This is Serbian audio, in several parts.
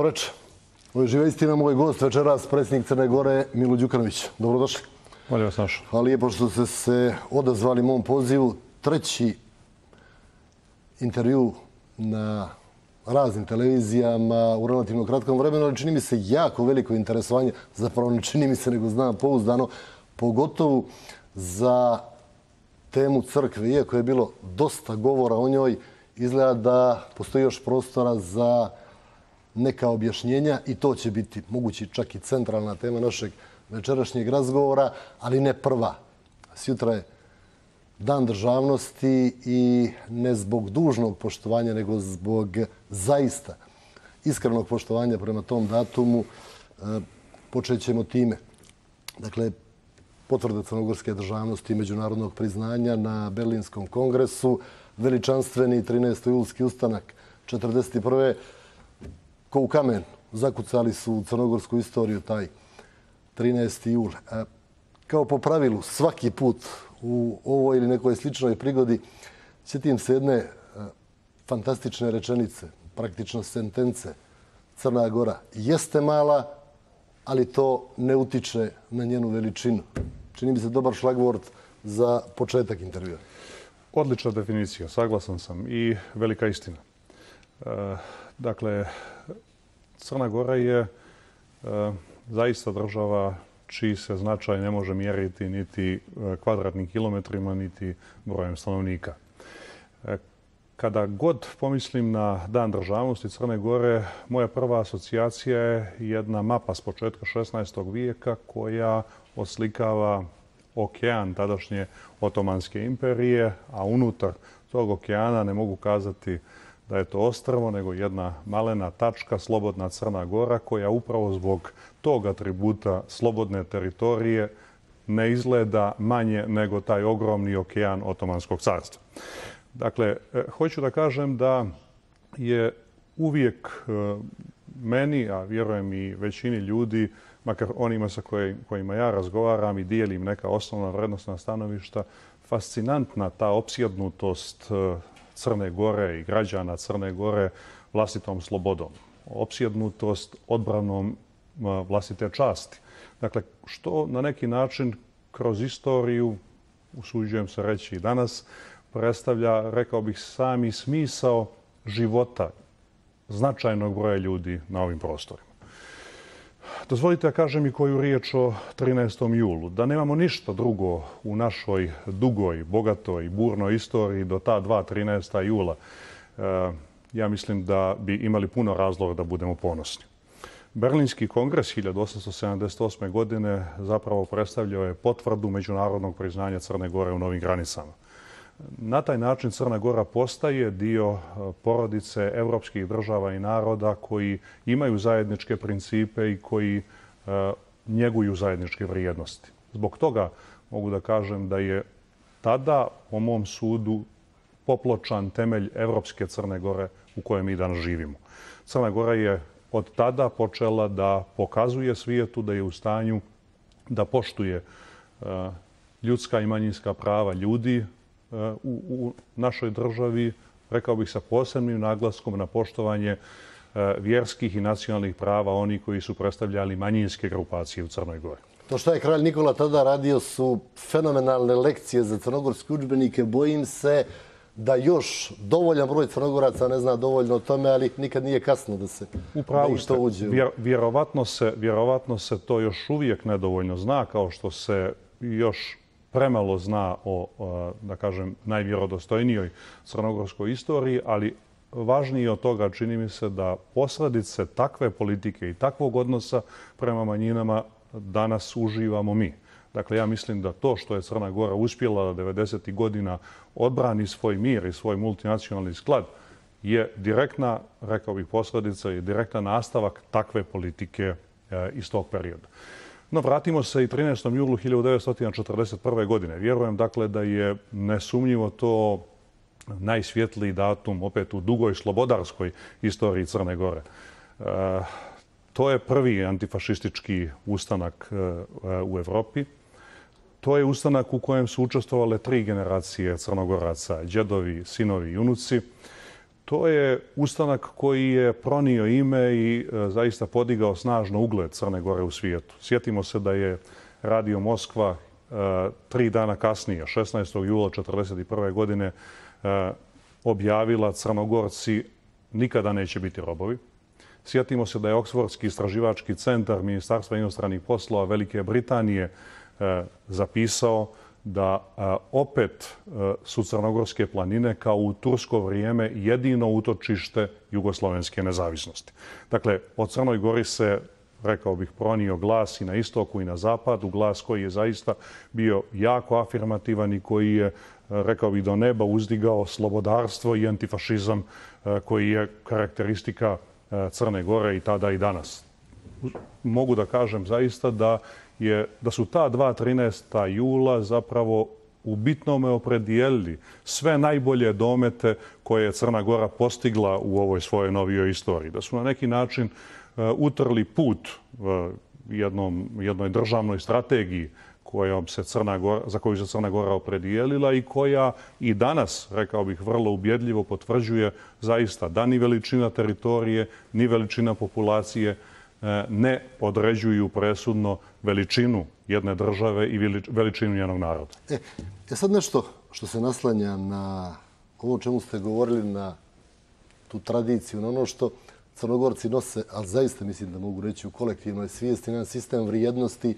Dobro večer. Ovo je Živa istina, moj gost večeras, predsjednik Crne Gore, Milo Đukanović. Dobrodošli. Bolje vas našao. Hvala lijepo što ste se odazvali mom pozivu. Treći intervju na raznim televizijama u relativno kratkom vremenu, ali čini mi se jako veliko interesovanje, zapravo ne čini mi se nego znam pouzdano, pogotovo za temu crkve. Iako je bilo dosta govora o njoj, izgleda da postoji još prostora za neka objašnjenja i to će biti mogući čak i centralna tema našeg večerašnjeg razgovora, ali ne prva. Sjutra je Dan državnosti i ne zbog dužnog poštovanja, nego zbog zaista iskrenog poštovanja prema tom datumu počet ćemo time. Dakle, potvrda crnogorske državnosti i međunarodnog priznanja na Berlinskom kongresu, veličanstveni 13. julski ustanak 1941. Ko u kamen zakucali su u crnogorsku istoriju taj 13. jul. Kao po pravilu, svaki put u ovoj ili nekoj sličnoj prigodi sjetim se jedne fantastične rečenice, praktično sentence. Crna Gora jeste mala, ali to ne utiče na njenu veličinu. Čini mi se dobar šlagvort za početak intervjua. Odlična definicija, saglasan sam i velika istina. Dakle, Crna Gora je zaista država čiji se značaj ne može mjeriti niti kvadratnim kilometrima, niti brojem stanovnika. Kada god pomislim na Dan državnosti Crne Gore, moja prva asocijacija je jedna mapa s početka 16. vijeka koja oslikava okean tadašnje Otomanske imperije, a unutar tog okeana ne mogu kazati da je to ostrvo, nego jedna malena tačka, slobodna Crna Gora, koja upravo zbog tog atributa slobodne teritorije ne izgleda manje nego taj ogromni okean Otomanskog carstva. Dakle, hoću da kažem da je uvijek meni, a vjerujem i većini ljudi, makar onima sa kojima ja razgovaram i dijelim neka osnovna vrednostna stanovišta, fascinantna ta opsjednutost Crne Gore i građana Crne Gore vlastitom slobodom. Opsjednutost odbranom vlastite časti. Dakle, što na neki način kroz istoriju, usuđujem se reći i danas, predstavlja, rekao bih, sami smisao života značajnog broja ljudi na ovim prostorima. Dozvolite da kažem i koju riječ o 13. julu. Da nemamo ništa drugo u našoj dugoj, bogatoj, burnoj istoriji do ta 13. jula, ja mislim da bi imali puno razloga da budemo ponosni. Berlinski kongres 1878. godine zapravo predstavljao je potvrdu međunarodnog priznanja Crne Gore u novim granicama. Na taj način Crna Gora postaje dio porodice evropskih država i naroda koji imaju zajedničke principe i koji njeguju zajedničke vrijednosti. Zbog toga mogu da kažem da je tada, po mom sudu, popločan temelj evropske Crne Gore u kojoj mi danas živimo. Crna Gora je od tada počela da pokazuje svijetu da je u stanju da poštuje ljudska i manjinska prava ljudi u našoj državi, rekao bih sa posebnim naglaskom na poštovanje vjerskih i nacionalnih prava onih koji su predstavljali manjinske grupacije u Crnoj Gori. To što je kralj Nikola tada radio su fenomenalne lekcije za crnogorske udžbenike. Bojim se da još dovoljan broj Crnogoraca ne zna dovoljno o tome, ali nikad nije kasno da se upravo to uđe. Vjerovatno se to još uvijek nedovoljno zna, kao što se još premalo zna o, da kažem, najvjerodostojnijoj crnogorskoj istoriji, ali važnije od toga čini mi se da posljedice takve politike i takvog odnosa prema manjinama danas uživamo mi. Dakle, ja mislim da to što je Crna Gora uspjela da 90. godina odbrani svoj mir i svoj multinacionalni sklad je direktna, rekao bih, posljedica i direktan nastavak takve politike iz tog perioda. No, vratimo se i 13. julu 1941. godine. Vjerujem, dakle, da je nesumnjivo to najsvjetliji datum opet u dugoj slobodarskoj istoriji Crne Gore. To je prvi antifašistički ustanak u Evropi. To je ustanak u kojem su učestvovale 3 generacije Crnogoraca, djedovi, sinovi i unuci. To je ustanak koji je pronio ime i zaista podigao snažno ugled Crne Gore u svijetu. Sjetimo se da je Radio Moskva 3 dana kasnije, 16. jula 1941. godine, objavila Crnogorci nikada neće biti robovi. Sjetimo se da je Oksfordski istraživački centar Ministarstva inostranih poslova Velike Britanije zapisao da opet su Crnogorske planine kao u tursko vrijeme jedino utočište jugoslovenske nezavisnosti. Dakle, o Crnoj Gori se, rekao bih, pronio glas i na istoku i na zapadu, glas koji je zaista bio jako afirmativan i koji je, rekao bih, do neba uzdigao slobodarstvo i antifašizam koji je karakteristika Crne Gore i tada i danas. Mogu da kažem zaista da su ta 13. jula zapravo u bitnome opredijelili sve najbolje domete koje je Crna Gora postigla u ovoj svojoj novijoj istoriji. Da su na neki način utrli put jednoj državnoj strategiji za koju se Crna Gora opredijelila i koja i danas, rekao bih, vrlo ubjedljivo potvrđuje zaista da ni veličina teritorije, ni veličina populacije ne određuju presudno veličinu jedne države i veličinu njenog naroda. Sad nešto što se naslanja na ovo o čemu ste govorili, na tu tradiciju, na ono što Crnogorci nose, ali zaista mislim da mogu reći u kolektivnoj svijesti, na sistem vrijednosti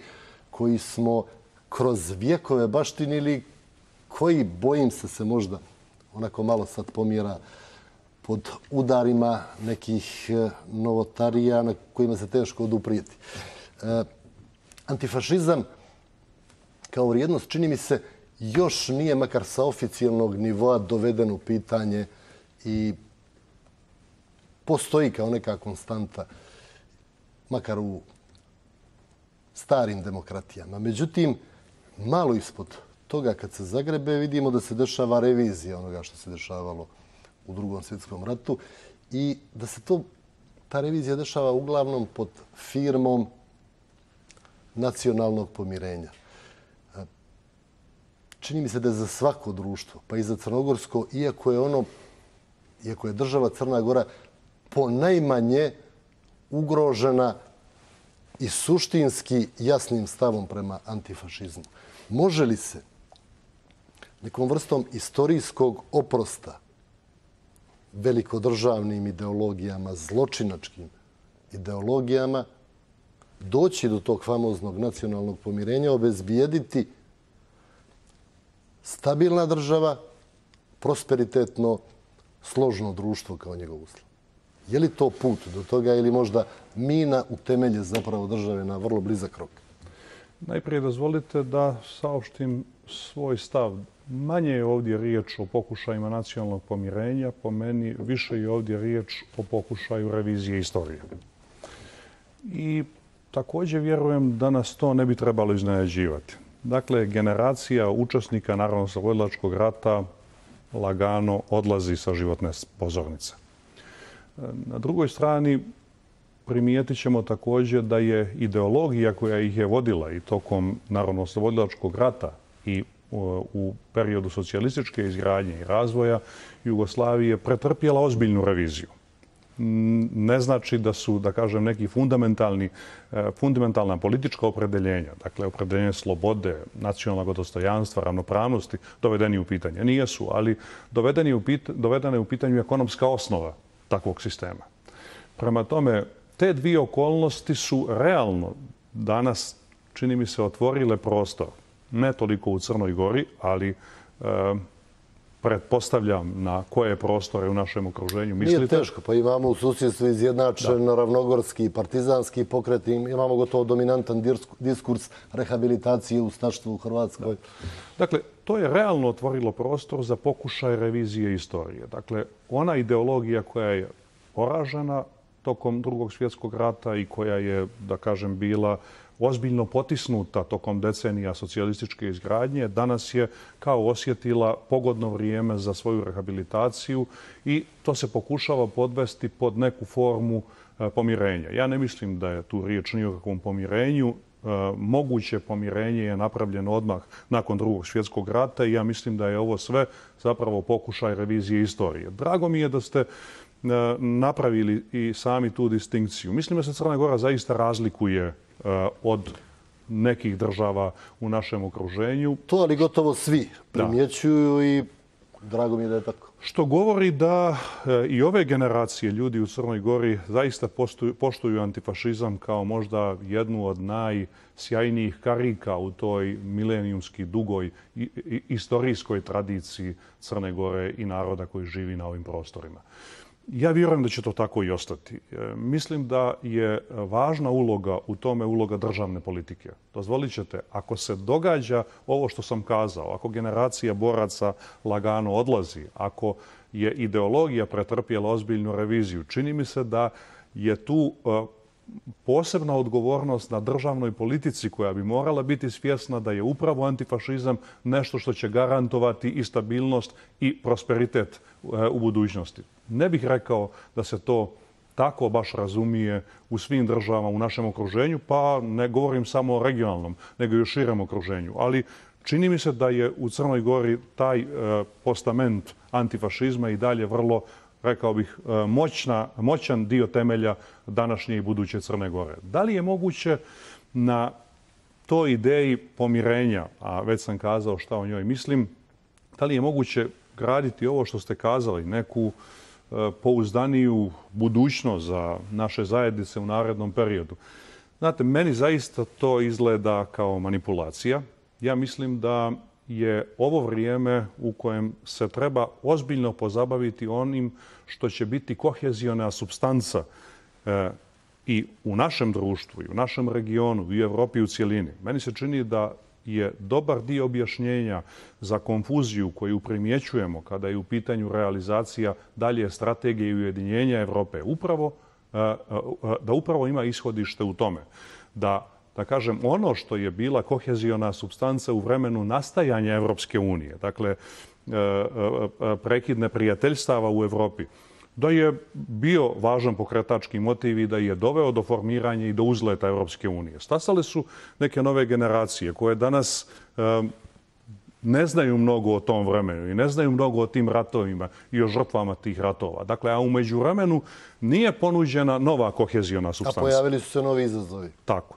koji smo kroz vjekove baštinili, koji, bojim se možda onako malo sad pomjera pod udarima nekih novotarija na kojima se teško oduprijeti. Antifašizam kao vrijednost, čini mi se, još nije makar sa oficijalnog nivoa doveden u pitanje i postoji kao neka konstanta, makar u starim demokratijama. Međutim, malo ispod toga kad se zagrebe vidimo da se dešava revizija onoga što se dešavalo u Drugom svjetskom ratu i da se ta revizija dešava uglavnom pod firmom nacionalnog pomirenja. Čini mi se da je za svako društvo, pa i za crnogorsko, iako je država Crna Gora ponajmanje ugrožena i suštinski jasnim stavom prema antifašizmu. Može li se nekom vrstom istorijskog oprosta velikodržavnim ideologijama, zločinačkim ideologijama, doći do tog famoznog nacionalnog pomirenja, obezbijediti stabilna država, prosperitetno, složno društvo kao njegov uslov? Je li to put do toga ili možda mina u temelje zapravo države na vrlo blizak rok? Najprije dozvolite da saopštim svoj stav. Manje je ovdje riječ o pokušajima nacionalnog pomirenja, po meni više je ovdje riječ o pokušaju revizije istorije. I također vjerujem da nas to ne bi trebalo iznenađivati. Dakle, generacija učesnika Narodnooslobodilačkog rata lagano odlazi sa životne pozornice. Na drugoj strani primijetit ćemo također da je ideologija koja ih je vodila i tokom Narodnooslobodilačkog rata i u periodu socijalističke izgradnje i razvoja Jugoslavije pretrpjela ozbiljnu reviziju. Ne znači da su, da kažem, neki fundamentalna politička opredeljenja, dakle opredeljenje slobode, nacionalnog dostojanstva, ravnopravnosti, dovedeni u pitanje. Nijesu, ali dovedena je u pitanju ekonomska osnova takvog sistema. Prema tome, te dvije okolnosti su realno danas, čini mi se, otvorile prostor. Ne toliko u Crnoj Gori, ali pretpostavljam na koje prostore u našem okruženju mislite. Nije teško, pa imamo u susjedstvu izjednačen ravnogorski, partizanski pokret, imamo gotovo dominantan diskurs rehabilitacije ustaštva u Hrvatskoj. Dakle, to je realno otvorilo prostor za pokušaj revizije istorije. Dakle, ona ideologija koja je poražena tokom Drugog svjetskog rata i koja je, da kažem, bila ozbiljno potisnuta tokom decenija socijalističke izgradnje, danas je kao osjetila pogodno vrijeme za svoju rehabilitaciju i to se pokušava podvesti pod neku formu pomirenja. Ja ne mislim da je tu riječ ni o kakvom pomirenju. Moguće pomirenje je napravljeno odmah nakon Drugog svjetskog rata i ja mislim da je ovo sve zapravo pokušaj revizije istorije. Drago mi je da ste napravili i sami tu distinkciju. Mislim da se Crna Gora zaista razlikuje od nekih država u našem okruženju. To, ali gotovo svi primjećuju i drago mi je da je tako. Što govori da i ove generacije ljudi u Crnoj Gori zaista poštuju antifašizam kao možda jednu od najsjajnijih karika u toj milenijumski dugoj istorijskoj tradiciji Crne Gore i naroda koji živi na ovim prostorima. Ja vjerujem da će to tako i ostati. Mislim da je važna uloga u tome uloga državne politike. Dozvolit ćete, ako se događa ovo što sam kazao, ako generacija boraca lagano odlazi, ako je ideologija pretrpjela ozbiljnu reviziju, čini mi se da je tu posebna odgovornost na državnoj politici koja bi morala biti svjesna da je upravo antifašizam nešto što će garantovati i stabilnost i prosperitet u budućnosti. Ne bih rekao da se to tako baš razumije u svim državama u našem okruženju, pa ne govorim samo o regionalnom, nego i o širem okruženju. Ali čini mi se da je u Crnoj Gori taj postament antifašizma i dalje vrlo, rekao bih, moćan dio temelja današnje i buduće Crne Gore. Da li je moguće na toj ideji pomirenja, a već sam kazao šta o njoj mislim, da li je moguće graditi ovo što ste kazali, neku pouzdaniju budućnost za naše zajednice u narednom periodu? Znate, meni zaista to izgleda kao manipulacija. Ja mislim da je ovo vrijeme u kojem se treba ozbiljno pozabaviti onim što će biti koheziona supstanca i u našem društvu, i u našem regionu, i u Evropi u cjelini. Meni se čini da je dobar dio objašnjenja za konfuziju koju primjećujemo kada je u pitanju realizacija dalje strategije i ujedinjenja Evrope, da upravo ima ishodište u tome. Da kažem, ono što je bila koheziona supstanca u vremenu nastajanja Evropske unije, dakle, prekid neprijateljstava u Evropi, da je bio važan pokretački motiv i da je doveo do formiranja i do uzleta Evropske unije. Stasale su neke nove generacije koje danas ne znaju mnogo o tom vremenu i ne znaju mnogo o tim ratovima i o žrtvama tih ratova. Dakle, a u međuvremenu nije ponuđena nova koheziona supstanca. A pojavili su se novi izazovi.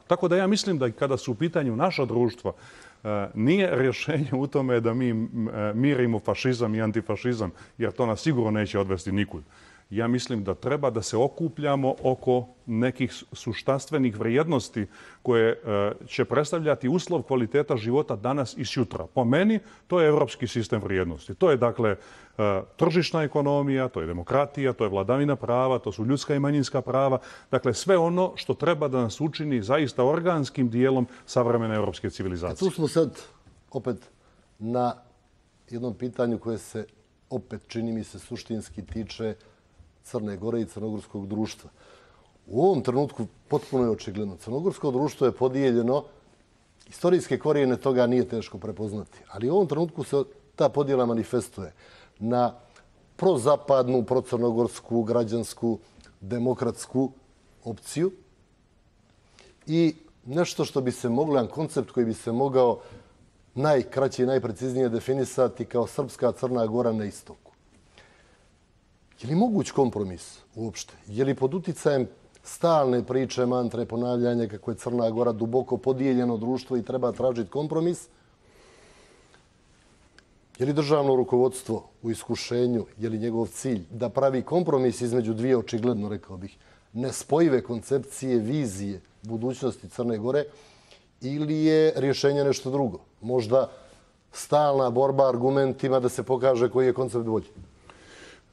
Tako da ja mislim da kada su u pitanju naša društva, nije rješenje u tome da mi mirimo fašizam i antifašizam, jer to nas sigurno neće odvesti nikud. Ja mislim da treba da se okupljamo oko nekih suštastvenih vrijednosti koje će predstavljati uslov kvaliteta života danas i sutra. Po meni, to je evropski sistem vrijednosti. To je, dakle, tržišna ekonomija, to je demokratija, to je vladavina prava, to su ljudska i manjinska prava. Dakle, sve ono što treba da nas učini zaista organskim dijelom savremene evropske civilizacije. Tu smo sad opet na jednom pitanju koje se opet, čini mi se, suštinski tiče Crne Gore i crnogorskog društva. U ovom trenutku potpuno je očigledno. Crnogorsko društvo je podijeljeno, istorijske korijene toga nije teško prepoznati, ali u ovom trenutku se ta podjela manifestuje na prozapadnu, procrnogorsku, građansku, demokratsku opciju i nešto što bi se moglo, jedan koncept koji bi se mogao najkraće i najpreciznije definisati kao srpska Crna Gora na istoku. Je li moguć kompromis uopšte? Je li pod uticajem stalne priče, mantre, ponavljanja kako je Crna Gora duboko podijeljeno društvo i treba tražiti kompromis? Je li državno rukovodstvo u iskušenju, je li njegov cilj da pravi kompromis između dvije, očigledno, rekao bih, nespojive koncepcije, vizije budućnosti Crne Gore, ili je rješenje nešto drugo? Možda stalna borba argumentima da se pokaže koji je koncept bolji?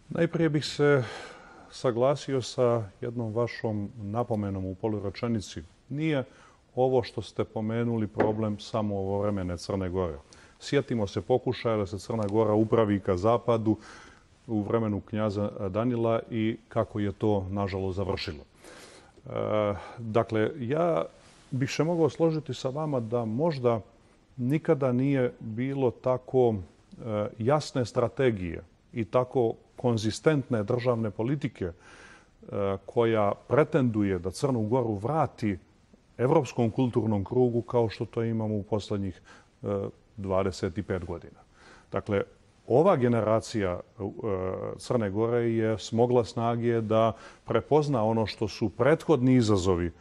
Najprije bih se saglasio sa jednom vašom napomenom u polurečenici. Nije ovo što ste pomenuli problem samo ovovremene Crne Gore. Sjetimo se pokušaja da se Crna Gora upravi ka zapadu u vremenu knjaza Danila i kako je to, nažalost, završilo. Dakle, ja bih se mogao složiti sa vama da možda nikada nije bilo tako jasne strategije i tako konzistentne državne politike koja pretenduje da Crnu Goru vrati evropskom kulturnom krugu kao što to imamo u poslednjih 25 godina. Dakle, ova generacija Crne Gore je smogla snage da prepozna ono što su prethodni izazovi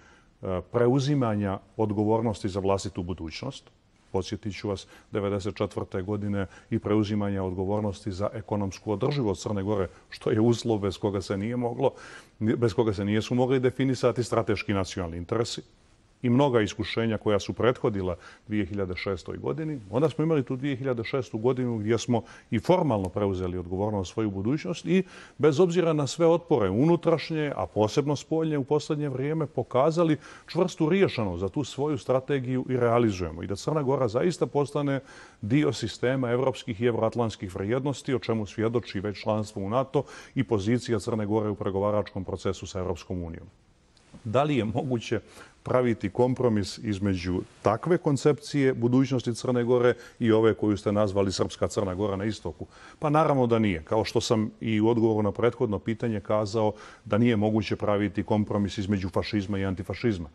preuzimanja odgovornosti za vlastitu budućnost. Podsjetit ću vas, 1994. godine i preuzimanja odgovornosti za ekonomsku održivost Crne Gore, što je uslov bez koga se nisu mogli definisati strateški nacionalni interesi i mnoga iskušenja koja su prethodila 2006. godini. Onda smo imali tu 2006. godinu gdje smo i formalno preuzeli odgovornost za svoju budućnost i bez obzira na sve otpore unutrašnje, a posebno spoljne u posljednje vrijeme, pokazali čvrstu riješenost za tu svoju strategiju i realizujemo. I da Crna Gora zaista postane dio sistema evropskih i evroatlantskih vrijednosti, o čemu svjedoči već članstvo u NATO i pozicija Crne Gore u pregovaračkom procesu sa Europskom unijom. Da li je moguće praviti kompromis između takve koncepcije budućnosti Crne Gore i ove koju ste nazvali Srpska Crna Gora na istoku? Pa naravno da nije. Kao što sam i u odgovoru na prethodno pitanje kazao da nije moguće praviti kompromis između fašizma i antifašizma.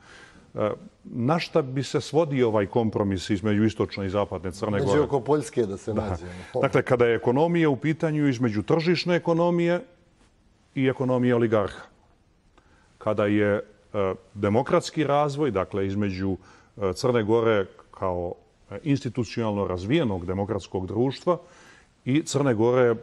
Na šta bi se svodio ovaj kompromis između istočne i zapadne Crne Gore? Među oko Poljske da se nađe. Dakle, kada je ekonomija u pitanju između tržišne ekonomije i ekonomije oligarha. Kada je demokratski razvoj, dakle između Crne Gore kao institucionalno razvijenog demokratskog društva i Crne Gore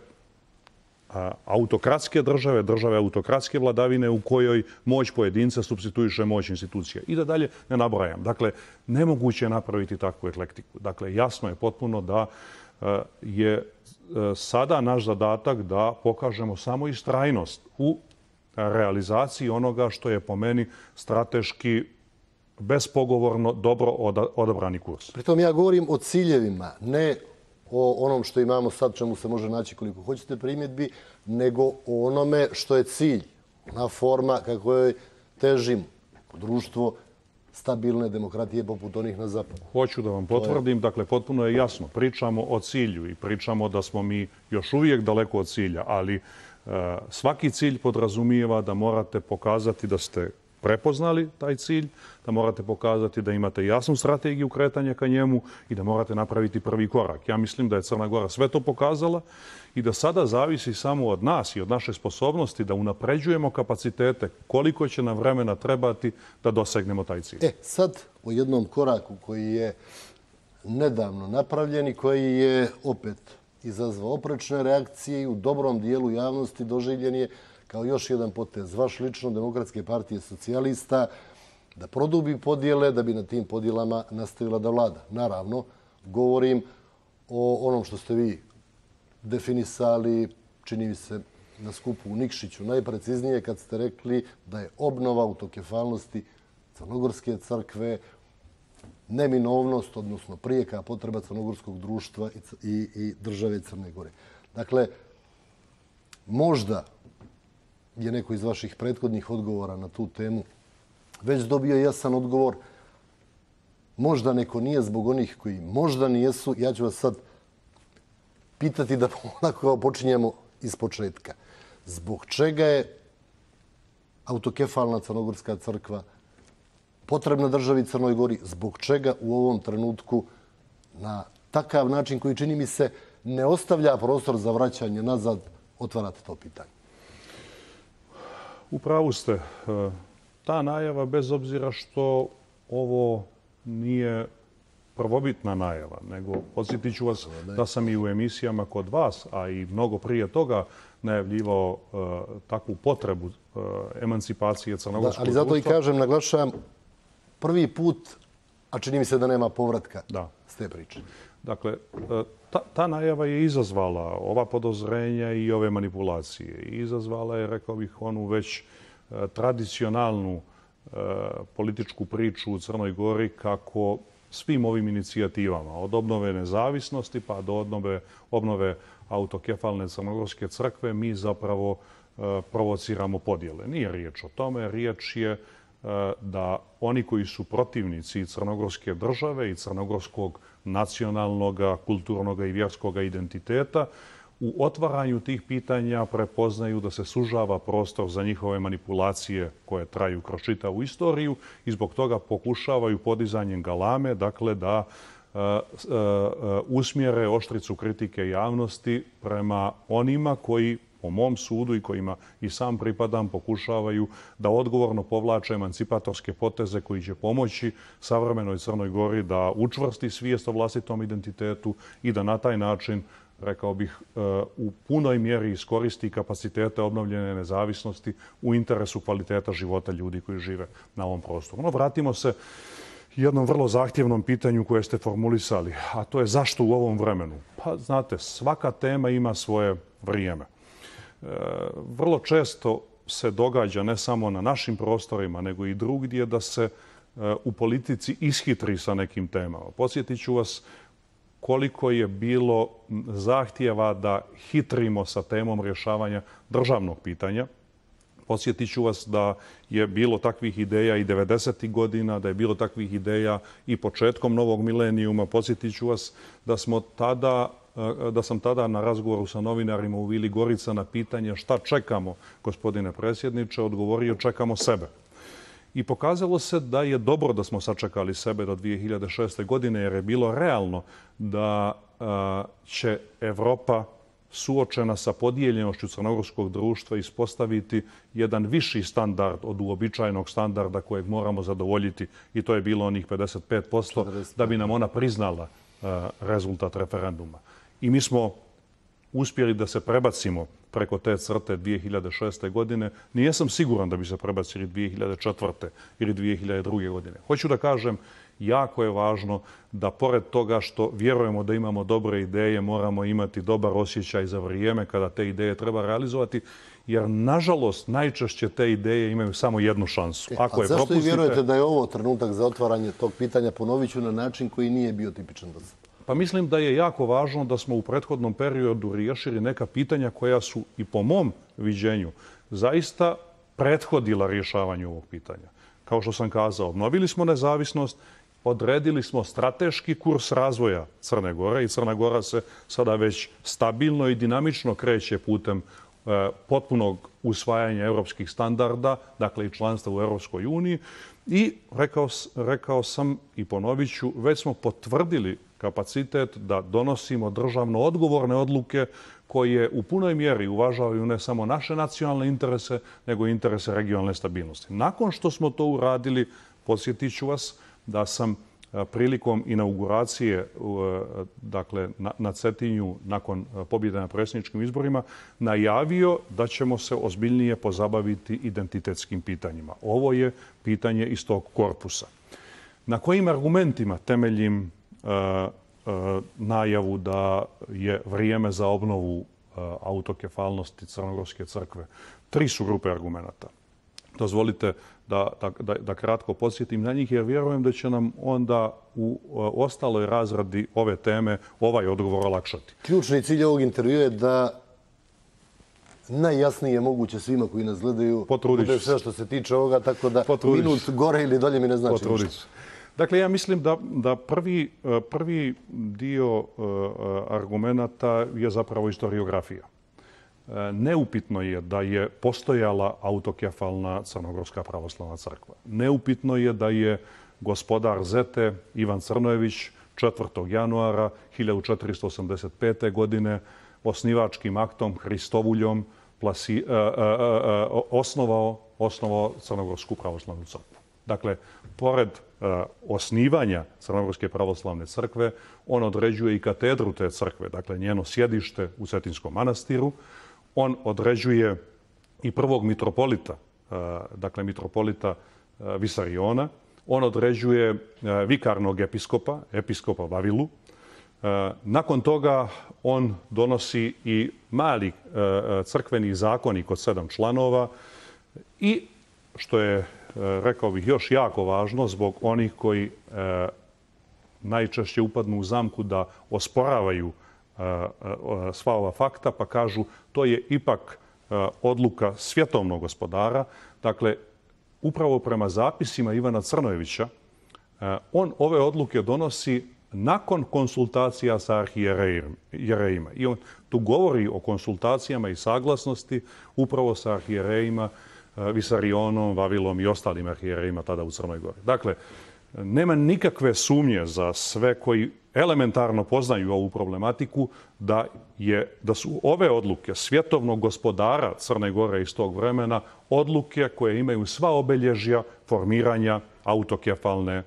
autokratske države, države autokratske vladavine u kojoj moć pojedinca supstituiše moć institucija. I da dalje ne nabrajam. Dakle, nemoguće je napraviti takvu eklektiku. Dakle, jasno je potpuno da je sada naš zadatak da pokažemo samo istrajnost u realizaciji onoga što je po meni strateški bespogovorno dobro odabrani kurs. Pritom ja govorim o ciljevima, ne o onom što imamo sad, čemu se može naći koliko hoćete primjedbi, nego o onome što je cilj, ona forma kako joj težimo, društvo stabilne demokratije poput onih na zapadu. Hoću da vam potvrdim, dakle, potpuno je jasno. Pričamo o cilju i pričamo da smo mi još uvijek daleko od cilja, ali svaki cilj podrazumijeva da morate pokazati da ste prepoznali taj cilj, da morate pokazati da imate jasnu strategiju kretanja ka njemu i da morate napraviti prvi korak. Ja mislim da je Crna Gora sve to pokazala i da sada zavisi samo od nas i od naše sposobnosti da unapređujemo kapacitete koliko će nam vremena trebati da dosegnemo taj cilj. Sad o jednom koraku koji je nedavno napravljen i koji je opet izazvao oprečne reakcije i u dobrom dijelu javnosti doživljen je kao još jedan potez vaš lično Demokratske partije socijalista da produbi podjele da bi na tim podjelama nastavila da vlada. Naravno, govorim o onom što ste vi definisali, čini mi se na skupu u Nikšiću, najpreciznije kad ste rekli da je obnova autokefalnosti Crnogorske crkve neminovnost, odnosno prijeka potreba crnogorskog društva i države Crne Gore. Dakle, možda je neko iz vaših prethodnih odgovora na tu temu već dobio jasan odgovor. Možda neko nije zbog onih koji možda nijesu. Ja ću vas sad pitati da onako počinjemo iz početka. Zbog čega je autokefalna Crnogorska crkva potrebna državi Crnoj Gori, zbog čega u ovom trenutku na takav način koji čini mi se ne ostavlja prostor za vraćanje nazad, otvarate to pitanje? U pravu ste. Ta najava, bez obzira što ovo nije prvobitna najava, nego podsjetit ću vas da sam i u emisijama kod vas, a i mnogo prije toga najavljivao takvu potrebu emancipacije crnogorskog društva. Ali zato i kažem, naglašavam, prvi put, a čini mi se da nema povratka s te priče. Dakle, ta najava je izazvala ova podozrenja i ove manipulacije. Izazvala je, rekao bih, onu već tradicionalnu političku priču u Crnoj Gori kako svim ovim inicijativama, od obnove nezavisnosti pa do obnove autokefalne crnogorske crkve mi zapravo provociramo podjele. Nije riječ o tome, riječ je da oni koji su protivnici crnogorske države i crnogorskog nacionalnog, kulturnog i vjerskog identiteta u otvaranju tih pitanja prepoznaju da se sužava prostor za njihove manipulacije koje traju kroz čitavu istoriju i zbog toga pokušavaju podizanjem galame, dakle da usmjere oštricu kritike javnosti prema onima koji, po mom sudu i kojima i sam pripadam, pokušavaju da odgovorno povlače emancipatorske poteze koji će pomoći savremenoj Crnoj Gori da učvrsti svijest o vlastitom identitetu i da na taj način, rekao bih, u punoj mjeri iskoristi kapacitete obnovljene nezavisnosti u interesu kvaliteta života ljudi koji žive na ovom prostoru. No, vratimo se jednom vrlo zahtjevnom pitanju koje ste formulisali, a to je zašto u ovom vremenu? Pa, znate, svaka tema ima svoje vrijeme. Vrlo često se događa, ne samo na našim prostorima, nego i drugdje, da se u politici ishitri sa nekim temama. Podsjetit ću vas koliko je bilo zahtjeva da hitrimo sa temom rješavanja državnog pitanja. Podsjetit ću vas da je bilo takvih ideja i 90. godina, da je bilo takvih ideja i početkom novog milenijuma. Podsjetit ću vas da sam tada na razgovoru sa novinarima u Vili Gorica na pitanje šta čekamo, gospodine predsjedniče, odgovorio čekamo sebe. I pokazalo se da je dobro da smo sačekali sebe do 2006. godine jer je bilo realno da će Evropa suočena sa podijeljenošću crnogorskog društva ispostaviti jedan viši standard od uobičajenog standarda kojeg moramo zadovoljiti i to je bilo onih 55% da bi nam ona priznala rezultat referenduma. I mi smo uspjeli da se prebacimo preko te crte 2006. godine. Nijesam siguran da bi se prebacili 2004. ili 2002. godine. Hoću da kažem, jako je važno da pored toga što vjerujemo da imamo dobre ideje, moramo imati dobar osjećaj za vrijeme kada te ideje treba realizovati, jer nažalost najčešće te ideje imaju samo jednu šansu. A zašto i vjerujete da je ovo trenutak za otvaranje tog pitanja? Ponovit ću na način koji nije bio tipičan do sada. Pa mislim da je jako važno da smo u prethodnom periodu riješili neka pitanja koja su i po mom viđenju zaista prethodila rješavanju ovog pitanja. Kao što sam kazao, obnovili smo nezavisnost, odredili smo strateški kurs razvoja Crne Gore i Crna Gora se sada već stabilno i dinamično kreće putem potpunog usvajanja europskih standarda, dakle i članstva u Europskoj uniji. I rekao sam i ponovit ću, već smo potvrdili kapacitet da donosimo državno odgovorne odluke koje u punoj mjeri uvažavaju ne samo naše nacionalne interese, nego i interese regionalne stabilnosti. Nakon što smo to uradili, podsjetit ću vas da sam prilikom inauguracije, dakle na Cetinju, nakon pobjede na predsjedničkim izborima, najavio da ćemo se ozbiljnije pozabaviti identitetskim pitanjima. Ovo je pitanje iz tog korpusa. Na kojim argumentima temeljim najavu da je vrijeme za obnovu autokefalnosti Crnogorske crkve? 3 su grupe argumenata. Dozvolite da kratko podsjetim na njih, jer vjerujem da će nam onda u ostaloj razradi ove teme ovaj odgovor olakšati. Ključni cilj ovog intervjua je da najjasnije moguće svima koji nas gledaju bude sve što se tiče ovoga, tako da minut gore ili dolje mi ne znači ništa. Dakle, ja mislim da prvi dio argumenata je zapravo historiografija. Neupitno je da je postojala autokefalna Crnogorska pravoslavna crkva. Neupitno je da je gospodar Zete Ivan Crnojević 4. januara 1485. godine osnivačkim aktom Hristovuljom osnovao Crnogorsku pravoslavnu crkvu. Dakle, pored osnivanja Crnogorske pravoslavne crkve, on određuje i katedru te crkve, dakle njeno sjedište u Cetinskom manastiru. On određuje i prvog mitropolita, dakle mitropolita Visariona. On određuje vikarnog episkopa Vavilu. Nakon toga on donosi i mali crkveni zakonik od 7 članova i, što je, rekao bih, još jako važno zbog onih koji najčešće upadnu u zamku da osporavaju sva ova fakta, pa kažu to je ipak odluka svjetovnog gospodara. Dakle, upravo prema zapisima Ivana Crnojevića, on ove odluke donosi nakon konsultacija sa arhijerejima. I on tu govori o konsultacijama i saglasnosti upravo sa arhijerejima Visarionom, Vavilom i ostalim arhijerejima tada u Crnoj Gori. Dakle, nema nikakve sumnje za sve koji elementarno poznaju ovu problematiku da su ove odluke svjetovnog gospodara Crne Gore iz tog vremena odluke koje imaju sva obilježja formiranja autokefalne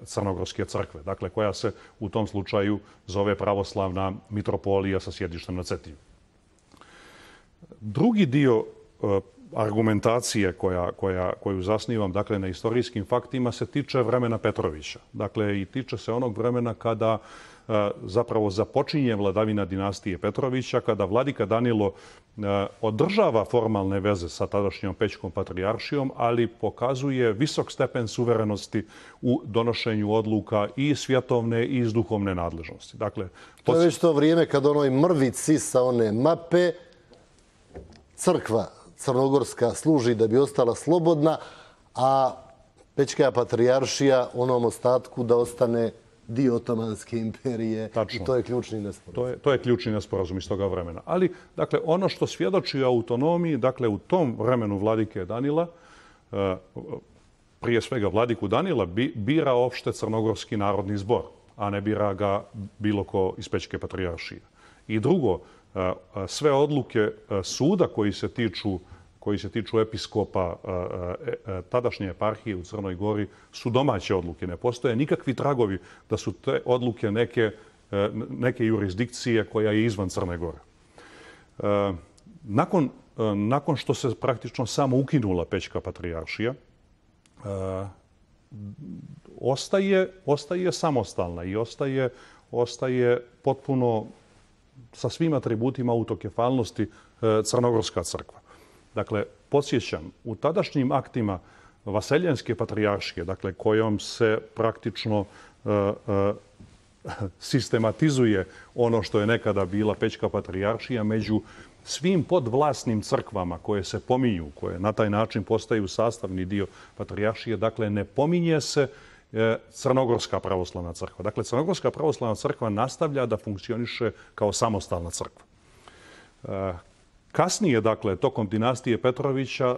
Crnogorske crkve, dakle koja se u tom slučaju zove pravoslavna mitropolija sa sjedištem na Cetinju. Drugi dio argumentacije koju zasnivam, dakle, na istorijskim faktima se tiče vremena Petrovića. Dakle, i tiče se onog vremena kada zapravo započinje vladavina dinastije Petrovića, kada vladika Danilo održava formalne veze sa tadašnjom Pećkom patrijaršijom, ali pokazuje visok stepen suverenosti u donošenju odluka i svjetovne i iz duhovne nadležnosti. Dakle, to je već to vrijeme kad onoj mrvici sa one mape crkva crnogorska služi da bi ostala slobodna, a Pećka patrijaršija onom ostatku da ostane dio Otomanske imperije. Tačno. I to je ključni nesporazum. To je ključni nesporazum iz toga vremena. Ali, dakle, ono što svjedoči o autonomiji, dakle, u tom vremenu vladike Danila, prije svega vladiku Danila, bira opšte Crnogorski narodni zbor, a ne bira ga bilo ko iz Pećke patrijaršije. I drugo, sve odluke suda koji se tiču episkopa tadašnje eparhije u Crnoj Gori su domaće odluke. Ne postoje nikakvi tragovi da su te odluke neke jurisdikcije koja je izvan Crne Gore. Nakon što se praktično samo ukinula Pećka patrijaršija, ostaje samostalna i ostaje potpuno sa svim atributima autokefalnosti Crnogorska crkva. Dakle, podsjećam, u tadašnjim aktima Vaseljenske patrijaršije, dakle, kojom se praktično sistematizuje ono što je nekada bila Pećka patrijaršija, među svim podvlasnim crkvama koje se pominju, koje na taj način postaju sastavni dio patrijaršije, dakle, ne pominje se Crnogorska pravoslavna crkva. Dakle, Crnogorska pravoslavna crkva nastavlja da funkcioniše kao samostalna crkva. Kasnije, dakle, tokom dinastije Petrovića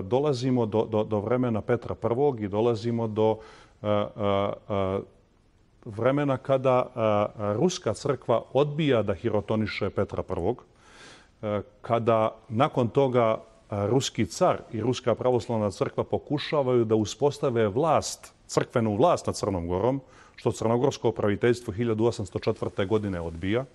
dolazimo do vremena Petra I. i dolazimo do vremena kada Ruska crkva odbija da hirotoniše Petra I. Kada nakon toga Ruski car i Ruska pravoslavna crkva pokušavaju da uspostave crkvenu vlast nad Crnom Gorom, što crnogorsko praviteljstvo 1804. godine odbija.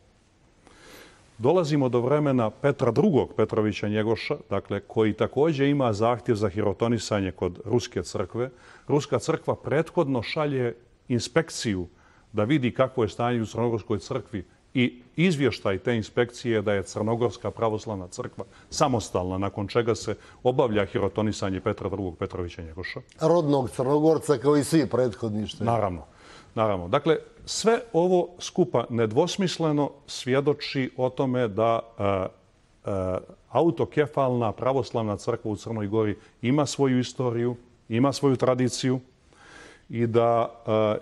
Dolazimo do vremena Petra II. Petrovića Njegoša, dakle, koji također ima zahtjev za hirotonisanje kod Ruske crkve. Ruska crkva prethodno šalje inspekciju da vidi kakvo je stanje u Crnogorskoj crkvi i izvještaj te inspekcije da je Crnogorska pravoslavna crkva samostalna, nakon čega se obavlja hirotonisanje Petra II. Petrovića Njegoša. Rodnog Crnogorca kao i svi prethodni. Naravno. Dakle, sve ovo skupa nedvosmisleno svjedoči o tome da autokefalna pravoslavna crkva u Crnoj Gori ima svoju istoriju, ima svoju tradiciju i da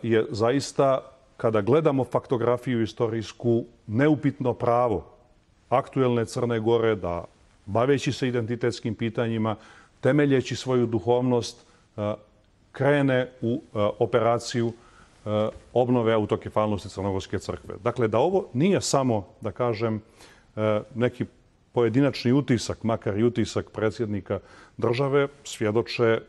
je zaista, kada gledamo faktografiju istorijsku, neupitno pravo aktuelne Crne Gore da, baveći se identitetskim pitanjima, temeljeći svoju duhovnost, krene u operaciju obnove autokefalnosti Crnogorske crkve. Dakle, da ovo nije samo, da kažem, neki pojedinačni utisak, makar i utisak predsjednika države,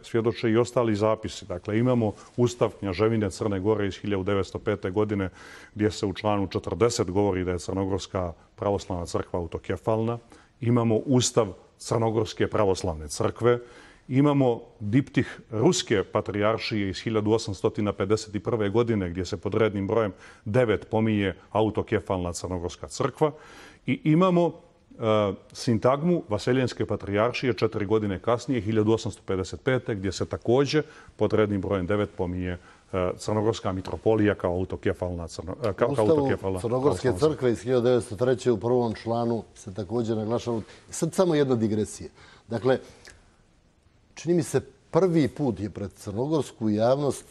svjedoče i ostali zapisi. Dakle, imamo Ustav Knjaževine Crne Gore iz 1905. godine gdje se u članu 40 govori da je Crnogorska pravoslavna crkva autokefalna. Imamo Ustav Crnogorske pravoslavne crkve. Imamo diptih Ruske patrijaršije iz 1851. godine gdje se pod rednim brojem 9 pominje autokefalna Crnogorska crkva. I imamo sintagmu Vaseljenske patrijaršije 4 godine kasnije, 1855. gdje se također pod rednim brojem 9 pominje Crnogorska mitropolija kao autokefalna Ustavu Crnogorske crkve iz 1903. u prvom članu se također naglašava. Sad samo jedna digresija. Dakle, čini mi se prvi put je pred crnogorsku javnost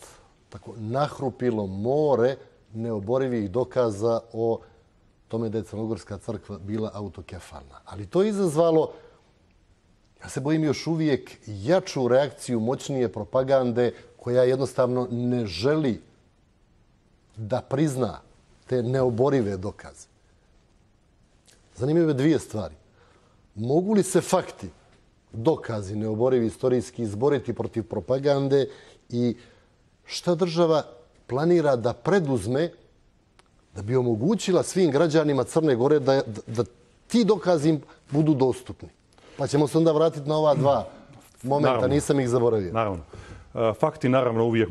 tako nahrupilo more neoborivih dokaza o tome da je Crnogorska crkva bila autokefalna. Ali to je izazvalo, ja se bojim, još uvijek jaču reakciju moćnije propagande koja jednostavno ne želi da prizna te neoborive dokaze. Zanimljive dvije stvari. Mogu li se fakti, dokazi neoborivi istorijski izboriti protiv propagande i šta država planira da preduzme da bi omogućila svim građanima Crne Gore da ti dokazi im budu dostupni? Pa ćemo se onda vratiti na ova dva momenta, naravno, nisam ih zaboravio. Naravno. Fakti naravno uvijek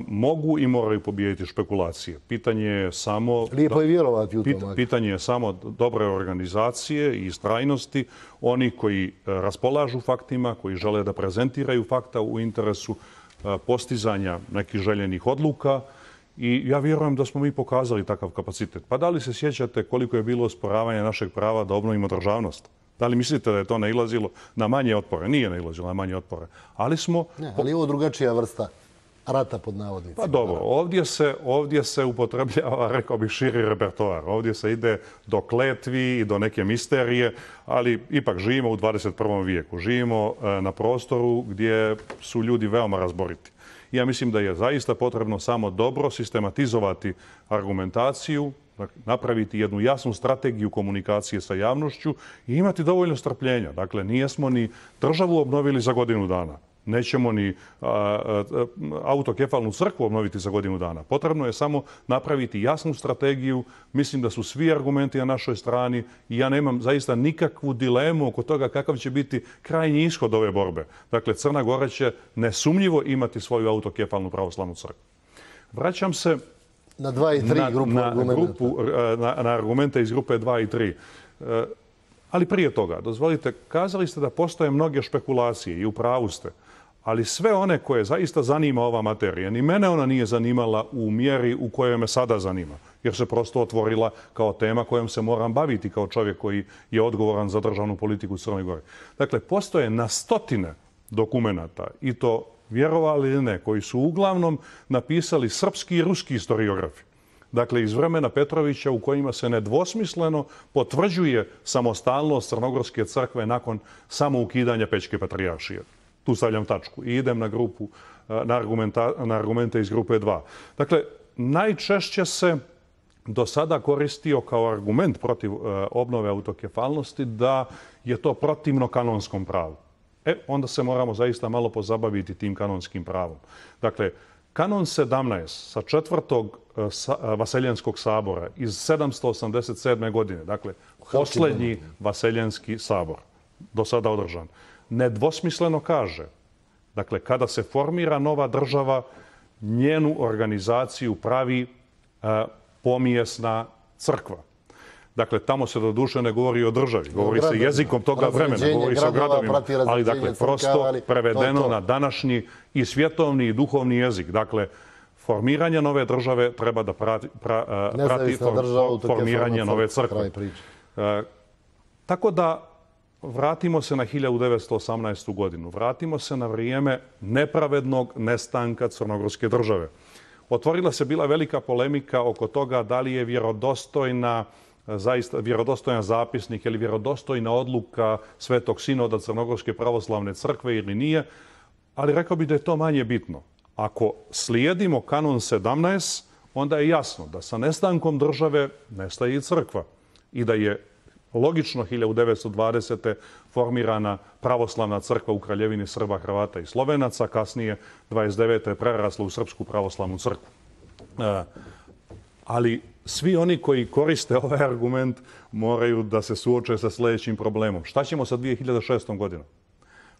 mogu i moraju pobijediti špekulacije. Pitanje je samo... Lijepo je vjerovati u to. Pitanje je samo dobre organizacije i istrajnosti. Oni koji raspolažu faktima, koji žele da prezentiraju fakta u interesu postizanja nekih željenih odluka. I ja vjerujem da smo mi pokazali takav kapacitet. Pa da li se sjećate koliko je bilo osporavanja našeg prava da obnovimo državnost? Da li mislite da je to nailazilo na manje otpore? Nije nailazilo na manje otpore. Ali smo... ali je ovo drugačija vrsta rata pod navodnicima. Pa dobro, ovdje se upotrebljava, rekao bih, širi repertoar. Ovdje se ide do kletvi i do neke misterije, ali ipak živimo u 21. vijeku. Živimo na prostoru gdje su ljudi veoma razboriti. Ja mislim da je zaista potrebno samo dobro sistematizovati argumentaciju, napraviti jednu jasnu strategiju komunikacije sa javnošću i imati dovoljno strpljenja. Dakle, nijesmo ni državu obnovili za godinu dana. Nećemo ni autokefalnu crkvu obnoviti za godinu dana. Potrebno je samo napraviti jasnu strategiju. Mislim da su svi argumenti na našoj strani i ja nemam zaista nikakvu dilemu oko toga kakav će biti krajnji ishod ove borbe. Dakle, Crna Gora će nesumnjivo imati svoju autokefalnu pravoslavnu crkvu. Vraćam se na 2 i 3 na argumente iz grupe 2 i 3. Ali prije toga, dozvolite, kazali ste da postoje mnoge špekulacije i u pravu ste. Ali sve one koje zaista zanima ova materija, ni mene ona nije zanimala u mjeri u kojoj me sada zanima. Jer se prosto otvorila kao tema kojom se moram baviti kao čovjek koji je odgovoran za državnu politiku u Crnoj Gori. Dakle, postoje na stotine dokumenata, i to vjerovali ili ne, koji su uglavnom napisali srpski i ruski historiografi. Dakle, iz vremena Petrovića, u kojima se nedvosmisleno potvrđuje samostalnost Crnogorske crkve nakon samoukidanja Pećke patrijaršije. Tu stavljam tačku i idem na argumente iz grupe 2. Dakle, najčešće se do sada koristio kao argument protiv obnove autokefalnosti da je to protivno kanonskom pravu. Onda se moramo zaista malo pozabaviti tim kanonskim pravom. Dakle, kanon 17 sa 4. Vaseljenskog sabora iz 787. godine, dakle, posljednji Vaseljenski sabor, do sada održan, nedvosmisleno kaže, dakle, kada se formira nova država, njenu organizaciju pravi pomijesna crkva. Dakle, tamo se doduše ne govori o državi, govori se jezikom toga vremena, govori se o gradovima, ali dakle, prosto prevedeno na današnji i svjetovni i duhovni jezik. Dakle, formiranje nove države treba da prati formiranje nove crkve. Tako da, vratimo se na 1918. godinu. Vratimo se na vrijeme nepravednog nestanka Crnogorske države. Otvorila se bila velika polemika oko toga da li je vjerodostojan zapisnik ili vjerodostojna odluka Svetog sinoda Crnogorske pravoslavne crkve ili nije, ali rekao bih da je to manje bitno. Ako slijedimo kanon 17, onda je jasno da sa nestankom države nestaje i crkva i da je logično 1920. formirana pravoslavna crkva u Kraljevini Srba, Hrvata i Slovenaca, kasnije 29. je prerasla u Srpsku pravoslavnu crkvu. Ali svi oni koji koriste ovaj argument moraju da se suoče sa sljedećim problemom. Šta ćemo sa 2006. godinom?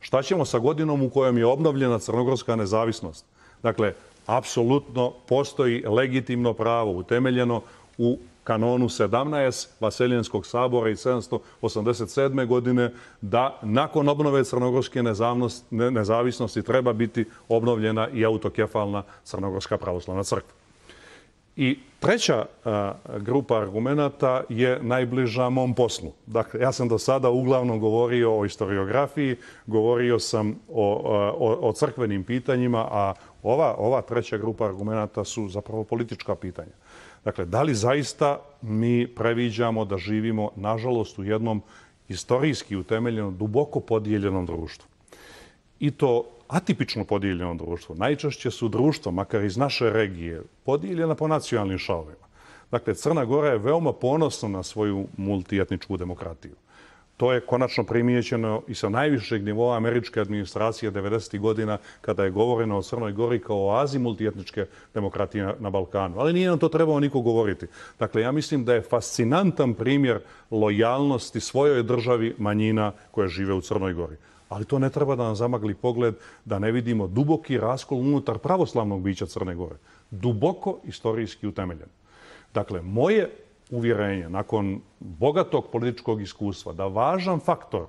Šta ćemo sa godinom u kojom je obnovljena crnogorska nezavisnost? Dakle, apsolutno postoji legitimno pravo utemeljeno u kanonu 17 Vaseljenskog sabora iz 787. godine da nakon obnove crnogorske nezavisnosti treba biti obnovljena i autokefalna Crnogorska pravoslavna crkva. I treća grupa argumenata je najbliža mom poslu. Dakle, ja sam do sada uglavnom govorio o historiografiji, govorio sam o crkvenim pitanjima, a ova treća grupa argumenata su zapravo politička pitanja. Dakle, da li zaista mi previđamo da živimo, nažalost, u jednom istorijski utemeljenom, duboko podijeljenom društvu? I to atipično podijeljeno društvo. Najčešće su društva, makar iz naše regije, podijeljena po nacionalnim šavovima. Dakle, Crna Gora je veoma ponosna na svoju multietničku demokratiju. To je konačno primijećeno i sa najvišeg nivoa američke administracije 90. godina kada je govoreno o Crnoj Gori kao oazi multietničke demokratije na Balkanu. Ali nije nam to trebao niko govoriti. Dakle, ja mislim da je fascinantan primjer lojalnosti svojoj državi manjina koje žive u Crnoj Gori. Ali to ne treba da nam zamagli pogled da ne vidimo duboki raskol unutar pravoslavnog bića Crne Gore. Duboko istorijski utemeljen. Dakle, moje uvjerenje nakon bogatog političkog iskustva da važan faktor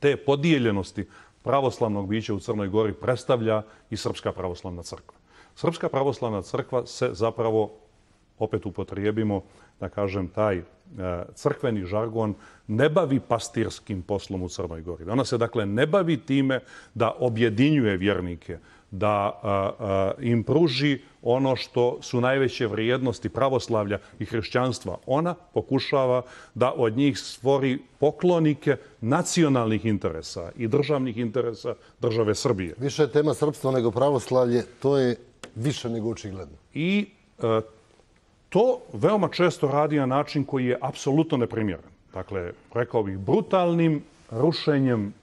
te podijeljenosti pravoslavnog bića u Crnoj Gori predstavlja i Srpska pravoslavna crkva. Srpska pravoslavna crkva se zapravo, opet upotrijebimo, da kažem, taj crkveni žargon, ne bavi pastirskim poslom u Crnoj Gori. Ona se, dakle, ne bavi time da objedinjuje vjernike, da im pruži ono što su najveće vrijednosti pravoslavlja i hrišćanstva. Ona pokušava da od njih stvori poklonike nacionalnih interesa i državnih interesa države Srbije. Više je tema srpstva nego pravoslavlje, to je više nego očigledno. I to veoma često radi na način koji je apsolutno neprimjeren. Dakle, rekao bih, brutalnim rušenjem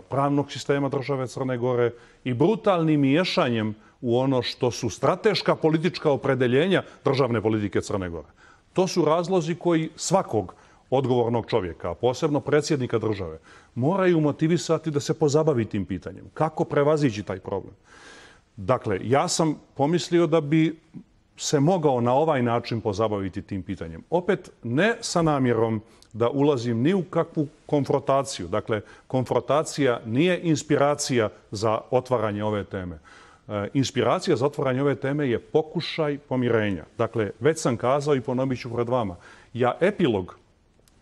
pravnog sistema države Crne Gore i brutalnim miješanjem u ono što su strateška politička opredeljenja državne politike Crne Gore. To su razlozi koji svakog odgovornog čovjeka, a posebno predsjednika države, moraju motivisati da se pozabavi tim pitanjem. Kako prevazići taj problem? Dakle, ja sam pomislio da bi se mogao na ovaj način pozabaviti tim pitanjem. Opet, ne sa namjerom da ulazim ni u kakvu konfrontaciju. Dakle, konfrontacija nije inspiracija za otvaranje ove teme. Inspiracija za otvaranje ove teme je pokušaj pomirenja. Dakle, već sam kazao i ponovit ću pred vama. Ja epilog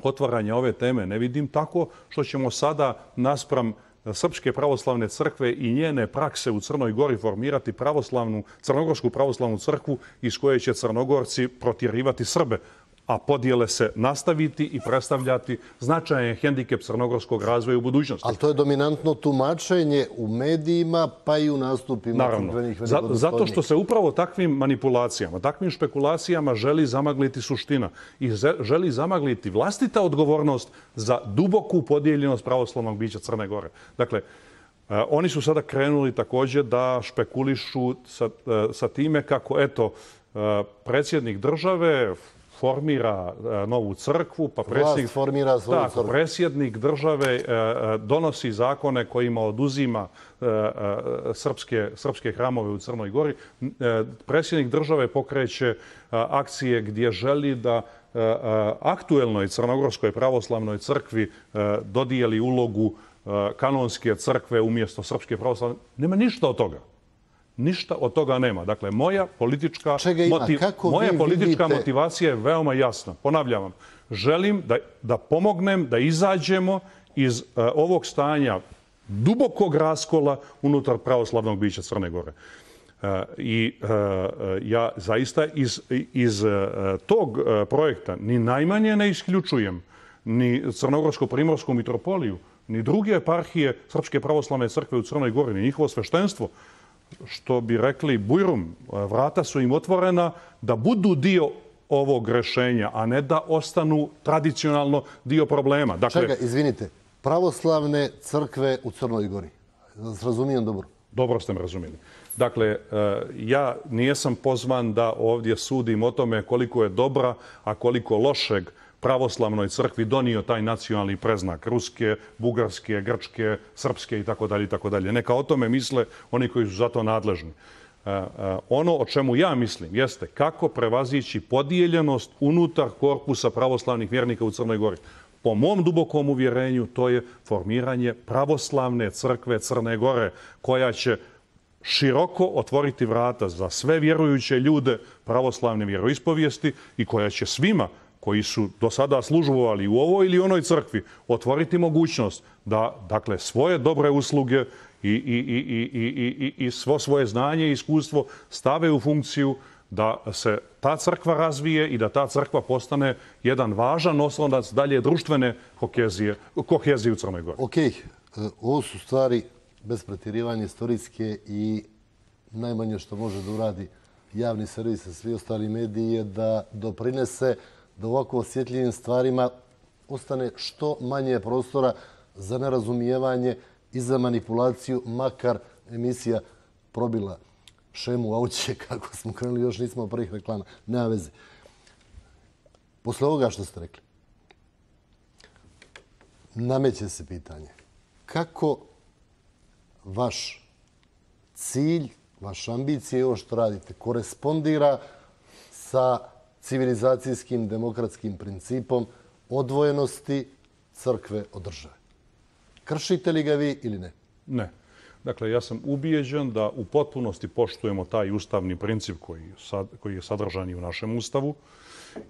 otvaranja ove teme ne vidim tako što ćemo sada naspram Srpske pravoslavne crkve i njene prakse u Crnoj Gori formirati Crnogorsku pravoslavnu crkvu iz koje će Crnogorci protjerivati Srbe, a podjele se nastaviti i predstavljati značajan hendikep crnogorskog razvoja u budućnosti. Ali to je dominantno tumačenje u medijima, pa i u nastupima crkvenih velikodostojnika. Zato što se upravo takvim manipulacijama, takvim špekulacijama želi zamagliti suština i želi zamagliti vlastita odgovornost za duboku podijeljenost pravoslavnog bića Crne Gore. Dakle, oni su sada krenuli također da špekulišu sa time kako, eto, predsjednik države formira novu crkvu, pa predsjednik države donosi zakone kojima oduzima srpske hramove u Crnoj Gori. Predsjednik države pokreće akcije gdje želi da aktuelnoj Crnogorskoj pravoslavnoj crkvi dodijeli ulogu kanonske crkve umjesto Srpske pravoslavne. Nema ništa od toga. Ništa od toga nema. Dakle, moja politička motivacija je veoma jasna. Ponavljam vam, želim da pomognem, da izađemo iz ovog stanja dubokog raskola unutar pravoslavnog bića Crne Gore. I ja zaista iz tog projekta ni najmanje ne isključujem ni Crnogorsko-primorsku mitropoliju, ni druge eparhije Srpske pravoslavne crkve u Crnoj Gori, ni njihovo sveštenstvo. Što bi rekli Bujrum, vrata su im otvorena da budu dio ovog rešenja, a ne da ostanu tradicionalno dio problema. Čega, izvinite, pravoslavne crkve u Crnoj Gori. Razumijem dobro? Dobro ste me razumijeli. Dakle, ja nijesam pozvan da ovdje sudim o tome koliko je dobra, a koliko lošeg pravoslavnoj crkvi donio taj nacionalni preznak ruske, bugarske, grčke, srpske itd. Neka o tome misle oni koji su za to nadležni. Ono o čemu ja mislim jeste kako prevazići podijeljenost unutar korpusa pravoslavnih vjernika u Crnoj Gori. Po mom dubokom uvjerenju to je formiranje pravoslavne crkve Crne Gore koja će široko otvoriti vrata za sve vjerujuće ljude pravoslavne vjeroispovijesti i koja će svima koji su do sada službovali u ovoj ili onoj crkvi otvoriti mogućnost da, dakle, svoje dobre usluge i svo svoje znanje i iskustvo stave u funkciju da se ta crkva razvije i da ta crkva postane jedan važan oslonac dalje društvene kohezije u Crnoj Gori. Ok, ovo su stvari bez pretjerivanja istorijske i najmanje što može da uradi javni servis i svi ostali mediji je da doprinese da ovako osjetljivim stvarima ostane što manje prostora za nerazumijevanje i za manipulaciju, makar emisija probila šemu auće kako smo krenuli, još nismo prvih reklama. Nema veze. Posle ovoga što ste rekli, nameće se pitanje kako vaš cilj, vaša ambicija i ovo što radite korespondira sa civilizacijskim demokratskim principom odvojenosti crkve od države. Kršite li ga vi ili ne? Ne. Dakle, ja sam ubijeđen da u potpunosti poštujemo taj ustavni princip koji je sadržan i u našem ustavu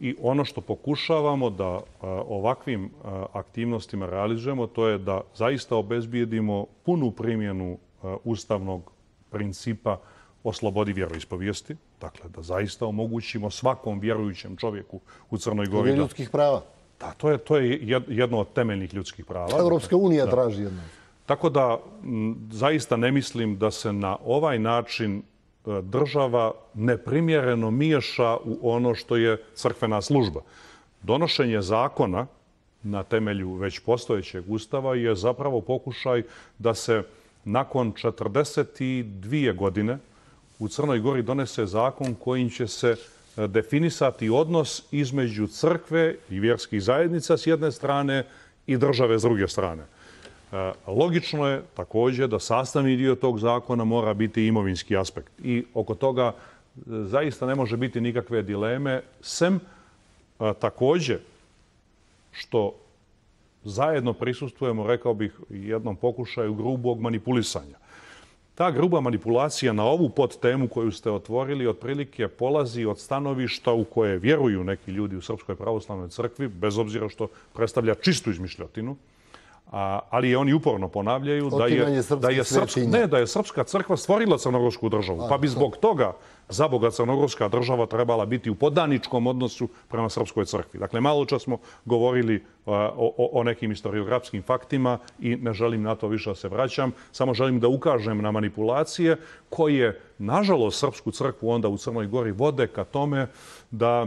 i ono što pokušavamo da ovakvim aktivnostima realizujemo, to je da zaista obezbijedimo punu primjenu ustavnog principa o slobodi vjeroispovijesti. Dakle, da zaista omogućimo svakom vjerujućem čovjeku u Crnoj Gori. Ljudskih prava. Da, to je jedno od temeljnih ljudskih prava. Evropska unija traži jedno. Tako da zaista ne mislim da se na ovaj način država neprimjereno miješa u ono što je crkvena služba. Donošenje zakona na temelju već postojećeg ustava je zapravo pokušaj da se nakon 42 godine u Crnoj Gori donese zakon kojim će se definisati odnos između crkve i vjerskih zajednica s jedne strane i države s druge strane. Logično je također da sastavni dio tog zakona mora biti imovinski aspekt. I oko toga zaista ne može biti nikakve dileme, sem također što zajedno prisustvujemo, rekao bih, jednom pokušaju grubog manipulisanja. Ta gruba manipulacija na ovu podtemu koju ste otvorili otprilike polazi od stanovišta u koje vjeruju neki ljudi u Srpskoj pravoslavnoj crkvi, bez obzira što predstavlja čistu izmišljotinu, ali oni uporno ponavljaju da je Srpska crkva stvorila crnogorsku državu, pa bi zbog toga zaboga crnogorska država trebala biti u podaničkom odnosu prema Srpskoj crkvi. Dakle, malo čas smo govorili o nekim historiografskim faktima i ne želim na to više da se vraćam. Samo želim da ukažem na manipulacije koje, nažalost, Srpsku crkvu onda u Crnoj Gori vode ka tome da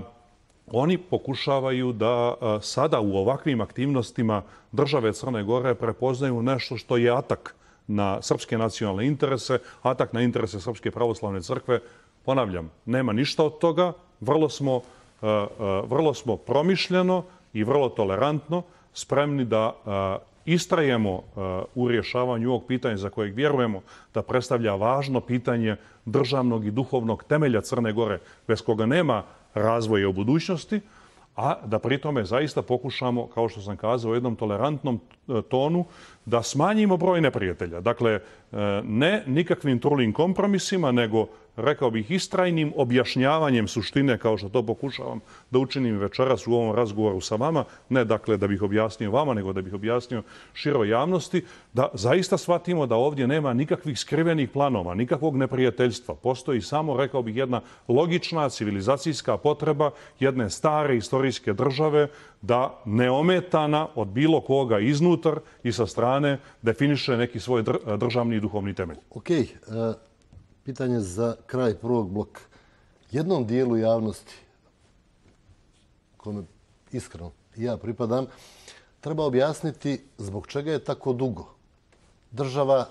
oni pokušavaju da sada u ovakvim aktivnostima države Crne Gore prepoznaju nešto što je atak na srpske nacionalne interese, atak na interese Srpske pravoslavne crkve. Ponavljam, nema ništa od toga. Vrlo smo promišljeno i vrlo tolerantno spremni da istrajemo u rješavanju ovog pitanja za kojeg vjerujemo da predstavlja važno pitanje državnog i duhovnog temelja Crne Gore, bez koga nema razvoja u budućnosti, a da pri tome zaista pokušamo, kao što sam kazao, u jednom tolerantnom tonu da smanjimo broj neprijatelja. Dakle, ne nikakvim trulim kompromisima, nego, rekao bih, istrajnim objašnjavanjem suštine, kao što to pokušavam da učinim večeras u ovom razgovoru sa vama, ne dakle da bih objasnio vama, nego da bih objasnio široj javnosti, da zaista shvatimo da ovdje nema nikakvih skrivenih planova, nikakvog neprijateljstva. Postoji samo, rekao bih, jedna logična civilizacijska potreba jedne stare istorijske države da neometana od bilo koga iznutar i sa strane definiše neki svoj državni i duhovni temelj. Ok, pitanje za kraj prvog bloka. Jednom dijelu javnosti, kome iskreno ja pripadam, treba objasniti zbog čega je tako dugo država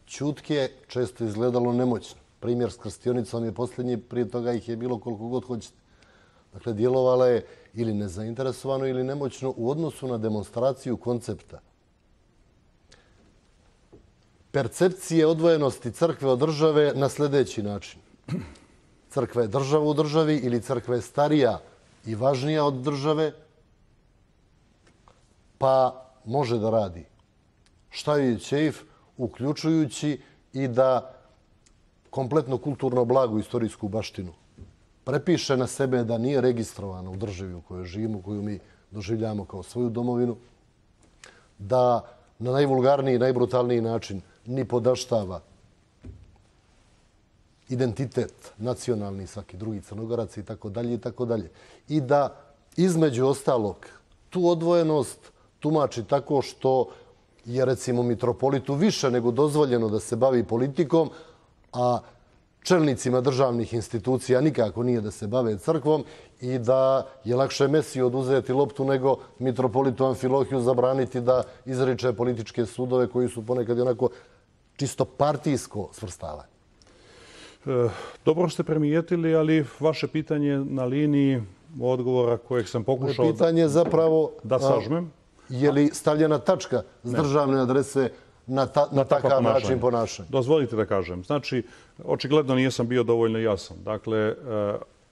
ćutke često izgledalo nemoćno. Primjer s krstionicom je posljednji, prije toga ih je bilo koliko god hoćete. Dakle, djelovala je ili nezainteresovano ili nemoćno u odnosu na demonstraciju koncepta percepcije odvojenosti crkve od države na sljedeći način. crkva je država u državi ili crkva je starija i važnija od države, pa može da radi šta joj je ćeif, uključujući i da kompletno kulturno blago, istorijsku baštinu prepiše na sebe, da nije registrovana u državi u kojoj živimo, koju mi doživljamo kao svoju domovinu, da na najvulgarniji i najbrutalniji način ni podaštava identitet nacionalni, svaki drugi Crnogorac i tako dalje i tako dalje. I da između ostalog tu odvojenost tumači tako što je recimo mitropolitu više nego dozvoljeno da se bavi politikom, a čelnicima državnih institucija nikako nije da se bave crkvom i da je lakše Mesiju oduzeti loptu nego mitropolitu Amfilohiju zabraniti da izriče političke sudove koji su ponekad onako čisto partijsko svrstavanje. Dobro ste primijetili, ali vaše pitanje na liniji odgovora kojeg sam pokušao pitanje zapravo da sažmem. Je li stavljena tačka s državne adrese na takav način ponašanja? Dozvolite da kažem. Znači, očigledno nisam bio dovoljno jasan. Dakle,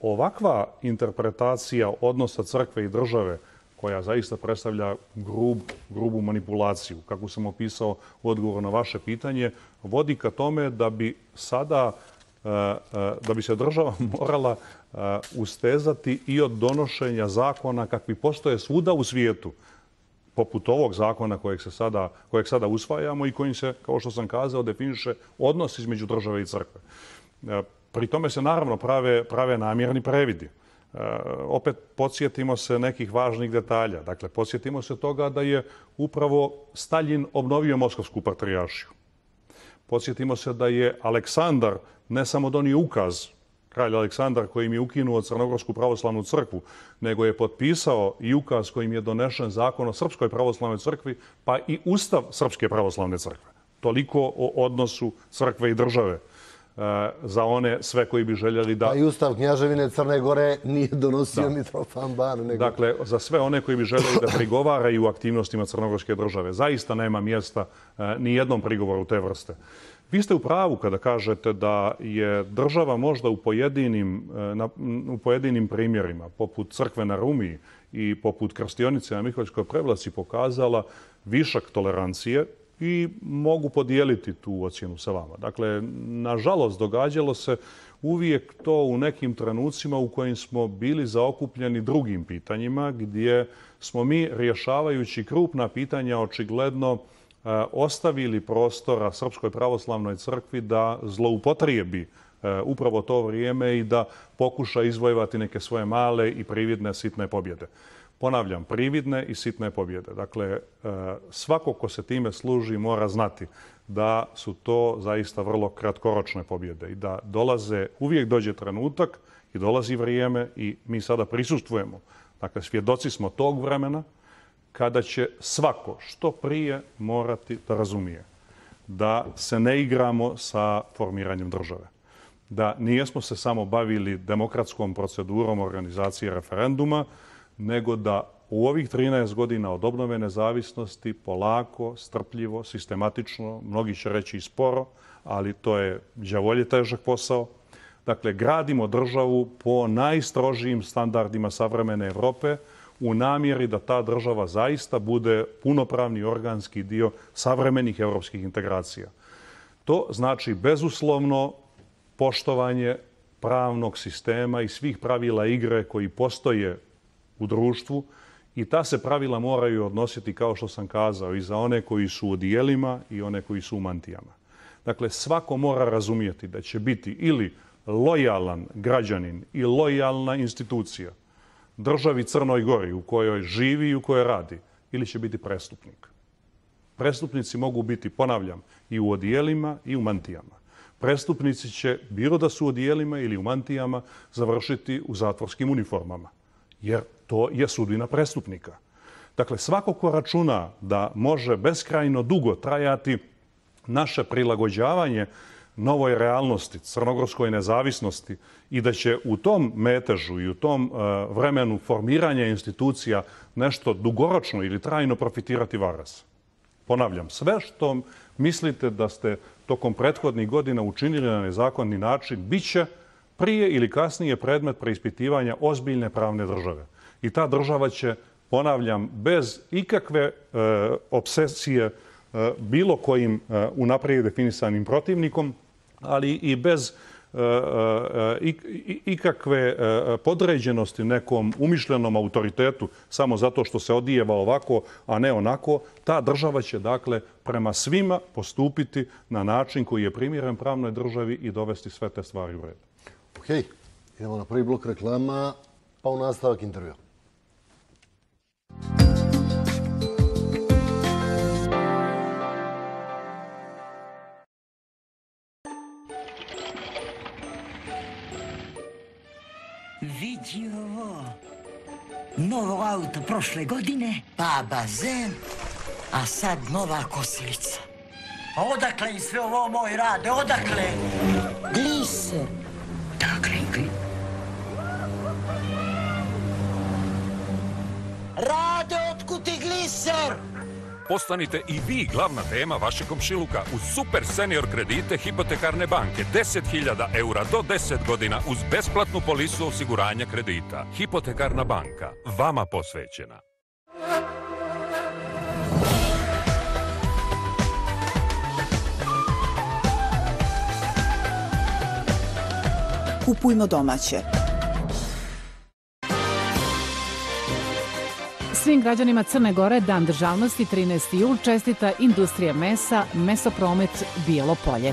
ovakva interpretacija odnosa crkve i države, koja zaista predstavlja grubu manipulaciju, kako sam opisao u odgovoru na vaše pitanje, vodi ka tome da bi sada da bi se država morala ustezati i od donošenja zakona kakvi postoje svuda u svijetu, poput ovog zakona kojeg sada usvajamo i kojim se, kao što sam kazao, definiše odnos između države i crkve. Pri tome se naravno prave namjerni previdi. Opet podsjetimo se nekih važnih detalja. Dakle, podsjetimo se toga da je upravo Staljin obnovio Moskovsku patrijaršiju. Podsjetimo se da je Aleksandar ne samo donio ukaz, kralj Aleksandar, kojim je ukinuo Crnogorsku pravoslavnu crkvu, nego je potpisao i ukaz kojim je donešen zakon o Srpskoj pravoslavnoj crkvi, pa i Ustav Srpske pravoslavne crkve. Toliko o odnosu crkve i države za one sve koji bi željeli da... A i Ustav Knjaževine Crne Gore nije donosio Mitrofan Ban. Dakle, za sve one koji bi željeli da prigovaraju aktivnostima Crnogorske države, zaista nema mjesta ni jednom prigovoru te vrste. Vi ste u pravu kada kažete da je država možda u pojedinim primjerima, poput crkve na Rumiji i poput krstionice na Miholjskoj Prevlaci, pokazala višak tolerancije i mogu podijeliti tu ocjenu sa vama. Dakle, nažalost, događalo se uvijek to u nekim trenucima u kojim smo bili zaokupljeni drugim pitanjima, gdje smo mi, rješavajući krupna pitanja, očigledno ostavili prostora Srpskoj pravoslavnoj crkvi da zloupotrijebi upravo to vrijeme i da pokuša izvojevati neke svoje male i prividne sitne pobjede. Ponavljam, prividne i sitne pobjede. Dakle, svako ko se time služi mora znati da su to zaista vrlo kratkoročne pobjede i da uvijek dođe trenutak i dolazi vrijeme i mi sada prisustvujemo. Dakle, svjedoci smo tog vremena kada će svako što prije morati da razumije da se ne igramo sa formiranjem države. Da nijesmo se samo bavili demokratskom procedurom organizacije referenduma, nego da u ovih 13 godina od obnove nezavisnosti polako, strpljivo, sistematično, mnogi će reći i sporo, ali to je đavolje težak posao. Dakle, gradimo državu po najstrožijim standardima savremene Evrope, u namjeri da ta država zaista bude punopravni organski dio savremenih evropskih integracija. To znači bezuslovno poštovanje pravnog sistema i svih pravila igre koji postoje u društvu i ta se pravila moraju odnositi, kao što sam kazao, i za one koji su u odijelima i one koji su u mantijama. Dakle, svako mora razumjeti da će biti ili lojalan građanin i lojalna institucija državi Crnoj Gori u kojoj živi i u kojoj radi, ili će biti prestupnik. Prestupnici mogu biti, ponavljam, i u odijelima i u mantijama. Prestupnici će, bilo da su u odijelima ili u mantijama, završiti u zatvorskim uniformama, jer to je sudbina prestupnika. Dakle, svako ko računa da može beskrajno dugo trajati naše prilagođavanje novoj realnosti, crnogorskoj nezavisnosti i da će u tom metežu i u tom vremenu formiranja institucija nešto dugoročno ili trajno profitirati varas. Ponavljam, sve što mislite da ste tokom prethodnih godina učinili na nezakonni način, bit će prije ili kasnije predmet preispitivanja ozbiljne pravne države. I ta država će, ponavljam, bez ikakve obsesije bilo kojim unaprijed definisanim protivnikom, ali i bez ikakve podređenosti nekom umišljenom autoritetu samo zato što se odijeva ovako, a ne onako, ta država će, dakle, prema svima postupiti na način koji je primjeren pravnoj državi i dovesti sve te stvari u red. Ok, idemo na prvi blok reklama, pa u nastavak intervjua. Vidi ovo. Novo auto prošle godine, pa bazen, a sad nova kosilica. A odakle im sve ovo moj rade? Odakle? Gliser. Dakle, Rade, otkud ti gliser? Postanite i vi glavna tema vašeg komšiluka uz super senior kredite Hipotekarne banke. 10.000 eura do 10 godina uz besplatnu polisu osiguranja kredita. Hipotekarna banka. Vama posvećena. Kupujmo domaće. Svim građanima Crne Gore Dan državnosti 13. jul čestita Industrija mesa, Mesopromet Bijelo Polje.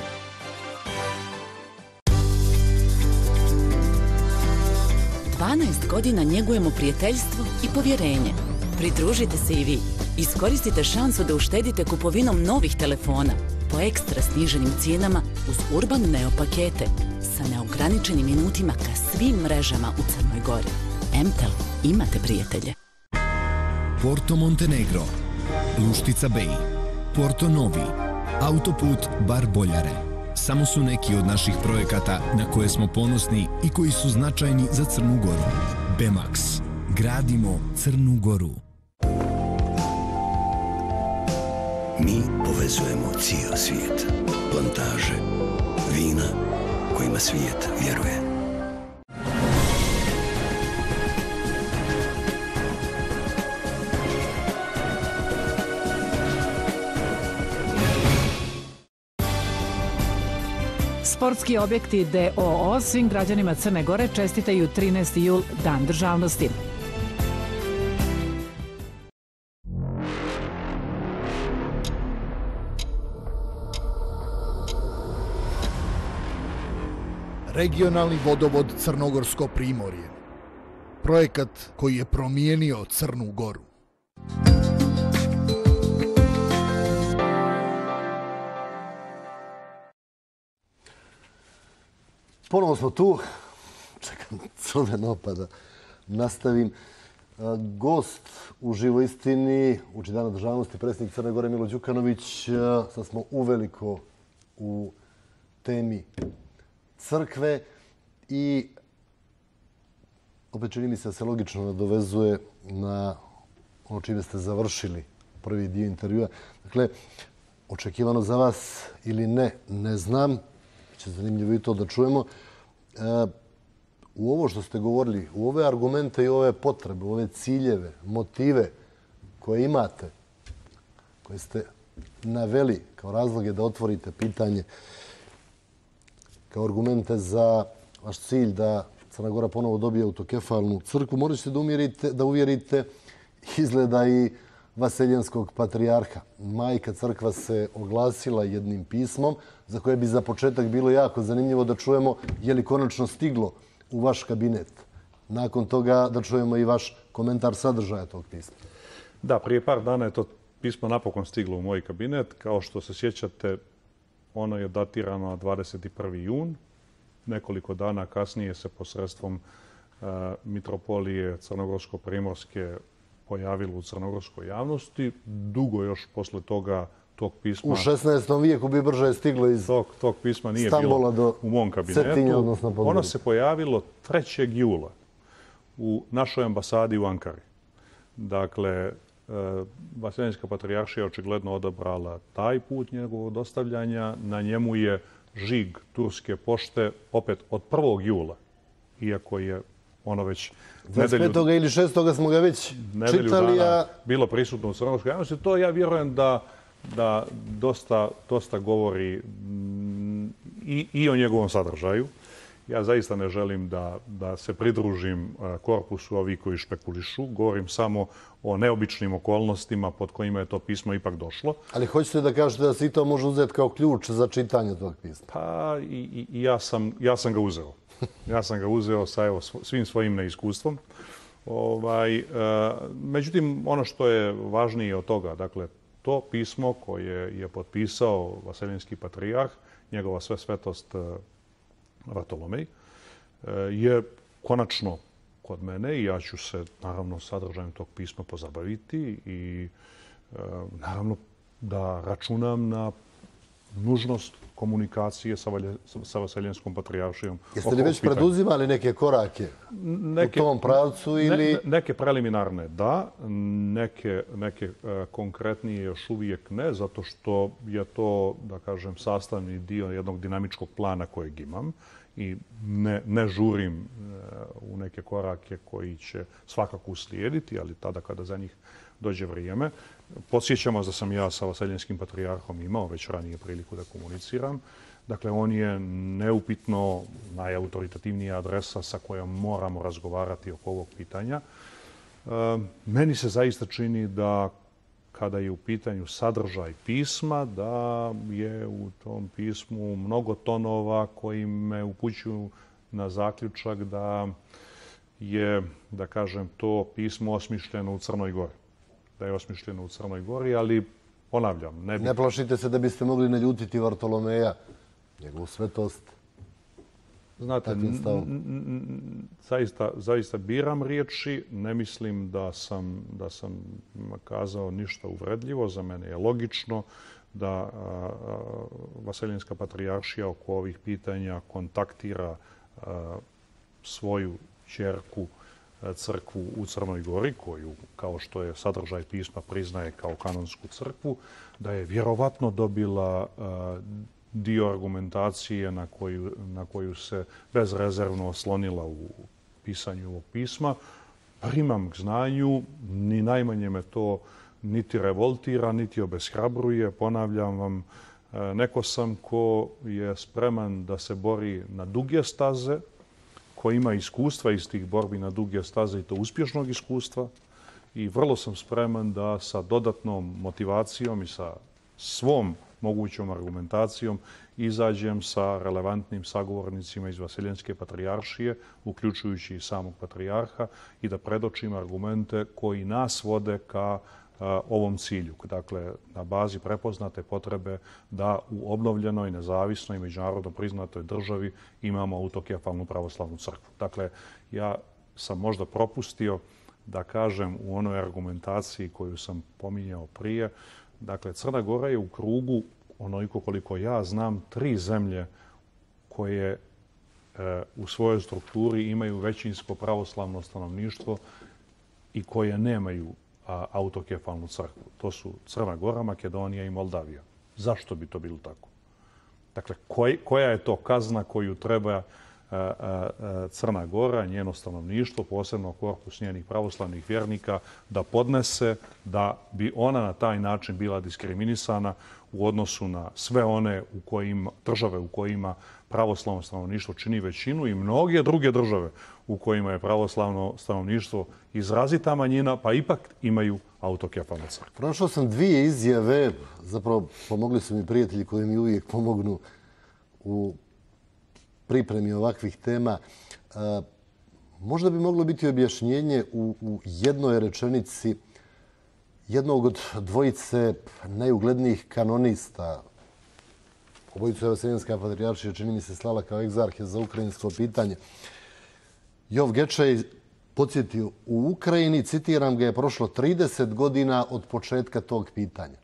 Godina njegujemo prijateljstvo i povjerenje. Pridružite se i vi. Iskoristite šansu da uštedite kupovinom novih telefona po ekstra sniženim cijenama uz Urban Neo pakete sa neograničenim minutima ka svim mrežama u Crnoj Gori. Mtel, imate prijatelje. Porto Montenegro, Luštica Bay, Porto Novi, autoput Bar Boljare. Samo su neki od naših projekata na koje smo ponosni i koji su značajni za Crnu Goru. Bemax. Gradimo Crnu Goru. Mi povezujemo cijel svijet. Plantaže, vina kojima svijet vjeruje. Sportski objekti DOO svim građanima Crne Gore čestitaju 13. jul Dan državnosti. Regionalni vodovod Crnogorsko primorje. Projekat koji je promijenio Crnu Goru. Ponovo smo tu. Čekam crveno pa da nastavim. Gost u živoj istini, uoči Dana državnosti, predsjednik Crne Gore Milo Đukanović. Sad smo uveliko u temi crkve i opet čini mi se da se logično nadovezuje na ono čime ste završili prvi dio intervjua. Dakle, očekivano za vas ili ne, ne znam. Biće zanimljivo i to da čujemo. U ovo što ste govorili, u ove argumente i ove potrebe, u ove ciljeve, motive koje imate, koje ste naveli kao razloge da otvorite pitanje, kao argumente za vaš cilj da Crna Gora ponovo dobije autokefalnu crkvu, morat ćete da uvjerite izgleda i Vaseljenskog patrijarha. Majka crkva se oglasila jednim pismom za koje bi za početak bilo jako zanimljivo da čujemo je li konačno stiglo u vaš kabinet. Nakon toga da čujemo i vaš komentar sadržaja tog pisma. Da, prije par dana je to pismo napokon stiglo u moj kabinet. Kao što se sjećate, ono je datirano 21. jun. Nekoliko dana kasnije se posredstvom mitropolije Crnogorsko-primorske pojavilo u crnogorskoj javnosti. Dugo još posle toga tog pisma... U 16. vijeku bi brže stiglo iz tog pisma nije Stambola bilo u mom kabinetu. Ono se pojavilo 3. jula u našoj ambasadi u Ankari. Dakle, Vaseljenska patrijaršija je očigledno odabrala taj put njegovog dostavljanja. Na njemu je žig turske pošte opet od 1. jula, iako je ono već 25. ili 6. smo ga već čitali, a bilo prisutno u crnogorskoj javnosti. To ja vjerujem da dosta govori i o njegovom sadržaju. Ja zaista ne želim da se pridružim korpusu ovih koji špekulišu. Govorim samo o neobičnim okolnostima pod kojima je to pismo ipak došlo. Ali hoćete da kažete da se i to može uzeti kao ključ za čitanje tog pisma? Pa i ja sam ga uzeo. Ja sam ga uzeo sa svim svojim neiskustvom. Međutim, ono što je važnije od toga, dakle, to pismo koje je potpisao Vaseljenski patrijarh, njegova svetost Vartolomej, je konačno kod mene i ja ću se naravno sadržajem tog pisma pozabaviti i naravno da računam na nužnost komunikacije sa Vaseljenskom patrijaršijom. Jeste li već preduzimali neke korake u tom pravcu ili... Neke preliminarne da, neke konkretnije još uvijek ne, zato što je to, da kažem, sastavni dio jednog dinamičkog plana kojeg imam i ne žurim u neke korake koji će svakako uslijediti, ali tada kada za njih dođe vrijeme. Podsjećamo da sam ja sa Vaseljenskim patrijarhom imao već ranije priliku da komuniciram. Dakle, on je neupitno najautoritativnija adresa sa kojom moramo razgovarati oko ovog pitanja. Meni se zaista čini da kada je u pitanju sadržaj pisma, da je u tom pismu mnogo tonova koji me upućuju na zaključak da je, da kažem, to pismo osmišljeno u Crnoj Gori. Da je osmišljeno u Crnoj Gori, ali ponavljam, ne plašite se da biste mogli naljutiti Vartolomeja, njegovu svetost? Znate, zaista biram riječi. Ne mislim da sam kazao ništa uvredljivo. Za mene je logično da Vaseljenska patrijaršija oko ovih pitanja kontaktira svoju ćerku crkvu u Crnoj Gori, koju, kao što je sadržaj pisma, priznaje kao kanonsku crkvu, da je vjerovatno dobila dio argumentacije na koju se bezrezervno oslonila u pisanju ovog pisma. Primam k znanju, ni najmanje me to niti revoltira, niti obeshrabruje. Ponavljam vam, neko sam ko je spreman da se bori na duge staze, ko ima iskustva iz tih borbi na duge staze i to uspješnog iskustva, i vrlo sam spreman da sa dodatnom motivacijom i sa svom mogućom argumentacijom izađem sa relevantnim sagovornicima iz Vaseljenske patrijaršije, uključujući i samog patrijarha, i da predočim argumente koji nas vode ka ovom cilju. Dakle, na bazi prepoznate potrebe da u obnovljenoj, nezavisnoj i međunarodno priznatoj državi imamo autokefalnu pravoslavnu crkvu. Dakle, ja sam možda propustio da kažem u onoj argumentaciji koju sam pominjao prije. Dakle, Crna Gora je u krugu, onoliko koliko ja znam, 3 zemlje koje u svojoj strukturi imaju većinsko pravoslavno stanovništvo i koje nemaju autokefalnu crkvu. To su Crna Gora, Makedonija i Moldavija. Zašto bi to bilo tako? Dakle, koja je to kazna koju treba Crna Gora, njeno stanovništvo, posebno korpus njenih pravoslavnih vjernika, da podnese da bi ona na taj način bila diskriminisana u odnosu na sve one države u kojima pravoslavno stanovništvo čini većinu i mnoge druge države u kojima je pravoslavno stanovništvo izrazita manjina, pa ipak imaju autokefalnu crkvu. Pronašao sam 2 izjave, zapravo pomogli su mi prijatelji koji mi uvijek pomognu u pripremi ovakvih tema. Možda bi moglo biti objašnjenje u jednoj rečenici jednog od dvojice najuglednijih kanonista. Obojicu je Vaseljenska patrijaršija, čini mi se, slala kao egzarhe za ukrajinsko pitanje. Jov Gečej podsjetio, u Ukrajini, citiram ga, je prošlo 30 godina od početka tog pitanja.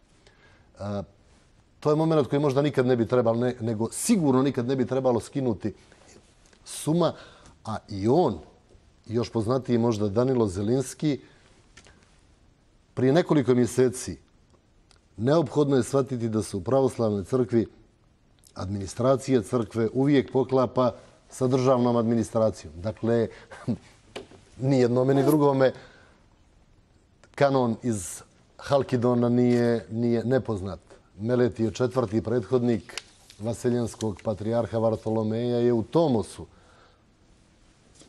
To je moment koji možda nikad ne bi trebalo, nego sigurno nikad ne bi trebalo skinuti suma, a i on, još poznatiji možda Danilo Zelinski, prije nekoliko mjeseci neophodno je shvatiti da se u pravoslavnoj crkvi administracije crkve uvijek poklapa sa državnom administracijom. Dakle, ni jednome ni drugome kanon iz Halkidona nije nepoznat. Meleti je četvrti prethodnik vaseljenskog patrijarha Vartolomeja, je u Tomosu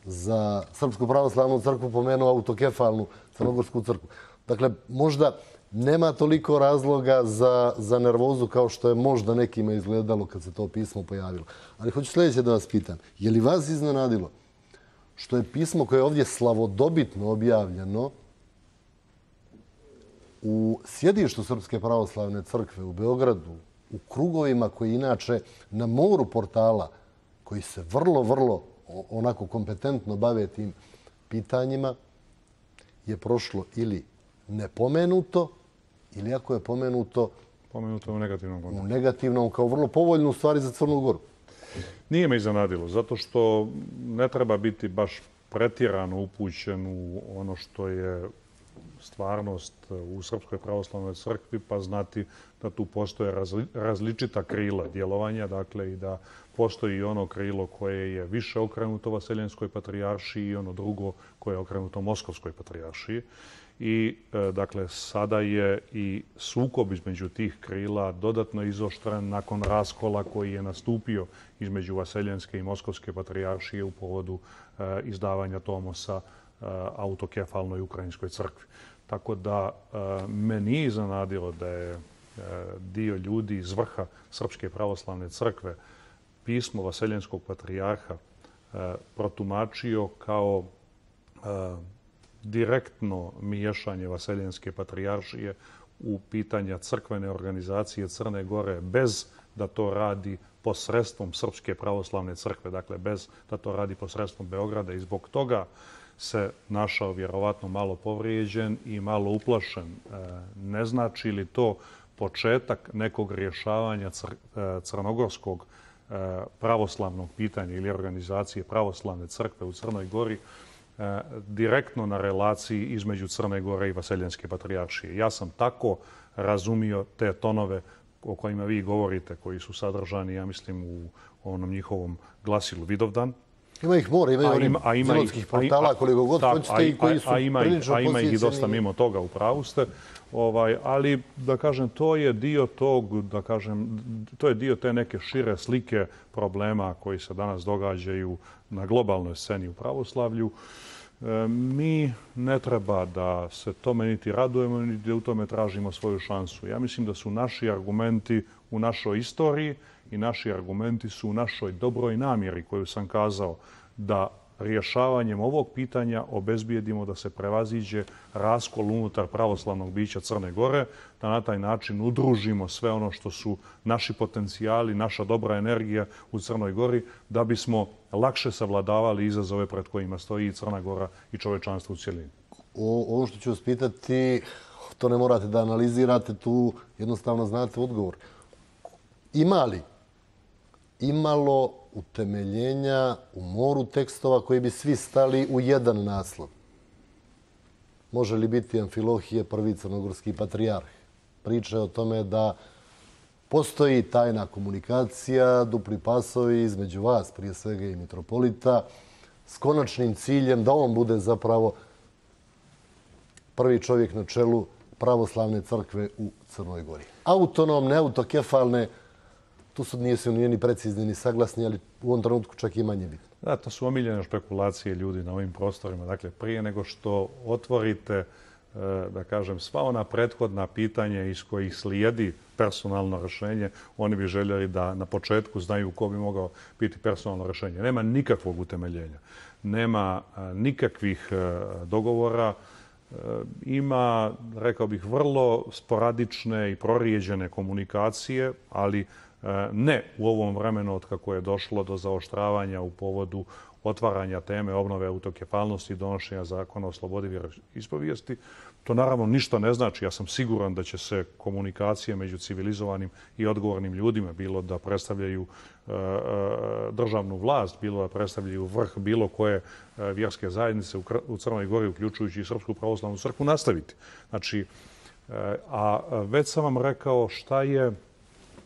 za Srpsku pravoslavnu crkvu pomenuo autokefalnu crnogorsku crkvu. Dakle, možda nema toliko razloga za nervozu kao što je možda nekima izgledalo kad se to pismo pojavilo. Ali hoću sljedeće da vas pitam. Je li vas iznenadilo što je pismo koje je ovdje slavodobitno objavljeno u sjedištu Srpske pravoslavne crkve u Beogradu, u krugovima koji inače na moru portala koji se vrlo onako kompetentno bave tim pitanjima, je prošlo ili nepomenuto, ili ako je pomenuto u negativnom kontekstu. U negativnom, kao vrlo povoljnu stvari za Crnu Goru. Nije me iznenadilo, zato što ne treba biti baš pretjerano upućen u ono što je stvarnost u Srpskoj pravoslavnoj crkvi, pa znati da tu postoje različita krila djelovanja, dakle i da postoji ono krilo koje je više okrenuto Vaseljenskoj patrijaršiji i ono drugo koje je okrenuto Moskovskoj patrijaršiji. I, dakle, sada je i sukob između tih krila dodatno izoštren nakon raskola koji je nastupio između Vaseljenske i Moskovske patrijaršije u povodu izdavanja Tomosa autokefalnoj Ukrajinskoj crkvi. Tako da me nije iznenadilo da je dio ljudi iz vrha Srpske pravoslavne crkve pismo Vaseljenskog patrijarha protumačio kao direktno miješanje Vaseljenske patrijaršije u pitanja crkvene organizacije Crne Gore bez da to radi posredstvom Srpske pravoslavne crkve, dakle bez da to radi posredstvom Beograda, i zbog toga se našao vjerovatno malo povrijeđen i malo uplašen. Ne znači li to početak nekog rješavanja crnogorskog pravoslavnog pitanja ili organizacije pravoslavne crkve u Crnoj Gori direktno na relaciji između Crne Gore i Vaseljenske patrijaršije? Ja sam tako razumio te tonove o kojima vi govorite, koji su sadržani, ja mislim, u onom njihovom glasilu Vidovdan. Ima ih more, imaju onih zelotskih portala koliko god hoćete i koji su prilično posjećeni. A ima ih dosta mimo toga, u pravu ste. Ali, da kažem, to je dio tog, da kažem, to je dio te neke šire slike problema koji se danas događaju na globalnoj sceni u pravoslavlju. Mi ne treba da se tome niti radujemo, niti da u tome tražimo svoju šansu. Ja mislim da su naši argumenti u našoj istoriji i naši argumenti su u našoj dobroj namjeri koju sam kazao, da rješavanjem ovog pitanja obezbijedimo da se prevaziđe raskol unutar pravoslavnog bića Crne Gore, da na taj način udružimo sve ono što su naši potencijali, naša dobra energija u Crnoj Gori, da bismo lakše savladavali izazove pred kojima stoji i Crna Gora i čovečanstvo u cjelini. Ovo što ću vas pitati, to ne morate da analizirate, tu jednostavno znate odgovor. Ima li imalo utemeljenja u moru tekstova koji bi svi stali u jedan naslov? Može li biti Amfilohije, prvi crnogorski patrijarh? Priča je o tome da postoji tajna komunikacija, dupli pasovi između vas, prije svega i mitropolita, s konačnim ciljem da on bude zapravo prvi čovjek na čelu pravoslavne crkve u Crnoj Gori. Autonomne, autokefalne, tu su nisu ni precizni ni saglasni, ali u ovom trenutku čak i manje bitno. Da, to su omiljene špekulacije ljudi na ovim prostorima. Dakle, prije nego što otvorite, da kažem, sva ona prethodna pitanja iz kojih slijedi personalno rješenje, oni bi željeli da na početku znaju ko bi mogao biti personalno rješenje. Nema nikakvog utemeljenja, nema nikakvih dogovora, ima, rekao bih, vrlo sporadične i prorijeđene komunikacije, ali ne u ovom vremenu od kako je došlo do zaoštravanja u povodu otvaranja teme obnove autokefalnosti i donošenja zakona o slobodi vjeroispovijesti. To naravno ništa ne znači. Ja sam siguran da će se komunikacije među civilizovanim i odgovornim ljudima, bilo da predstavljaju državnu vlast, bilo da predstavljaju vrh bilo koje vjerske zajednice u Crnoj Gori, uključujući i Srpsku pravoslavnu crkvu, nastaviti. Znači, a već sam vam rekao šta je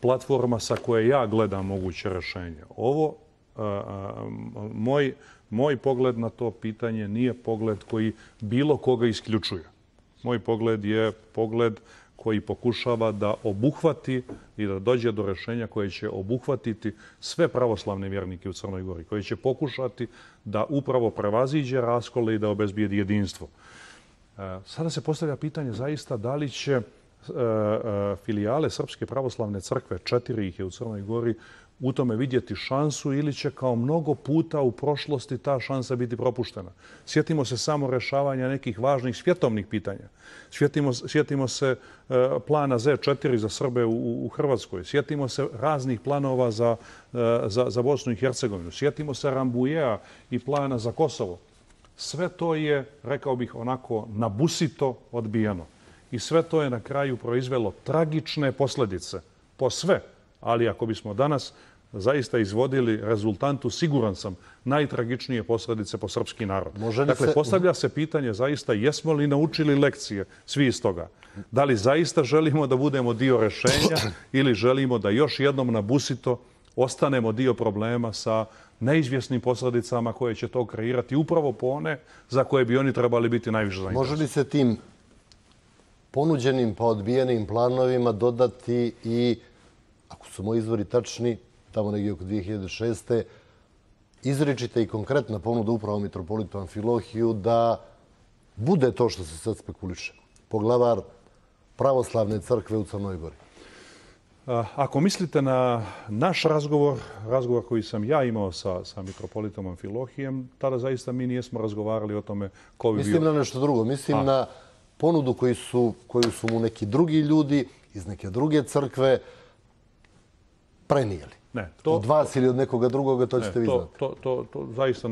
platforma sa koje ja gledam moguće rješenje. Ovo, moj pogled na to pitanje nije pogled koji bilo koga isključuje. Moj pogled je pogled koji pokušava da obuhvati i da dođe do rješenja koje će obuhvatiti sve pravoslavne vjernike u Crnoj Gori, koji će pokušati da upravo prevaziđe raskole i da obezbijedi jedinstvo. Sada se postavlja pitanje zaista da li će filijale Srpske pravoslavne crkve, 4 ih je u Crnoj Gori, u tome vidjeti šansu ili će kao mnogo puta u prošlosti ta šansa biti propuštena. Sjetimo se samo rješavanja nekih važnih svjetovnih pitanja. Sjetimo se plana Z4 za Srbe u Hrvatskoj. Sjetimo se raznih planova za Bosnu i Hercegovinu. Sjetimo se Rambujea i plana za Kosovo. Sve to je, rekao bih, onako nabusito odbijeno. I sve to je na kraju proizvelo tragične posljedice po sve. Ali ako bismo danas zaista izvodili rezultantu, siguran sam, najtragičnije posljedice po srpski narod. Dakle, postavlja se pitanje zaista jesmo li naučili lekcije svi iz toga. Da li zaista želimo da budemo dio rješenja ili želimo da još jednom nabusito ostanemo dio problema sa neizvjesnim posljedicama koje će to kreirati upravo po one za koje bi oni trebali biti najviše zainteresovani. Može li se tim ponuđenim pa odbijenim planovima dodati i, ako su moji izvori tačni, tamo negdje oko 2006. izričita i konkretna ponuda upravo mitropolitu Amfilohiju da bude to što se sad spekuliše, poglavar pravoslavne crkve u Crnoj Gori? Ako mislite na naš razgovor koji sam ja imao sa mitropolitom Amfilohijem, tada zaista mi nijesmo razgovarali o tome ko bi bio. Mislim na nešto drugo. Mislim na ponudu koju su mu neki drugi ljudi iz neke druge crkve prenijeli. Od vas ili od nekoga drugoga, to ćete vi znati. To zaista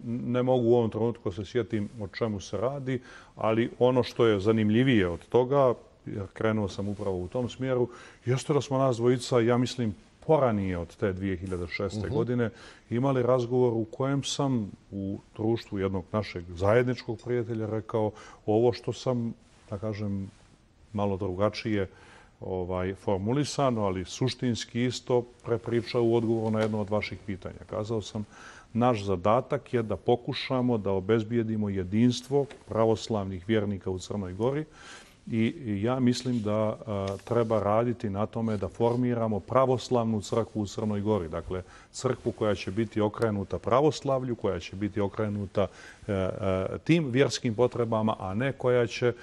ne mogu u ovom trenutku se sjetim o čemu se radi, ali ono što je zanimljivije od toga, jer krenuo sam upravo u tom smjeru, jeste da smo nas dvojica, ja mislim, poranije od te 2006. godine imali razgovor u kojem sam u društvu jednog našeg zajedničkog prijatelja rekao ovo što sam, da kažem, malo drugačije formulisano, ali suštinski isto prepričao u odgovoru na jedno od vaših pitanja. Kazao sam, naš zadatak je da pokušamo da obezbijedimo jedinstvo pravoslavnih vjernika u Crnoj Gori i ja mislim da treba raditi na tome da formiramo pravoslavnu crkvu u Crnoj Gori. Dakle, crkvu koja će biti okrenuta pravoslavlju, koja će biti okrenuta tim vjerskim potrebama, a ne koja će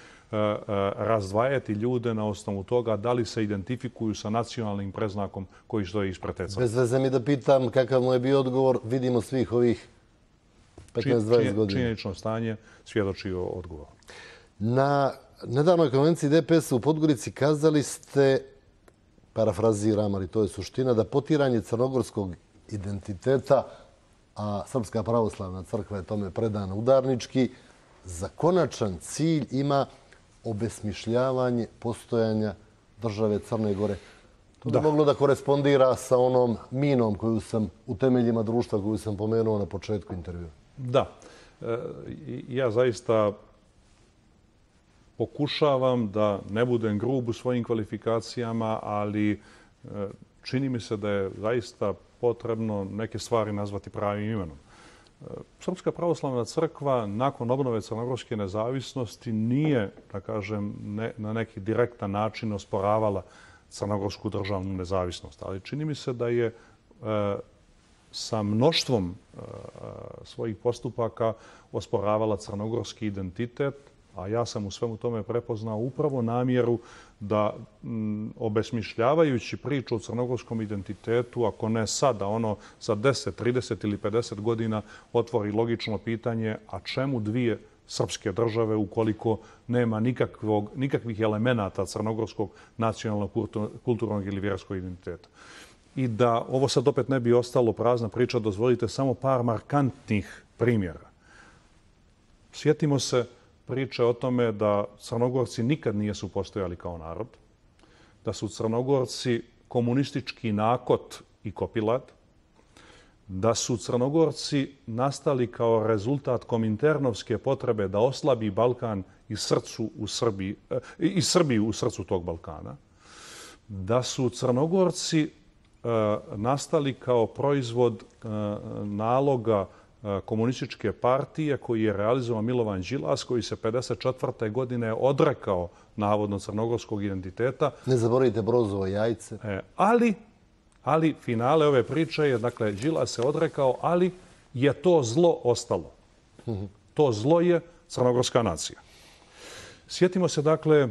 razdvajati ljude na osnovu toga da li se identifikuju sa nacionalnim preznakom koji stoji ispred te crkve. Bez veze mi da pitam kakav mu je bio odgovor, vidimo svih ovih 15-20 godina. Činjenično stanje svjedoči o odgovoru. Na nedavnoj konvenciji DPS u Podgorici kazali ste, parafraziram, ali to je suština, da potiranje crnogorskog identiteta, a Srpska pravoslavna crkva je tome predana udarnički, za konačan cilj ima obesmišljavanje postojanja države Crne Gore. To bi moglo da korespondira sa onom minom koju sam u temeljima društva koju sam pomenuo na početku intervjua. Da. Ja zaista pokušavam da ne budem grub u svojim kvalifikacijama, ali čini mi se da je zaista potrebno neke stvari nazvati pravim imenom. Srpska pravoslavna crkva nakon obnove crnogorske nezavisnosti nije, da kažem, na neki direktan način osporavala crnogorsku državnu nezavisnost. Ali čini mi se da je sa mnoštvom svojih postupaka osporavala crnogorski identitet, a ja sam u svemu tome prepoznao upravo namjeru da obesmišljavajući priču o crnogorskom identitetu, ako ne sada, ono za 10, 30 ili 50 godina otvori logično pitanje, a čemu dvije srpske države ukoliko nema nikakvih elemenata crnogorskog nacionalnog, kulturnog ili vjerskog identiteta. I da ovo sad opet ne bi ostalo prazna priča, dozvolite samo par markantnih primjera. Sjetimo se priče o tome da Crnogorci nikad nisu postojali kao narod, da su Crnogorci komunistički nakot i kopilat, da su Crnogorci nastali kao rezultat kominternovske potrebe da oslabi Balkan i Srbiju u srcu tog Balkana, da su Crnogorci nastali kao proizvod naloga komunističke partije koji je realizovao Milovan Đilas, koji se 1954. godine odrekao navodno crnogorskog identiteta. Ne zaboravite Brozovo jajce. Ali finale ove priče je, dakle, Đilas se odrekao, ali je to zlo ostalo. To zlo je crnogorska nacija. Sjetimo se, dakle,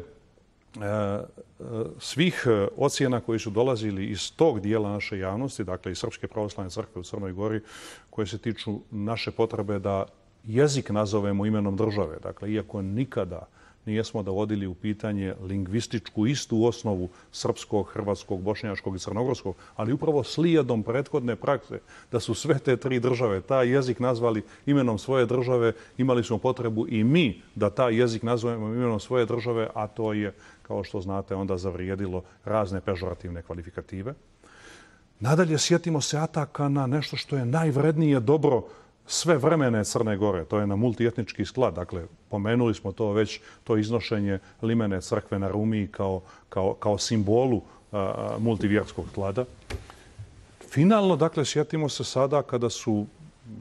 svih ocjena koji su dolazili iz tog dijela naše javnosti, dakle iz Srpske pravoslavne crkve u Crnoj Gori, koje se tiču naše potrebe da jezik nazovemo imenom države. Dakle, iako nikada nijesmo dovodili u pitanje lingvističku istu osnovu srpskog, hrvatskog, bošnjačkog i crnogorskog, ali upravo slijedom prethodne prakse da su sve te tri države taj jezik nazvali imenom svoje države, imali smo potrebu i mi da taj jezik nazovemo imenom svoje države, a to je, kao što znate, onda zavrijedilo razne pežorativne kvalifikative. Nadalje, sjetimo se ataka na nešto što je najvrednije dobro sve vremene Crne Gore. To je na multietnički sklad. Dakle, pomenuli smo to već, to iznošenje limene crkve na Rumiji kao simbolu multivjerskog sklada. Finalno, dakle, sjetimo se sada kada su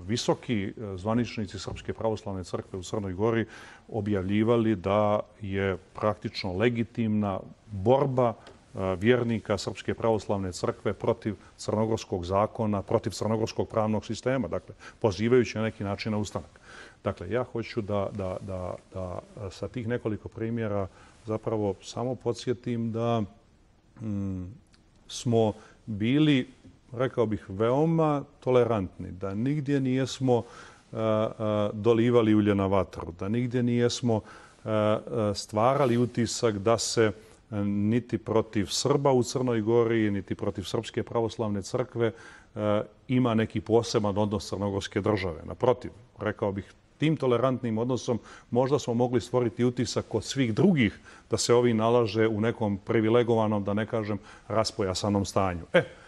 visoki zvaničnici Srpske pravoslavne crkve u Crnoj Gori objavljivali da je praktično legitimna borba vjernika Srpske pravoslavne crkve protiv crnogorskog zakona, protiv crnogorskog pravnog sistema, dakle, pozivajući na neki način na ustanak. Dakle, ja hoću da sa tih nekoliko primjera zapravo samo podsjetim da smo bili, rekao bih, veoma tolerantni, da nigdje nijesmo dolivali ulje na vatru, da nigdje nijesmo stvarali utisak da se niti protiv Srba u Crnoj Gori, niti protiv Srpske pravoslavne crkve ima neki poseban odnos crnogorske države. Naprotiv, rekao bih, tim tolerantnim odnosom možda smo mogli stvoriti utisak kod svih drugih da se ovi nalaže u nekom privilegovanom, da ne kažem, raspojasanom stanju.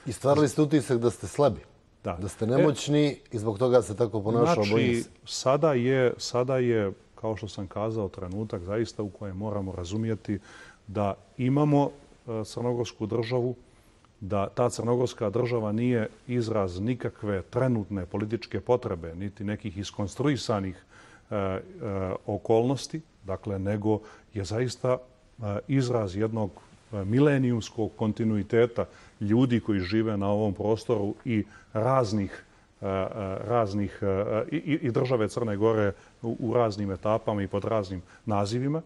I stvarali ste utisak da ste slabi, da ste nemoćni i zbog toga se tako ponašao. Znači, sada je, kao što sam kazao, trenutak zaista u kojem moramo razumijeti da imamo crnogorsku državu, da ta crnogorska država nije izraz nikakve trenutne političke potrebe, niti nekih iskonstruisanih okolnosti, dakle, nego je zaista izraz jednog milenijumskog kontinuiteta ljudi koji žive na ovom prostoru i raznih i države Crne Gore u raznim etapama i pod raznim nazivima.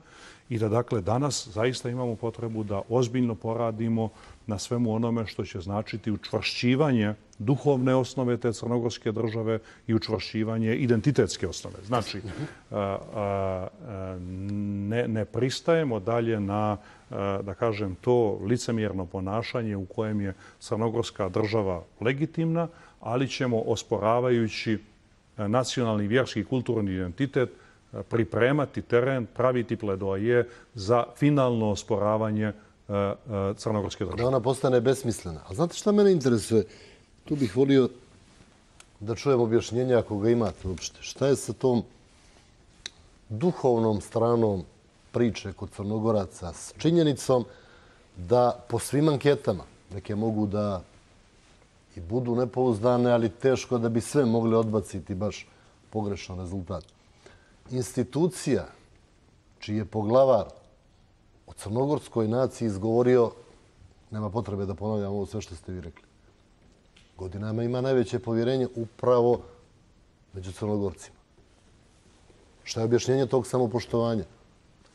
I da, dakle, danas zaista imamo potrebu da ozbiljno poradimo na svemu onome što će značiti učvršćivanje duhovne osnove te crnogorske države i učvršćivanje identitetske osnove. Znači, ne pristajemo dalje na, da kažem, to licemjerno ponašanje u kojem je crnogorska država legitimna, ali ćemo, osporavajući nacionalni, vjerski i kulturni identitet, pripremati teren, praviti pledoaje za finalno osporavanje crnogorske države. Da ona postane besmislena. A znate šta mene interesuje? Tu bih volio da čujem objašnjenje, ako ga imate uopšte. Šta je sa tom duhovnom stranom priče kod Crnogoraca s činjenicom da po svim anketama, neke mogu da i budu nepouzdane, ali teško da bi sve mogli odbaciti baš pogrešan rezultat. Institucija čiji je poglavar o crnogorskoj naciji izgovorio, nema potrebe da ponavljam ovo sve što ste vi rekli, godinama ima najveće povjerenje upravo među Crnogorcima. Šta je objašnjenje tog samopoštovanja?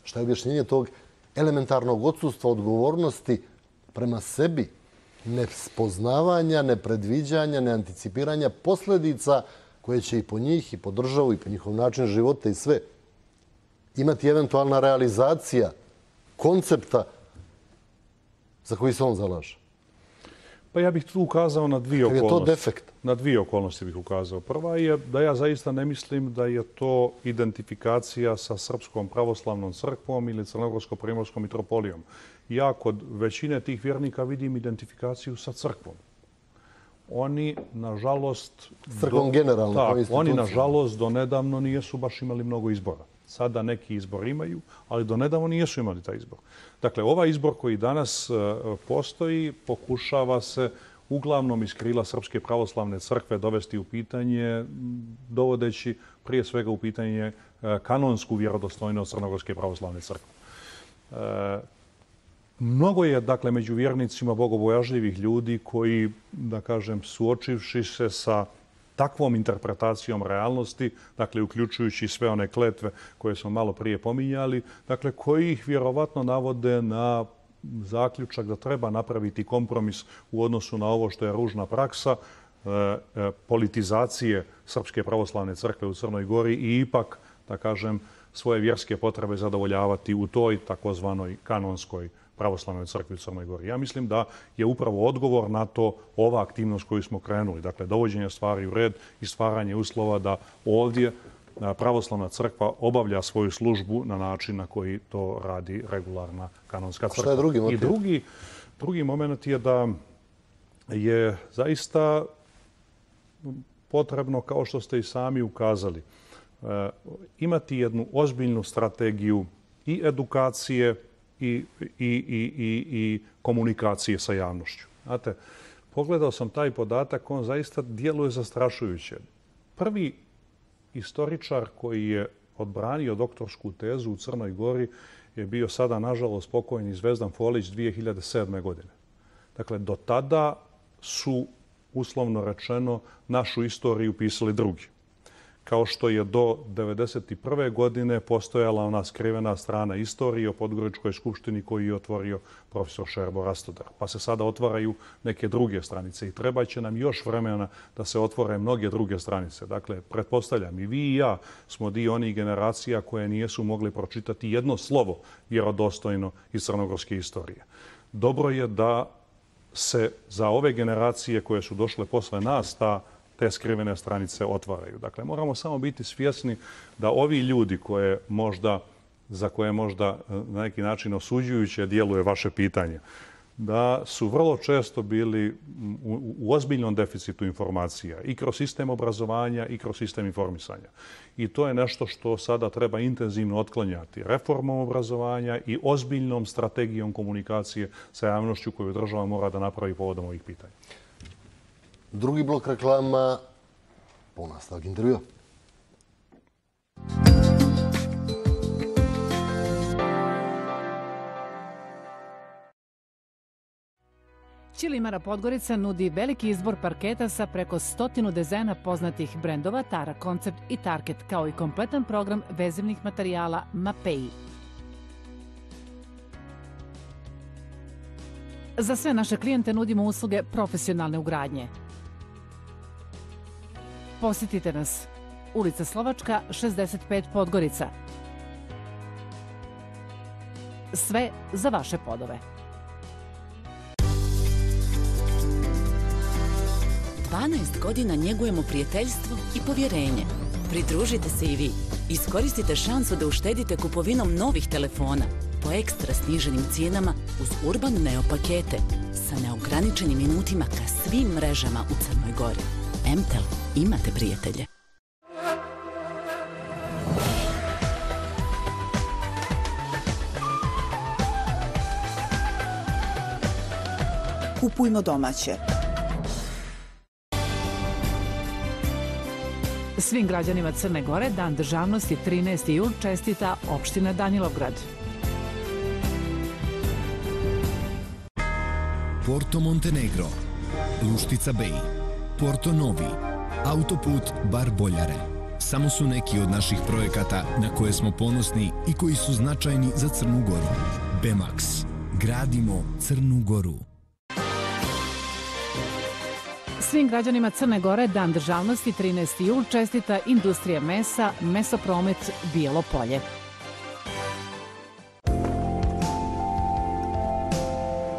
Šta je objašnjenje tog elementarnog odsustva odgovornosti prema sebi, nespoznavanja, nepredviđanja, neanticipiranja posljedica koje će i po njih, i po državu, i po njihov način života i sve imati eventualna realizacija koncepta za koji se on zalaže? Pa ja bih tu ukazao na dvije okolnosti. Je to defekt? Na dvije okolnosti bih ukazao. Prva je da ja zaista ne mislim da je to identifikacija sa Srpskom pravoslavnom crkvom ili Crnogorsko-primorskom mitropolijom. Ja kod većine tih vjernika vidim identifikaciju sa crkvom. Oni, nažalost... Crkvom generalno. Tak, oni, nažalost, do nedavno nijesu baš imali mnogo izbora. Sada neki izbor imaju, ali do nedavno nisu imali taj izbor. Dakle, ovaj izbor koji danas postoji pokušava se uglavnom iz krila Srpske pravoslavne crkve dovesti u pitanje, dovodeći prije svega u pitanje kanonsku vjerodostojnost Crnogorske pravoslavne crkve. Mnogo je, dakle, među vjernicima bogobojažljivih ljudi koji, da kažem, suočivši se sa takvom interpretacijom realnosti, dakle, uključujući sve one kletve koje smo malo prije pominjali, dakle, koji ih vjerovatno navode na zaključak da treba napraviti kompromis u odnosu na ovo što je ružna praksa politizacije Srpske pravoslavne crkve u Crnoj Gori i ipak, da kažem, svoje vjerske potrebe zadovoljavati u toj takozvanoj kanonskoj pravoslavnoj crkvi u Crnoj Gori. Ja mislim da je upravo odgovor na to ova aktivnost koju smo krenuli. Dakle, dovođenje stvari u red i stvaranje uslova da ovdje pravoslavna crkva obavlja svoju službu na način na koji to radi regularna kanonska crkva. Šta je drugi motiv? I drugi moment je da je zaista potrebno, kao što ste i sami ukazali, imati jednu ozbiljnu strategiju i edukacije i komunikacije sa javnošću. Znate, pogledao sam taj podatak, on zaista djeluje zastrašujuće. Prvi istoričar koji je odbranio doktorsku tezu u Crnoj Gori je bio sada, nažalost, pokojni Zvezdan Folić 2007. godine. Dakle, do tada su, uslovno rečeno, našu istoriju pisali drugi. Kao što je do 1991. godine postojala ona skrivena strana istorije o Podgoričkoj skupštini koju je otvorio profesor Šerbo Rastodar. Pa se sada otvaraju neke druge stranice i treba će nam još vremena da se otvore mnoge druge stranice. Dakle, pretpostavljam, i vi i ja smo dio onih generacija koje nisu mogli pročitati jedno slovo vjerodostojno iz crnogorske istorije. Dobro je da se za ove generacije koje su došle posle nas te skrivene stranice otvaraju. Dakle, moramo samo biti svjesni da ovi ljudi za koje možda na neki način osuđujuće djeluje vaše pitanje, da su vrlo često bili u ozbiljnom deficitu informacija i kroz sistem obrazovanja i kroz sistem informisanja. I to je nešto što sada treba intenzivno otklanjati reformom obrazovanja i ozbiljnom strategijom komunikacije sa javnošću koju država mora da napravi povodom ovih pitanja. Drugi blok reklama, po nastavak intervjua. Ćilimara Podgorica nudi veliki izbor parketa sa preko 100 dizajna poznatih brendova Tara Koncept i Tarket, kao i kompletan program vezivnih materijala Mapei. Za sve naše klijente nudimo usluge profesionalne ugradnje. Posjetite nas. Ulica Slovačka, 65 Podgorica. Sve za vaše podove. 12 godina njegujemo prijateljstvo i povjerenje. Pridružite se i vi. Iskoristite šansu da uštedite kupovinom novih telefona po ekstra sniženim cijenama uz Urban Neo pakete sa neograničenim minutima ka svim mrežama u Crnoj Gori. Mtel, imate prijatelje. Kupujmo domaće. Svim građanima Crne Gore Dan državnosti 13. jul čestita opština Danilovgrad. Porto Montenegro, Luštica Bej, Porto Novi, Autoput Bar Boljare. Samo su neki od naših projekata na koje smo ponosni i koji su značajni za Crnu Goru. Bemax. Gradimo Crnu Goru. Svim građanima Crne Gore Dan državnosti 13. jul čestita industrija mesa, Mesopromet Bijelo Polje.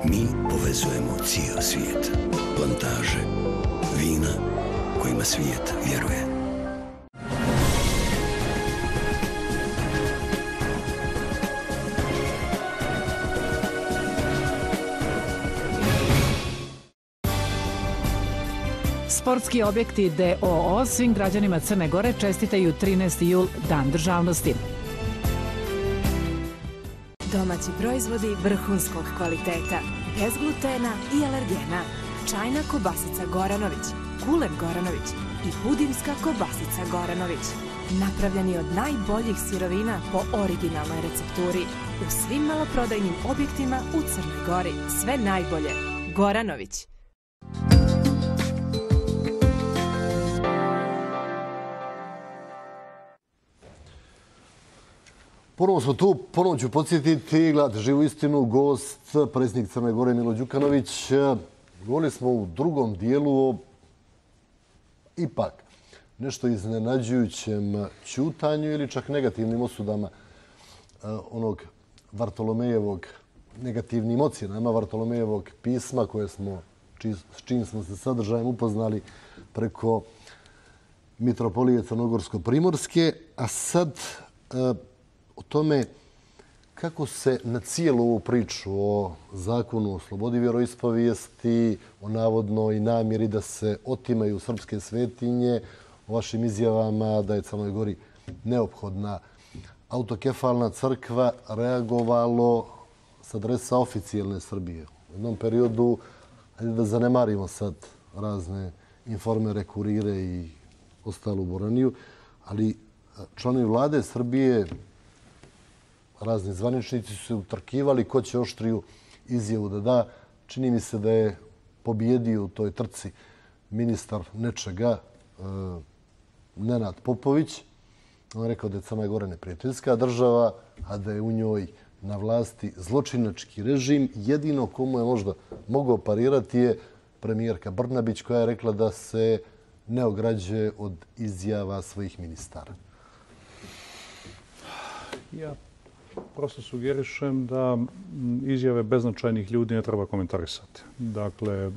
Mi povezujemo cijeli svijet. Plantaže, vina kojima svijet vjeruje. Sportski objekti DOO svim građanima Crne Gore čestitaju 13. jul Dan državnosti. Domaći proizvodi vrhunskog kvaliteta, bez glutena i alergena. Čajna kobasica Goranović, kulen Goranović i pudinska kobasica Goranović. Napravljeni od najboljih sirovina po originalnoj recepturi. U svim maloprodajnim objektima u Crnoj Gori. Sve najbolje. Goranović. Ponovo smo tu, ponovo ću podsjetiti, gledate Živu istinu, gost, predsjednik Crne Gore Milo Đukanović. Govorili smo u drugom dijelu o ipak nešto iznenađujućem ćutanju ili čak negativnim osudama onog Vartolomejevog, negativnim ocjenama Vartolomejevog pisma koje smo, s čim smo se sadržajem upoznali preko Mitropolije Crnogorsko-Primorske, a sad o tome kako se na cijelu ovu priču o zakonu o slobodi vjeroispovijesti, o navodnoj namjeri da se otimaju srpske svetinje, o vašim izjavama da je Crnoj Gori neophodna autokefalna crkva, reagovalo s adresa oficijelne Srbije. U jednom periodu, hajde da zanemarimo sad razne informere, kurire i ostalu boraniju, ali članovi vlade Srbije, razni zvaničnici su se utrkivali ko će oštriju izjavu da da. Čini mi se da je pobjedio u toj trci ministar nečega, Nenad Popović. On je rekao da je Crna Gora neprijateljska država, a da je u njoj na vlasti zločinački režim. Jedino komu je možda mogao parirati je premijerka Brnabić koja je rekla da se ne ograđuje od izjava svojih ministara. Ja prosto sugerišem da izjave beznačajnih ljudi ne treba komentarisati. Dakle,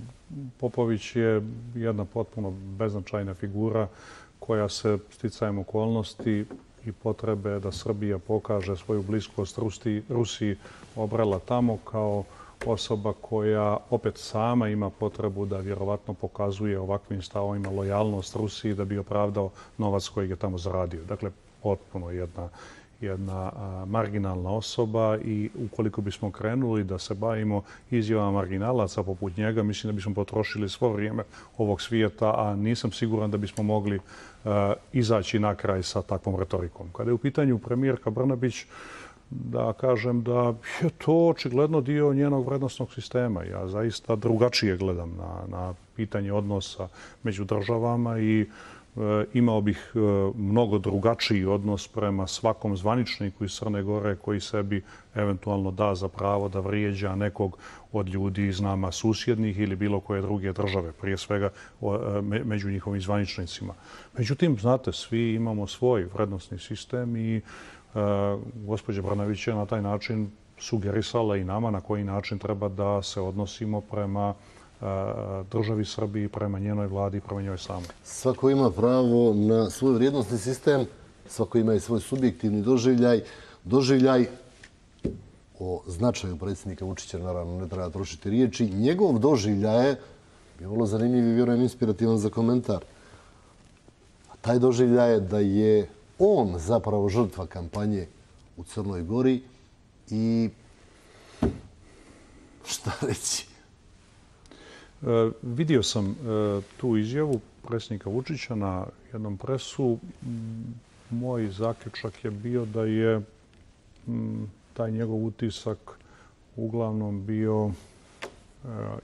Popović je jedna potpuno beznačajna figura koja se sticajem okolnosti i potrebe da Srbija pokaže svoju bliskost Rusiji obrala tamo kao osoba koja opet sama ima potrebu da vjerovatno pokazuje ovakvim stavovima lojalnost Rusiji da bi opravdao novac kojeg je tamo zaradio. Dakle, potpuno jedna marginalna osoba i ukoliko bismo krenuli da se bavimo izjavama marginalaca poput njega, mislim da bismo potrošili svo vrijeme ovog svijeta, a nisam siguran da bismo mogli izaći na kraj sa takvom retorikom. Kada je u pitanju premijerka Brnabić, da kažem da je to očigledno dio njenog vrednostnog sistema. Ja zaista drugačije gledam na pitanje odnosa među državama i imao bih mnogo drugačiji odnos prema svakom zvaničniku iz Crne Gore koji sebi eventualno da za pravo da vrijeđa nekog od ljudi iz nama susjednih ili bilo koje druge države, prije svega među njihovim zvaničnicima. Međutim, znate, svi imamo svoj vrednostni sistem i gospođa Brnabić je na taj način sugerisala i nama na koji način treba da se odnosimo prema državi Srbiji, prema njenoj vladi i prema njoj samoj. Svako ima pravo na svoj vrijednostni sistem, svako ima i svoj subjektivni doživljaj. Doživljaj o značaju predsjednika Vučića, naravno ne treba trošiti riječi. Njegov doživljaj je vrlo zanimljiv i vjerujem inspirativan za komentar. A taj doživljaj je da je on zapravo žrtva kampanje u Crnoj Gori i šta reći? Vidio sam tu izjavu predsjednika Vučića na jednom presu. Moj zaključak je bio da je taj njegov utisak uglavnom bio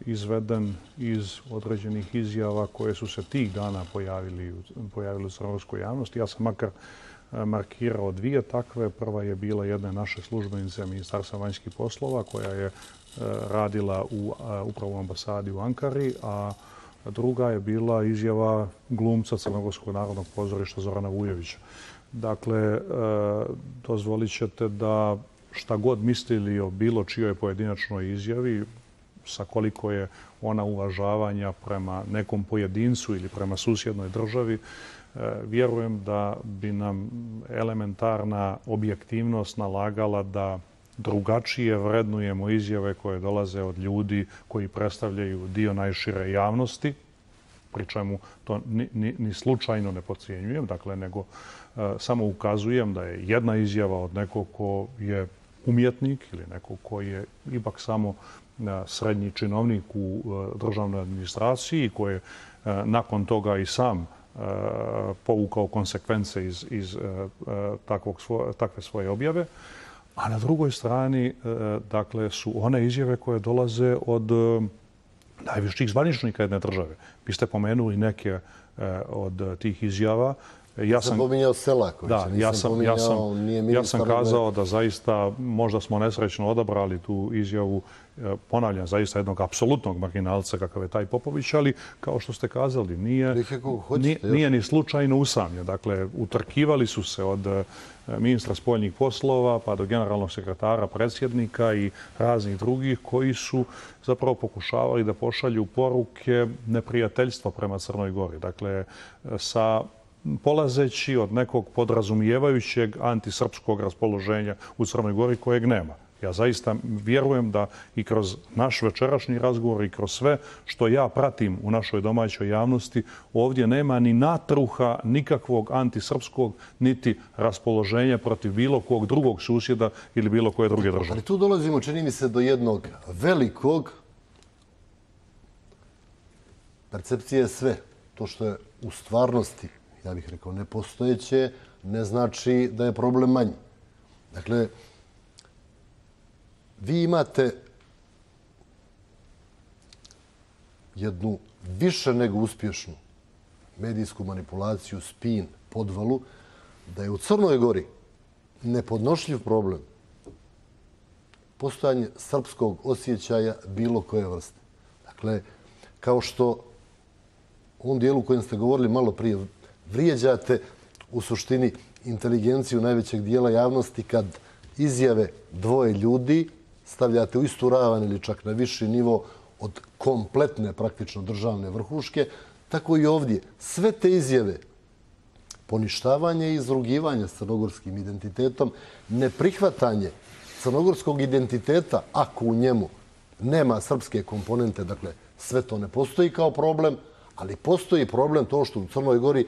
izveden iz određenih izjava koje su se tih dana pojavili u crnogorskoj javnosti. Ja sam makar markirao dvije takve. Prva je bila jedna naše službenice Ministarstva vanjskih poslova koja je radila upravo u ambasadi u Ankari, a druga je bila izjava glumca Crnogorskog narodnog pozorišta Zorana Vujovića. Dakle, dozvolit ćete da šta god mislili o bilo čijoj pojedinačnoj izjavi, sa koliko je ona uvažavanja prema nekom pojedincu ili prema susjednoj državi, vjerujem da bi nam elementarna objektivnost nalagala da drugačije vrednujemo izjave koje dolaze od ljudi koji predstavljaju dio najšire javnosti, pri čemu to ni slučajno ne podcjenjujem, dakle, nego samo ukazujem da je jedna izjava od nekog ko je umjetnik ili neko koji je ipak samo srednji činovnik u državnoj administraciji, koji je nakon toga i sam povukao konsekvence iz takve svoje objave. A na drugoj strani, dakle, su one izjave koje dolaze od najviših zvaničnika jedne države. Vi ste pomenuli neke od tih izjava. Ja sam pominjao Selakovića, ja sam kazao da zaista možda smo nesrećno odabrali tu izjavu, ponavljam, zaista jednog apsolutnog marginalca kakav je taj Popović, ali kao što ste kazali, nije ni slučajno usamljen. Dakle, utrkivali su se od ministra spoljnih poslova pa do generalnog sekretara, predsjednika i raznih drugih koji su zapravo pokušavali da pošalju poruke neprijateljstva prema Crnoj Gori. Dakle, polazeći od nekog podrazumijevajućeg antisrpskog raspoloženja u Crnoj Gori kojeg nema. Ja zaista vjerujem da i kroz naš večerašnji razgovor i kroz sve što ja pratim u našoj domaćoj javnosti, ovdje nema ni natruha nikakvog antisrpskog niti raspoloženja protiv bilo kog drugog susjeda ili bilo koje druge države. Ali tu dolazimo, čini mi se, do jednog velikog percepcije sve. To što je u stvarnosti, ja bih rekao, nepostojeće, ne znači da je problem manji. Dakle, vi imate jednu više nego uspješnu medijsku manipulaciju, spin, podvalu, da je u Crnoj Gori nepodnošljiv problem postojanje srpskog osjećaja bilo koje vrste. Dakle, kao što u ovom dijelu u kojem ste govorili malo prije, vrijeđate u suštini inteligenciju najvećeg dijela javnosti kad izjave dvoje ljudi stavljate u istu ravan ili čak na viši nivo od kompletne praktično državne vrhuške, tako i ovdje. Sve te izjave, poništavanje i izrugivanje s crnogorskim identitetom, neprihvatanje crnogorskog identiteta ako u njemu nema srpske komponente, dakle sve to ne postoji kao problem, ali postoji problem to što u Crnoj Gori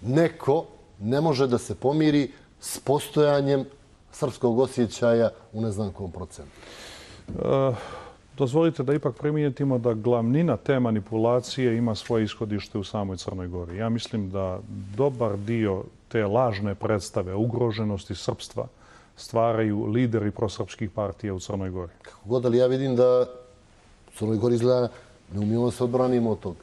neko ne može da se pomiri s postojanjem srpskog osjećaja u ne znam kom procentu. Dozvolite da ipak primijetimo da glavnina te manipulacije ima svoje ishodište u samoj Crnoj Gori. Ja mislim da dobar dio te lažne predstave ugroženosti srpstva stvaraju lideri prosrpskih partija u Crnoj Gori. Kako god, ali ja vidim da u Crnoj Gori izgleda ne umijemo se odbranimo od toga.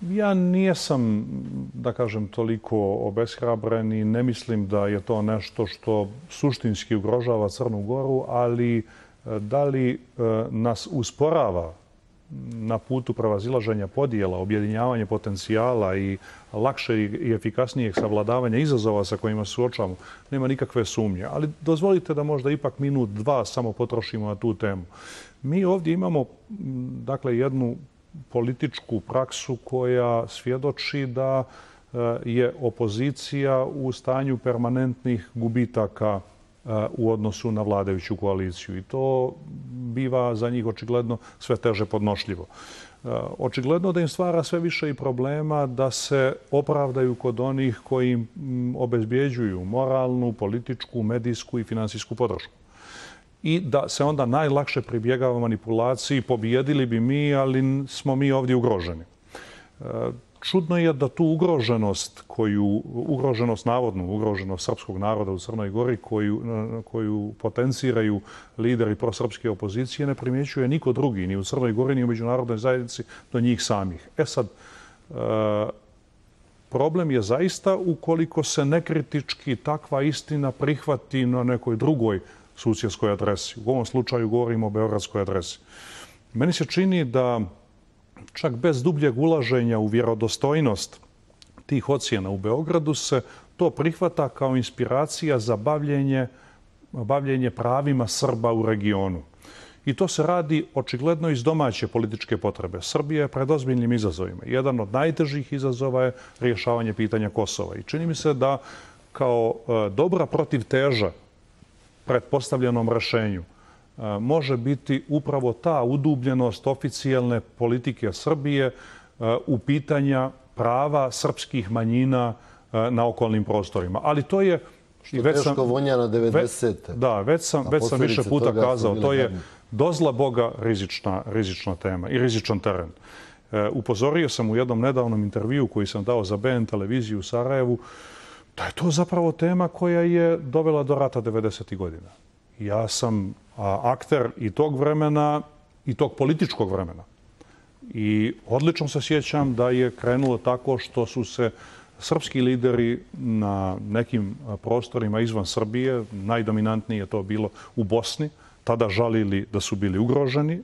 Ja nijesam, da kažem, toliko obeshrabren i ne mislim da je to nešto što suštinski ugrožava Crnu Goru, ali da li nas usporava na putu prevazilaženja podjela, objedinjavanja potencijala i lakše i efikasnijeg savladavanja izazova sa kojima se suočavamo, nema nikakve sumnje. Ali dozvolite da možda ipak minut, dva samo potrošimo na tu temu. Mi ovdje imamo, dakle, jednu političku praksu koja svjedoči da je opozicija u stanju permanentnih gubitaka u odnosu na vladajuću koaliciju. I to biva za njih očigledno sve teže podnošljivo. Očigledno da im stvara sve više i problema da se opravdaju kod onih koji im obezbjeđuju moralnu, političku, medijsku i finansijsku podršku. I da se onda najlakše pribjegava manipulaciji, pobijedili bi mi, ali smo mi ovdje ugroženi. Čudno je da tu navodnu ugroženost srpskog naroda u Crnoj Gori, koju potenciraju lideri prosrpske opozicije, ne primjećuje niko drugi, ni u Crnoj Gori, ni u međunarodnoj zajednici, do njih samih. Sad, problem je zaista ukoliko se nekritički takva istina prihvati na nekoj drugoj susjedskoj adresi. U ovom slučaju govorimo o beogradskoj adresi. Meni se čini da čak bez dubljeg ulaženja u vjerodostojnost tih ocjena u Beogradu se to prihvata kao inspiracija za bavljenje pravima Srba u regionu. I to se radi očigledno iz domaće političke potrebe. Srbija je pred ozbiljnim izazovima. Jedan od najtežih izazova je rješavanje pitanja Kosova. I čini mi se da kao dobra protivteža pretpostavljenom rješenju može biti upravo ta udubljenost oficijelne politike Srbije u pitanja prava srpskih manjina na okolnim prostorima. Ali to je Što teško vonja na 90. Da, već sam više puta kazao, to je dozla Boga rizična tema i rizičan teren. Upozorio sam u jednom nedavnom intervjuu koji sam dao za BN televiziju u Sarajevu da je to zapravo tema koja je dovela do rata 90. godina. Ja sam akter i tog vremena i tog političkog vremena. I odlično se sjećam da je krenulo tako što su se srpski lideri na nekim prostorima izvan Srbije, najdominantnije je to bilo u Bosni, tada žalili da su bili ugroženi.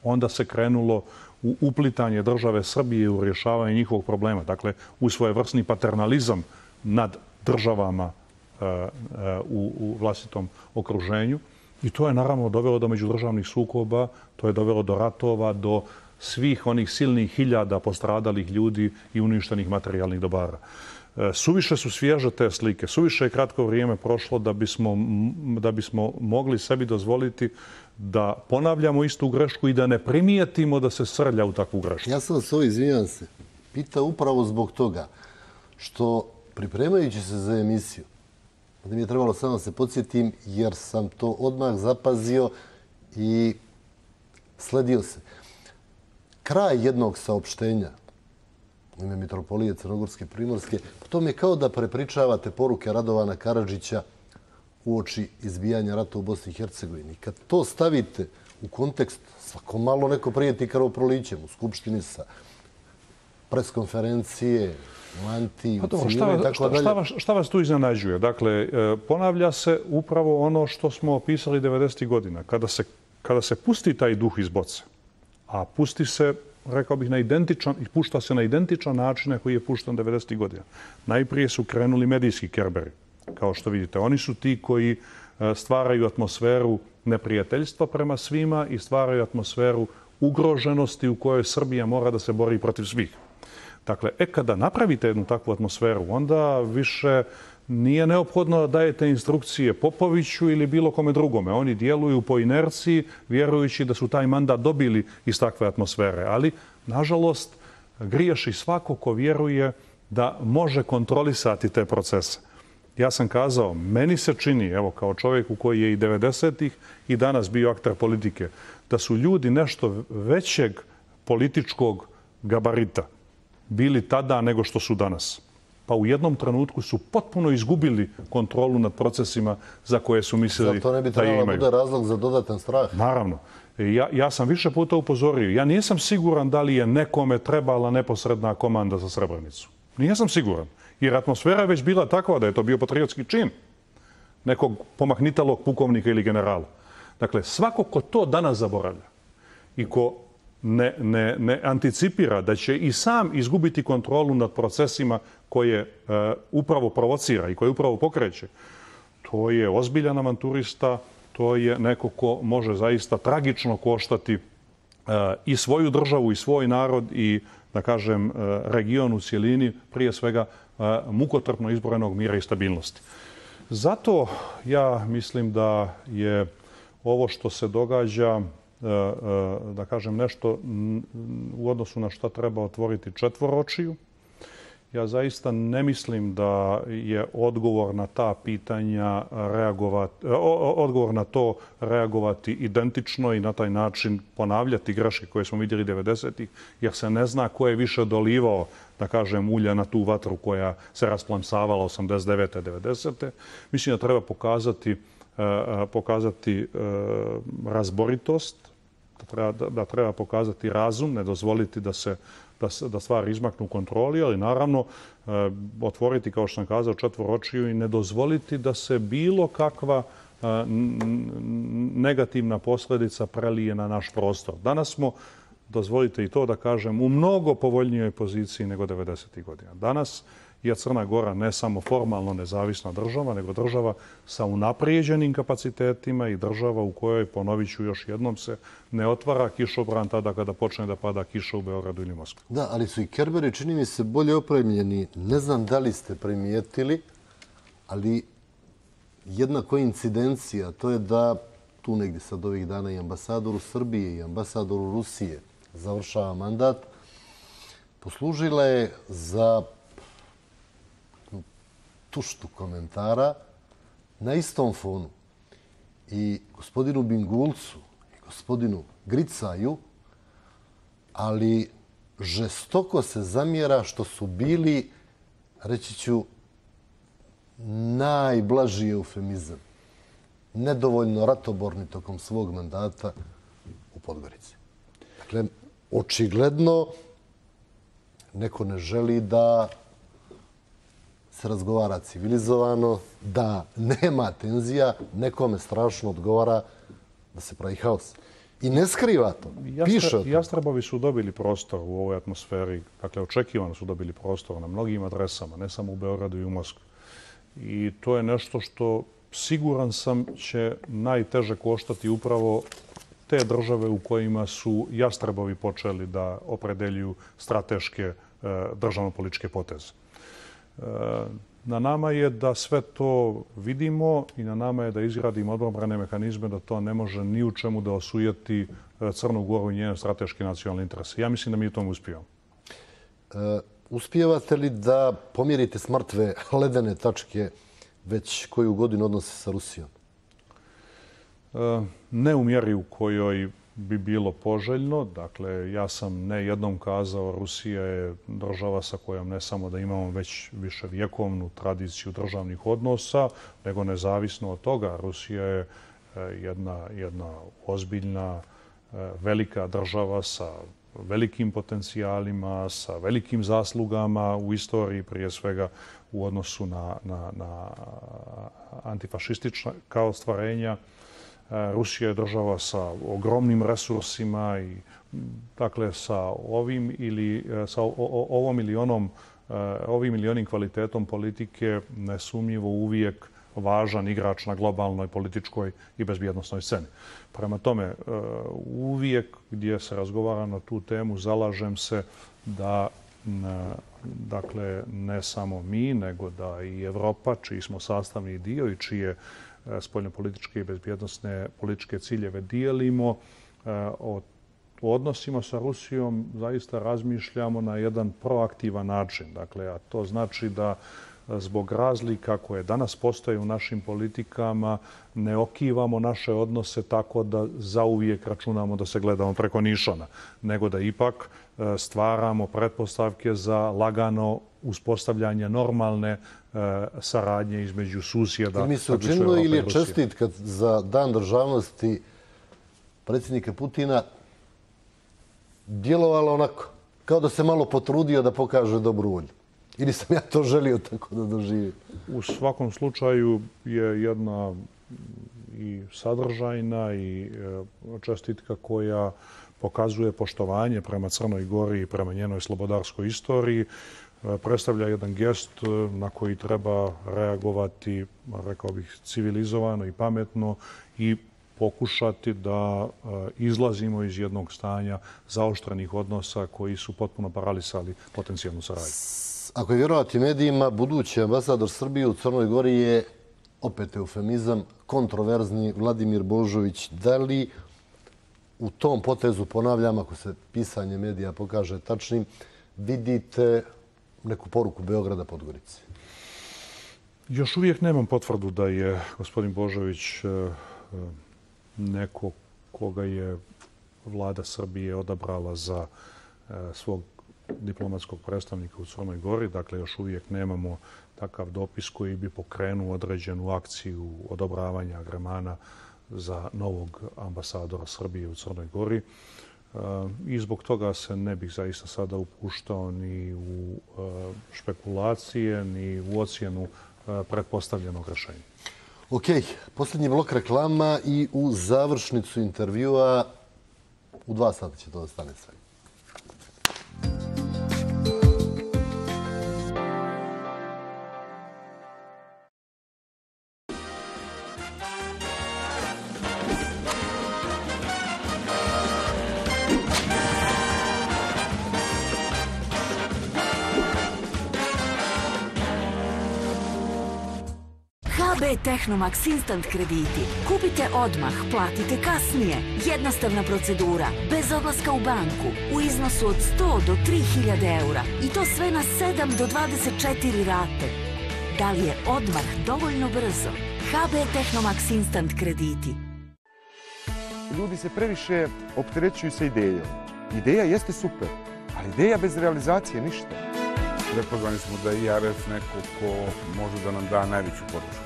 Onda se krenulo u uplitanje države Srbije u rješavanje njihovog problema. Dakle, u svojevrsni paternalizam nad državama u vlastitom okruženju. I to je naravno dovelo do međudržavnih sukoba, to je dovelo do ratova, do svih onih silnih hiljada postradalih ljudi i uništenih materijalnih dobara. Suviše su svježe te slike, suviše je kratko vrijeme prošlo da bismo mogli sebi dozvoliti da ponavljamo istu grešku i da ne primijetimo da se srlja u takvu grešku. Ja sam vas ovo, izvinjavam se, pitao upravo zbog toga što pripremajući se za emisiju, da mi je trebalo samo se podsjetim jer sam to odmah zapazio i sledio se. Kraj jednog saopštenja u ime Mitropolije Crnogorske Primorske, to mi je kao da prepričavate poruke Radovana Karadžića uoči izbijanja rata u Bosni i Hercegovini. Kad to stavite u kontekst, svako malo neko prijeti krvoprolićem u Skupštini sa preskonferencije, Lanti, u civili i tako dalje. Šta vas tu iznenađuje? Dakle, ponavlja se upravo ono što smo opisali 90. godina. Kada se pusti taj duh iz boce, a pusti se, rekao bih, pušta se na identičan način koji je pušten 90. godina. Najprije su krenuli medijski kerberi. Kao što vidite, oni su ti koji stvaraju atmosferu neprijateljstva prema svima i stvaraju atmosferu ugroženosti u kojoj Srbija mora da se bori protiv svih. Dakle, kada napravite jednu takvu atmosferu, onda više nije neophodno da dajete instrukcije Popoviću ili bilo kome drugome. Oni djeluju po inerciji, vjerujući da su taj mandat dobili iz takve atmosfere. Ali, nažalost, griješi svako ko vjeruje da može kontrolisati te procese. Ja sam kazao, meni se čini, evo kao čovjeku koji je i 90-ih i danas bio akter politike, da su ljudi nešto većeg političkog gabarita bili tada nego što su danas. Pa u jednom trenutku su potpuno izgubili kontrolu nad procesima za koje su mislili da imaju. Zato ne bi trebalo da bude razlog za dodatan strah. Naravno. Ja sam više puta upozorio. Ja nisam siguran da li je nekome trebala neposredna komanda za Srebrenicu. Nisam siguran. Jer atmosfera je već bila takva da je to bio patriotski čin nekog pomahnitalog pukovnika ili generala. Dakle, svako ko to danas zaboravlja i ko ne anticipira da će i sam izgubiti kontrolu nad procesima koje upravo provocira i koje upravo pokreće, to je ozbiljan avanturista, to je neko ko može zaista tragično koštati i svoju državu i svoj narod i, da kažem, region u cijelini, prije svega mukotrpno izborenog mira i stabilnosti. Zato ja mislim da je ovo što se događa, da kažem, nešto u odnosu na šta treba otvoriti četvoročiju. Ja zaista ne mislim da je odgovor na ta pitanja odgovor na to reagovati identično i na taj način ponavljati greške koje smo vidjeli 90-ih, jer se ne zna ko je više dolivao, da kažem, ulja na tu vatru koja se rasplamsavala 89. 90. Mislim da treba pokazati razboritost, da treba pokazati razum, ne dozvoliti da stvari izmaknu u kontroli, ali naravno otvoriti, kao što sam kazao, četvoročiju i ne dozvoliti da se bilo kakva negativna posljedica prelije na naš prostor. Danas smo, dozvolite i to da kažem, u mnogo povoljnijoj poziciji nego 90. godina. Danas je Crna Gora ne samo formalno nezavisna država, nego država sa unaprijeđenim kapacitetima i država u kojoj, ponovit ću još jednom, se ne otvara kišobran tada kada počne da pada kiša u Beogradu ili Moskvi. Da, ali su i kerberi, čini mi se, bolje opremljeni. Ne znam da li ste primijetili, ali jedna koincidencija, to je da tu negdje sad ovih dana i ambasadoru Srbije i ambasadoru Rusije završava mandat, poslužila je za tuštu komentara na istom fonu i gospodinu Bingulcu i gospodinu Gricaju, ali žestoko se zamjera što su bili, reći ću, najblaži eufemizam, nedovoljno ratoborni tokom svog mandata u Podgorici. Dakle, očigledno neko ne želi da se razgovara civilizovano, da nema tenzija, nekome strašno odgovara da se pravi haos. I ne skriva to. Piše o tom. Jastrebovi su dobili prostor u ovoj atmosferi. Dakle, očekivano su dobili prostor na mnogim adresama, ne samo u Beogradu i u Moskvi. I to je nešto što, siguran sam, će najteže koštati upravo te države u kojima su jastrebovi počeli da opredeljuju strateške državno-političke poteze. Na nama je da sve to vidimo i na nama je da izgradimo odbrambene mehanizme da to ne može ni u čemu da osujeti Crnu Goru i njene strateške nacionalne interese. Ja mislim da mi u tom uspijemo. Uspijevate li da pomjerite s mrtve ledene tačke već koju godinu odnose sa Rusijom? Ne u mjeri u kojoj bi bilo poželjno. Dakle, ja sam ne jednom kazao, Rusija je država sa kojom ne samo da imamo već viševjekovnu tradiciju državnih odnosa, nego nezavisno od toga. Rusija je jedna ozbiljna, velika država sa velikim potencijalima, sa velikim zaslugama u istoriji, prije svega u odnosu na antifašistička ostvarenja. Rusija je država sa ogromnim resursima i dakle sa ovim ili onim kvalitetom politike nesumnjivo uvijek važan igrač na globalnoj političkoj i bezbjednosnoj sceni. Prema tome, uvijek gdje se razgovara na tu temu zalažem se da dakle ne samo mi, nego da i Evropa, čiji smo sastavni dio i čije spoljnopolitičke i bezbjednosne političke ciljeve dijelimo, o odnosima sa Rusijom zaista razmišljamo na jedan proaktivan način. Dakle, a to znači da zbog razlika koje danas postoje u našim politikama ne okivamo naše odnose tako da zauvijek računamo da se gledamo preko nišana, nego da ipak stvaramo pretpostavke za lagano uspostavljanje normalne saradnje između susjeda. Mi se učinilo ili je čestitka za Dan državnosti predsjednika Putina djelovalo onako, kao da se malo potrudio da pokaže dobru volju? Ili sam ja to želio tako da doživim? U svakom slučaju je jedna i sadržajna i čestitka koja pokazuje poštovanje prema Crnoj Gori i prema njenoj slobodarskoj istoriji. Predstavlja jedan gest na koji treba reagovati, rekao bih, civilizovano i pametno i pokušati da izlazimo iz jednog stanja zaoštrenih odnosa koji su potpuno paralisali potencijalnu saradnju. Ako je vjerovati medijima, budući ambasador Srbije u Crnoj Gori je, opet eufemizam, kontroverzni Vladimir Božović. Da li u tom potezu, ponavljam, ako se pisanje medija pokaže tačnim, vidite neku poruku Beograda Podgorici? Još uvijek nemam potvrdu da je gospodin Božović neko koga je vlada Srbije odabrala za svog diplomatskog predstavnika u Crnoj Gori. Dakle, još uvijek nemamo takav dopis koji bi pokrenuo određenu akciju odobravanja agremana za novog ambasadora Srbije u Crnoj Gori. I zbog toga se ne bih zaista sada upuštao ni u špekulacije, ni u ocjenu pretpostavljenog rješenja. Ok, posljednji blok reklama i u završnicu intervjua u 2 sata će to da stane sve. HB Tehnomax Instant krediti. Kupite odmah, platite kasnije. Jednostavna procedura, bez odlaska u banku, u iznosu od 100 do 3000 eura. I to sve na 7 do 24 rate. da li je odmah dovoljno brzo. HB Tehnomax Instant krediti. Ljudi se previše opterećuju sa idejom. Ideja jeste super, ali ideja bez realizacije ništa. Prepoznali smo da je IRF neko ko može da nam da najveću podršku.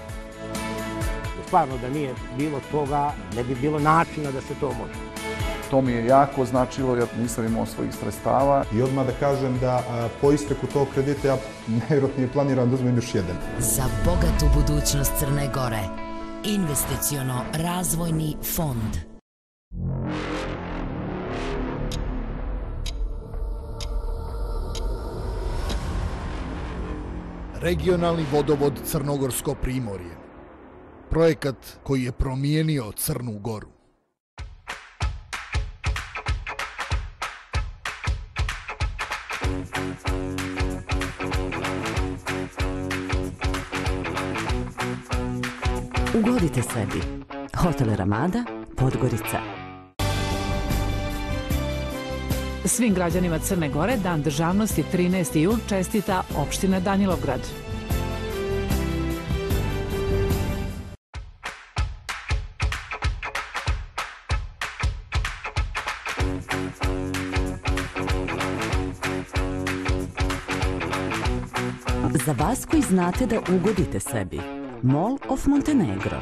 Stvarno da nije bilo toga, ne bi bilo načina da se to može. To mi je jako značilo jer nisam imao svojih sredstava. I odmah da kažem da po isteku tog kredita ja najvjerojatnije planiram da uzmem još jedan. Za bogatu budućnost Crne Gore. Investiciono-razvojni fond. Regionalni vodovod Crnogorsko primorje. Projekat koji je promijenio Crnu Goru. Ugodite sebi. Hotel Ramada, Podgorica. Svim građanima Crne Gore Dan državnosti 13. jul čestita opština Danilovgrad. Za vas koji znate da ugodite sebi. Mall of Montenegro.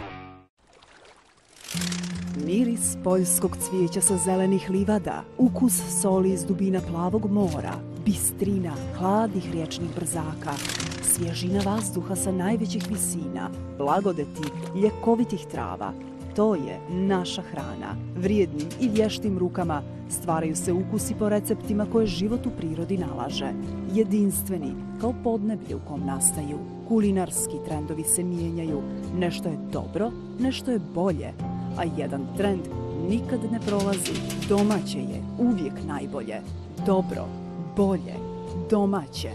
Miris poljskog cvijeća sa zelenih livada, ukus soli iz dubina plavog mora, bistrina hladnih riječnih brzaka, svježina vazduha sa najvećih visina, blagodeti ljekovitih trava. To je naša hrana. Vrijednim i vještim rukama stvaraju se ukusi po receptima koje život u prirodi nalaže. Jedinstveni, kao podneblje u kom nastaju. Kulinarski trendovi se mijenjaju. Nešto je dobro, nešto je bolje. A jedan trend nikad ne prolazi. Domaće je uvijek najbolje. Dobro, bolje, domaće.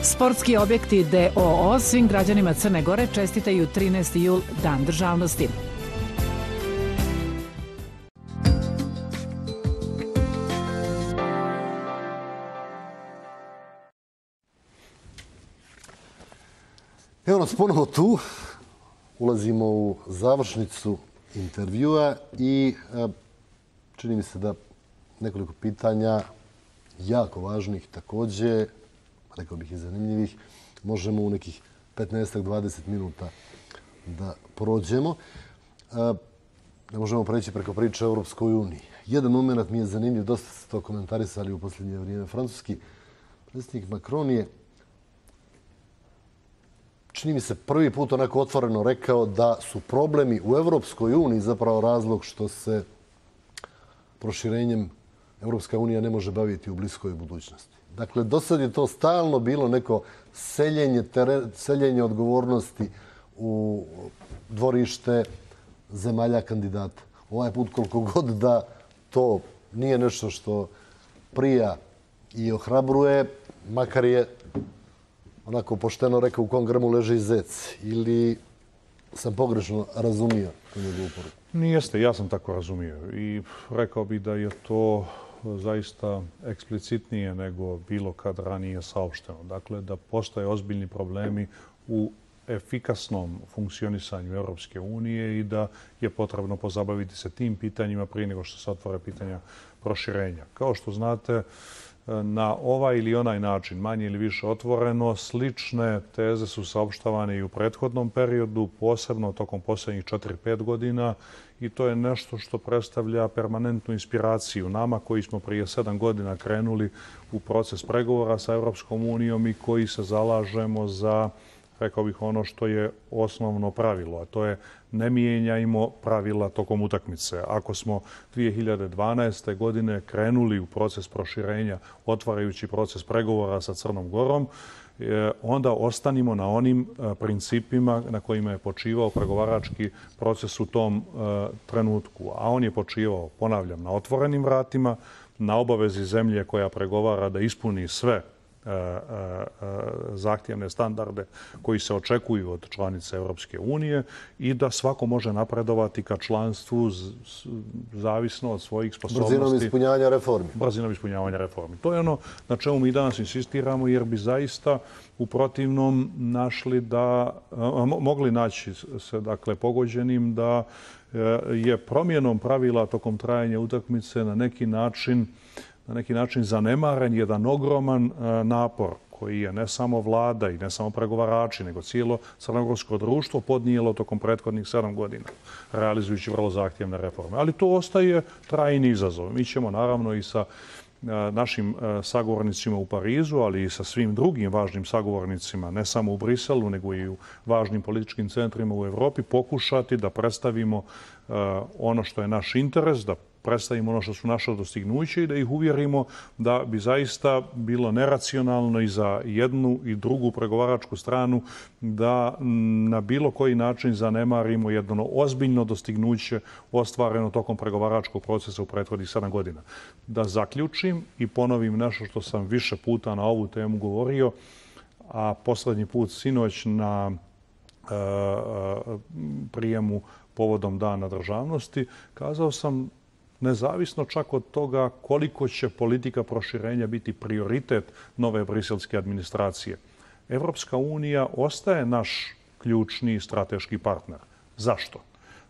Sportski objekti DOO svim građanima Crne Gore čestitaju 13. jul Dan državnosti. Evo nas ponovo tu. Ulazimo u završnicu intervjua i čini mi se da nekoliko pitanja jako važnih također, rekao bih i zanimljivih, možemo u nekih 15-20 minuta da prođemo. Ne možemo preći preko priče o Europskoj uniji. Jedan moment mi je zanimljiv, dosta ste to komentarisali u posljednje vrijeme. Francuski predsjednik Macron je, čini mi se, prvi put onako otvoreno rekao da su problemi u Europskoj uniji zapravo razlog što se proširenjem Europska unija ne može baviti u bliskoj budućnosti. Dakle, do sad je to stalno bilo neko seljenje odgovornosti u dvorište zemalja kandidata. Ovaj put koliko god da to nije nešto što prija i ohrabruje, makar je onako pošteno rekao u kom grmu leži zec, ili sam pogrešno razumio tu njegovu poruku? Nijeste, ja sam tako razumio i rekao bih da je to zaista eksplicitnije nego bilo kad ranije saopšteno. Dakle, da postoje ozbiljni problemi u efikasnom funkcionisanju Europske unije i da je potrebno pozabaviti se tim pitanjima prije nego što se otvore pitanja proširenja. Kao što znate, na ovaj ili onaj način, manje ili više otvoreno, slične teze su saopštavane i u prethodnom periodu, posebno tokom posljednjih 4-5 godina, i to je nešto što predstavlja permanentnu inspiraciju nama koji smo prije 7 godina krenuli u proces pregovora sa Europskom unijom i koji se zalažemo za, rekao bih, ono što je osnovno pravilo, a to je ne mijenjajmo pravila tokom utakmice. Ako smo 2012. godine krenuli u proces proširenja, otvarajući proces pregovora sa Crnom Gorom, onda ostanimo na onim principima na kojima je počivao pregovarački proces u tom trenutku. A on je počivao, ponavljam, na otvorenim vratima, na obavezi zemlje koja pregovara da ispuni sve zahtjevne standarde koji se očekuju od članice Europske unije i da svako može napredovati ka članstvu zavisno od svojih sposobnosti. Brzinom ispunjavanja reformi. Brzinom ispunjavanja reformi. To je ono na čemu mi danas insistiramo, jer bi zaista u protivnom mogli naći se pogođenim da je promjenom pravila tokom trajanja utakmice na neki način zanemaren jedan ogroman napor koji je ne samo vlada i ne samo pregovarači, nego cijelo crnogorsko društvo podnijelo tokom prethodnih 7 godina, realizujući vrlo zahtjevne reforme. Ali to ostaje trajni izazov. Mi ćemo naravno i sa našim sagovornicima u Parizu, ali i sa svim drugim važnim sagovornicima, ne samo u Briselu, nego i u važnim političkim centrima u Evropi, pokušati da predstavimo ono što je naš interes, da predstavimo ono što su naša dostignuća i da ih uvjerimo da bi zaista bilo neracionalno i za jednu i drugu pregovaračku stranu da na bilo koji način zanemarimo jedno ozbiljno dostignuće ostvareno tokom pregovaračkog procesa u prethodnih 7 godina. Da zaključim i ponovim nešto što sam više puta na ovu temu govorio, a posljednji put sinoć na prijemu povodom Dana državnosti, kazao sam, nezavisno čak od toga koliko će politika proširenja biti prioritet nove briselske administracije, Evropska unija ostaje naš ključni strateški partner. Zašto?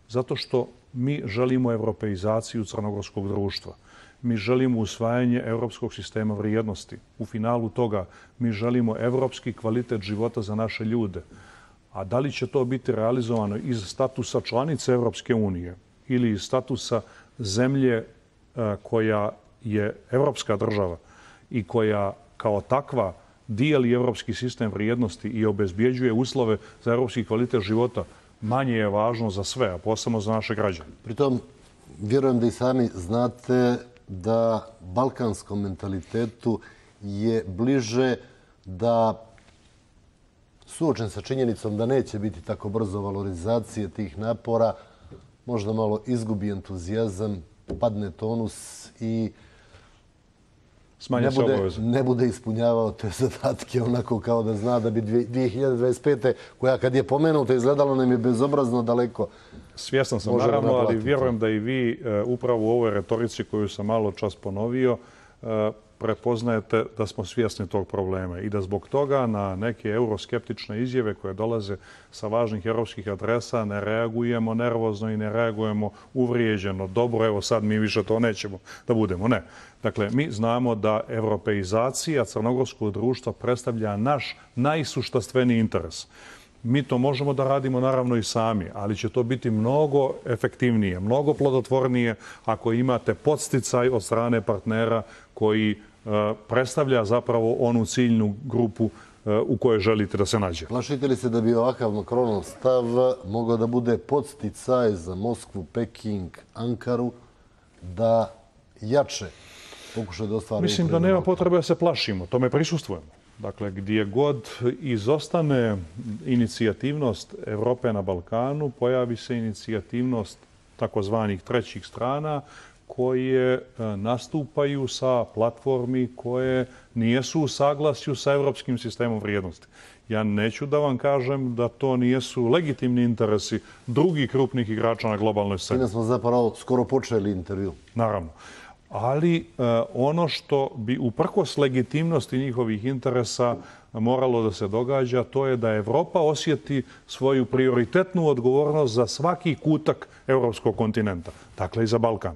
Zato što mi želimo europeizaciju crnogorskog društva. Mi želimo usvajanje europskog sistema vrijednosti. U finalu toga mi želimo evropski kvalitet života za naše ljude. A da li će to biti realizovano iz statusa članice Evropske unije ili iz statusa zemlje koja je evropska država i koja kao takva dijeli evropski sistem vrijednosti i obezbjeđuje uslove za evropski kvalitet života, manje je važno za sve, a posebno za naše građane. Pritom, vjerujem da i sami znate da balkanskom mentalitetu je bliže da suočen sa činjenicom da neće biti tako brzo valorizacije tih napora, možda malo izgubi entuzijazam, padne tonus i ne bude ispunjavao te zadatke onako kao da zna da bi 2025. koja kad je pomenuta izgledalo nam je bezobrazno daleko. Svjestan sam naravno, ali vjerujem da i vi upravo u ovoj retorici koju sam malo čas ponovio prepoznajete da smo svjesni tog problema i da zbog toga na neke euroskeptične izjave koje dolaze sa važnih europskih adresa ne reagujemo nervozno i ne reagujemo uvrijeđeno. Dobro, evo sad mi više to nećemo da budemo. Ne. Dakle, mi znamo da europeizacija crnogorskog društva predstavlja naš najsuštastveniji interes. Mi to možemo da radimo naravno i sami, ali će to biti mnogo efektivnije, mnogo plodotvornije ako imate podsticaj od strane partnera koji predstavlja zapravo onu ciljnu grupu u kojoj želite da se nađe. Plašite li se da bi ovakav Macronov stav mogao da bude podsticaj za Moskvu, Peking, Ankaru da jače pokušaju da ostvari? Mislim da nema potrebe da se plašimo, tome prisustvujemo. Dakle, gdje god izostane inicijativnost Evrope na Balkanu, pojavi se inicijativnost takozvanih trećih strana koje nastupaju sa platformi koje nijesu u saglasju sa evropskim sistemom vrijednosti. Ja neću da vam kažem da to nijesu legitimni interesi drugih krupnih igrača na globalnoj sceni. Time smo zapravo skoro počeli intervju. Naravno. Ali ono što bi uprkos legitimnosti njihovih interesa moralo da se događa, to je da Evropa osjeti svoju prioritetnu odgovornost za svaki kutak evropskog kontinenta, dakle i za Balkan.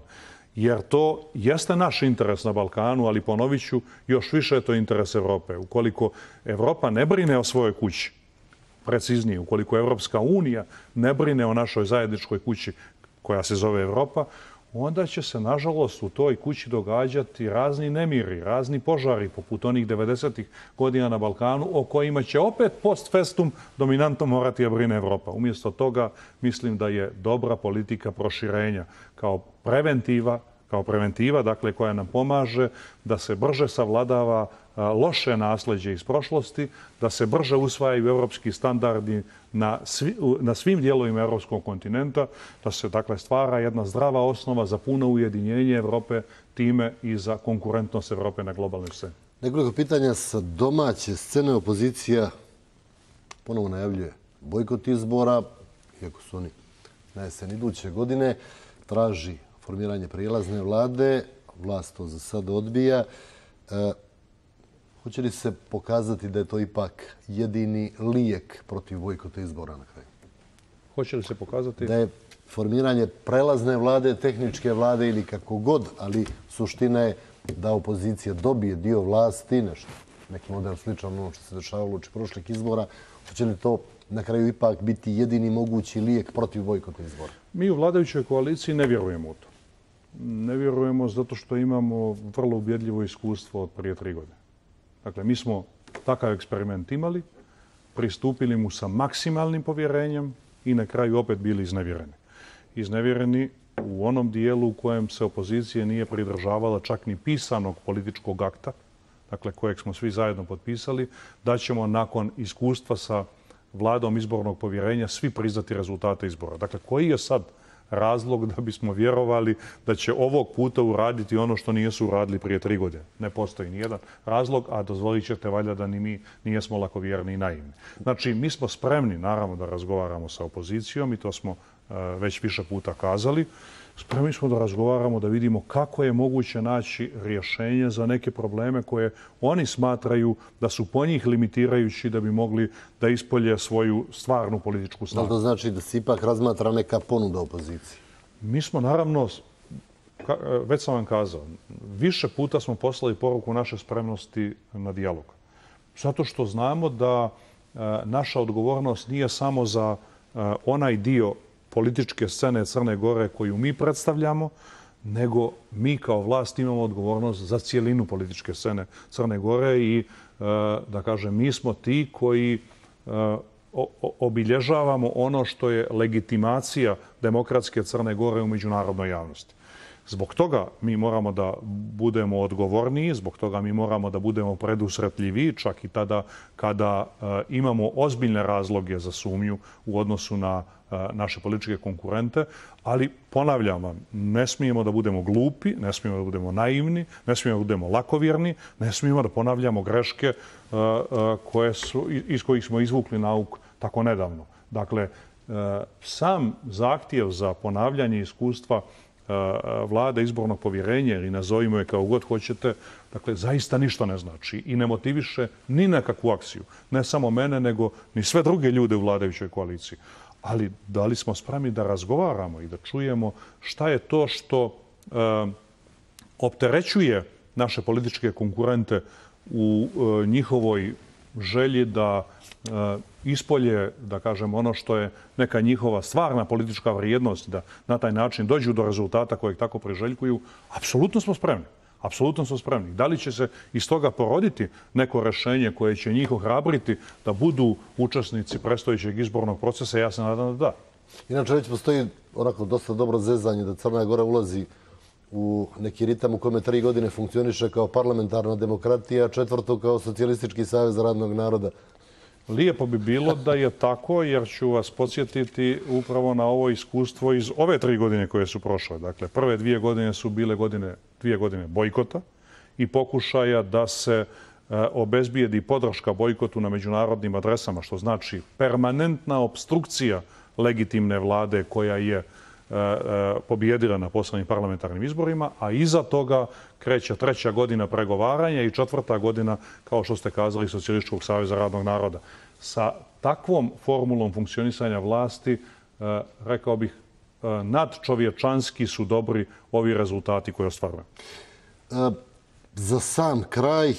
Jer to jeste naš interes na Balkanu, ali ponovit ću, još više je to interes Evrope. Ukoliko Evropa ne brine o svojoj kući, preciznije, ukoliko Evropska unija ne brine o našoj zajedničkoj kući koja se zove Evropa, onda će se, nažalost, u toj kući događati razni nemiri, razni požari, poput onih 90-ih godina na Balkanu, o kojima će opet post festum dominantno morati da brine Evropa. Umjesto toga, mislim da je dobra politika proširenja kao preventiva, dakle, koja nam pomaže da se brže savladava loše nasljeđe iz prošlosti, da se brže usvajaju evropski standardi na svim dijelovima evropskog kontinenta, da se, dakle, stvara jedna zdrava osnova za puno ujedinjenje Evrope, time i za konkurentnost Evrope na globalnoj sceni. Nekoliko pitanja sa domaće scene. Opozicija ponovo najavljuje bojkot izbora, iako su oni na jesen iduće godine, traži formiranje prijelazne vlade, vlast to za sada odbija. Hoće li se pokazati da je to ipak jedini lijek protiv bojkota izbora na kraju? Hoće li se pokazati? Da je formiranje prelazne vlade, tehničke vlade ili kako god, ali suština je da opozicija dobije dio vlasti, neki model sličan ono što se dešavalo uoči prošlih izbora. Hoće li to na kraju ipak biti jedini mogući lijek protiv bojkota izbora? Mi u vladajućoj koaliciji ne vjerujemo u to. Ne vjerujemo zato što imamo vrlo ubjedljivo iskustvo od prije 3 godine. Dakle, mi smo takav eksperiment imali, pristupili mu sa maksimalnim povjerenjem i na kraju opet bili iznevjereni. Iznevjereni u onom dijelu u kojem se opozicija nije pridržavala čak ni pisanog političkog akta, dakle kojeg smo svi zajedno potpisali, da ćemo nakon iskustva sa vladom izbornog povjerenja svi priznati rezultate izbora. Dakle, koji je sad razlog da bismo vjerovali da će ovog puta uraditi ono što nijesu uradili prije 3 godine? Ne postoji nijedan razlog, a dozvolit ćete valjda da ni mi nijesmo lakovjerni i naivni. Znači, mi smo spremni, naravno, da razgovaramo sa opozicijom i to smo već više puta kazali. Spremni smo da razgovaramo, da vidimo kako je moguće naći rješenje za neke probleme koje oni smatraju da su po njih limitirajući da bi mogli da ispolje svoju stvarnu političku snagu. Da li to znači da se ipak razmatra neka ponuda opoziciji? Mi smo naravno, već sam vam kazao, više puta smo poslali poruku naše spremnosti na dijalog. Zato što znamo da naša odgovornost nije samo za onaj dio političke scene Crne Gore koju mi predstavljamo, nego mi kao vlast imamo odgovornost za cijelinu političke scene Crne Gore i, da kažem, mi smo ti koji obilježavamo ono što je legitimacija demokratske Crne Gore u međunarodnoj javnosti. Zbog toga mi moramo da budemo odgovorniji, zbog toga mi moramo da budemo predusretljiviji, čak i tada kada imamo ozbiljne razloge za sumnju u odnosu na naše političke konkurente, ali ponavljam vam, ne smijemo da budemo glupi, ne smijemo da budemo naivni, ne smijemo da budemo lakovjerni, ne smijemo da ponavljamo greške iz kojih smo izvukli nauk tako nedavno. Dakle, sam zahtjev za ponavljanje iskustva vlade izbornog povjerenja ili nazovimo je kao god hoćete, dakle, zaista ništa ne znači i ne motiviše ni na kakvu akciju. Ne samo mene, nego ni sve druge ljude u vladajućoj koaliciji. Ali da li smo spremni da razgovaramo i da čujemo šta je to što opterećuje naše političke konkurente u njihovoj želji da ispolje, da kažem, ono što je neka njihova stvarna politička vrijednost, da na taj način dođu do rezultata kojeg tako priželjkuju, apsolutno smo spremni. Apsolutno smo spremni. Da li će se iz toga poroditi neko rešenje koje će njih ohrabriti da budu učesnici predstojećeg izbornog procesa, ja se nadam da da. Inače, već postoji onako dosta dobro zezanje da Crna Gora ulazi u neki ritam u kome 3 godine funkcioniše kao parlamentarna demokratija, 4. kao socijalistički savez radnog naroda. Lijepo bi bilo da je tako, jer ću vas podsjetiti upravo na ovo iskustvo iz ove 3 godine koje su prošle. Dakle, prve 2 godine su bile 2 godine bojkota i pokušaja da se obezbijedi podrška bojkotu na međunarodnim adresama, što znači permanentna opstrukcija legitimne vlade koja je pobijedila na poslednjim parlamentarnim izborima, a iza toga kreće 3. godina pregovaranja i 4. godina, kao što ste kazali, Socijalističkog saveza radnog naroda. Sa takvom formulom funkcionisanja vlasti, rekao bih, nadčovječanski su dobri ovi rezultati koje ostvarujemo. Za sam kraj,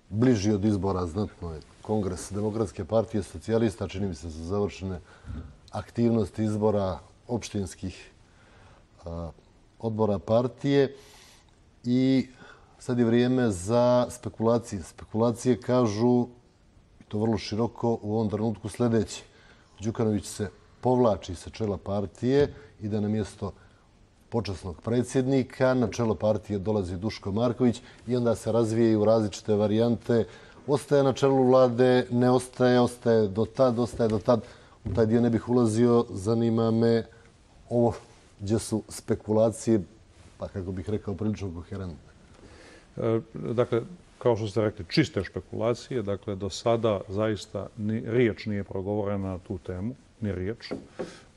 bliži od izbora znatno je Kongres Demokratske partije socijalista, čini mi se su završene aktivnosti izbora opštinskih odbora partije i sad je vrijeme za spekulacije. Spekulacije kažu, i to vrlo široko, u ovom trenutku sljedeće. Đukanović se povlači sa čela partije i da na mjesto počasnog predsjednika na čelo partije dolazi Duško Marković i onda se razvijaju različite varijante. Ostaje na čelu vlade, ne ostaje, ostaje do tad. U taj dio ne bih ulazio, zanima me ovo gdje su spekulacije, pa kako bih rekao, prilično koherentne. Dakle, kao što ste rekli, čiste špekulacije. Dakle, do sada zaista riječ nije progovorena na tu temu, ni riječ.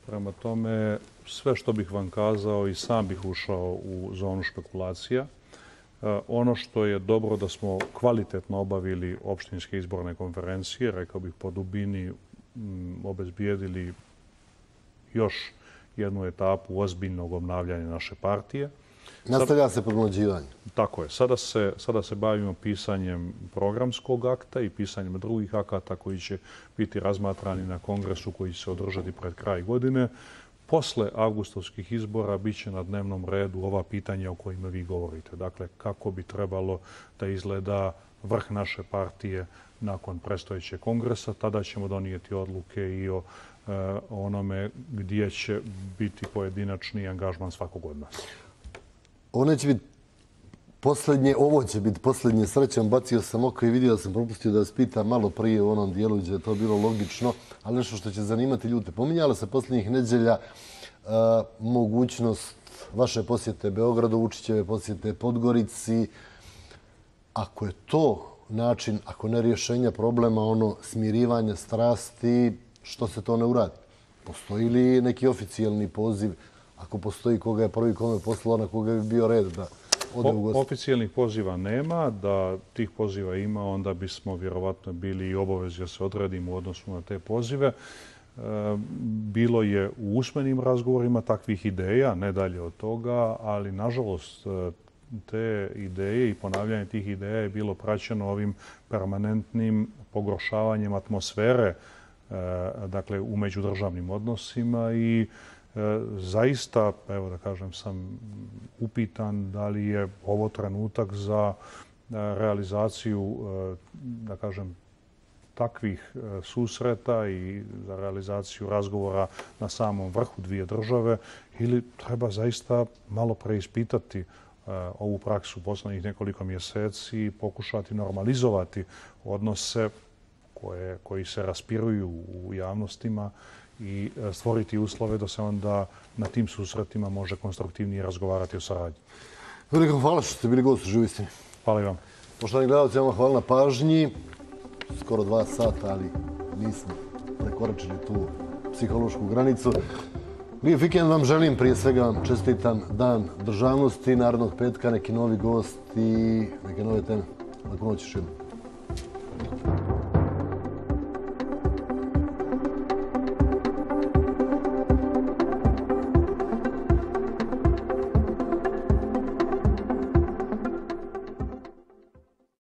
Prema tome, sve što bih vam kazao i sam bih ušao u zonu špekulacija. Ono što je dobro da smo kvalitetno obavili opštinske izborne konferencije, rekao bih po dubini obezbijedili još jednu etapu ozbiljnog obnavljanja naše partije. Nastavlja se podmlađivanje. Tako je. Sada se bavimo pisanjem programskog akta i pisanjem drugih akata koji će biti razmatrani na kongresu koji će se održati pred kraj godine. Posle avgustovskih izbora bit će na dnevnom redu ova pitanja o kojima vi govorite. Dakle, kako bi trebalo da izgleda vrh naše partije nakon predstojećeg kongresa. Tada ćemo donijeti odluke i o onome gdje će biti pojedinačni angažman svakog od nas. Ovo će biti posljednje srećom. Bacio sam oko i vidio da sam propustio da vas pitam malo prije u onom dijelu gdje je to bilo logično, ali nešto što će zanimati ljude. Pominjala se posljednjih nedjelja mogućnost vaše posjete Beogradu, Vučićeve posjete Podgorici. Ako je to način, ako ne rješenja problema, ono smirivanje strasti, što se to ne uradi? Postoji li neki oficijalni poziv? Ako postoji, koga je prvi kome poslao, na koga bi bio red da ode u goste? Oficijalnih poziva nema. Da tih poziva ima, onda bismo vjerovatno bili i obavezi da se odredimo u odnosu na te pozive. Bilo je u usmenim razgovorima takvih ideja, ne dalje od toga, ali nažalost te ideje i ponavljanje tih ideja je bilo praćeno ovim permanentnim pogoršavanjem atmosfere, dakle, u međudržavnim odnosima i zaista, evo da kažem, sam upitan da li je ovo trenutak za realizaciju, da kažem, takvih susreta i za realizaciju razgovora na samom vrhu dvije države ili treba zaista malo preispitati ovu praksu poslednjih nekoliko mjeseci i pokušati normalizovati odnose koji se raspiruju u javnostima i stvoriti uslove da se onda na tim susretima može konstruktivnije razgovarati o saradnji. Veliko hvala što ste bili gost u Živoj istini. Hvala i vam. Poštovani gledalci, vam hvala na pažnji. Skoro 2 sata, ali nismo prekoračili tu psihološku granicu. Lijep vikend vam želim, prije svega vam čestitam Dan državnosti, narednog petka, neki novi gost i neke nove teme. Laku noć još jednom.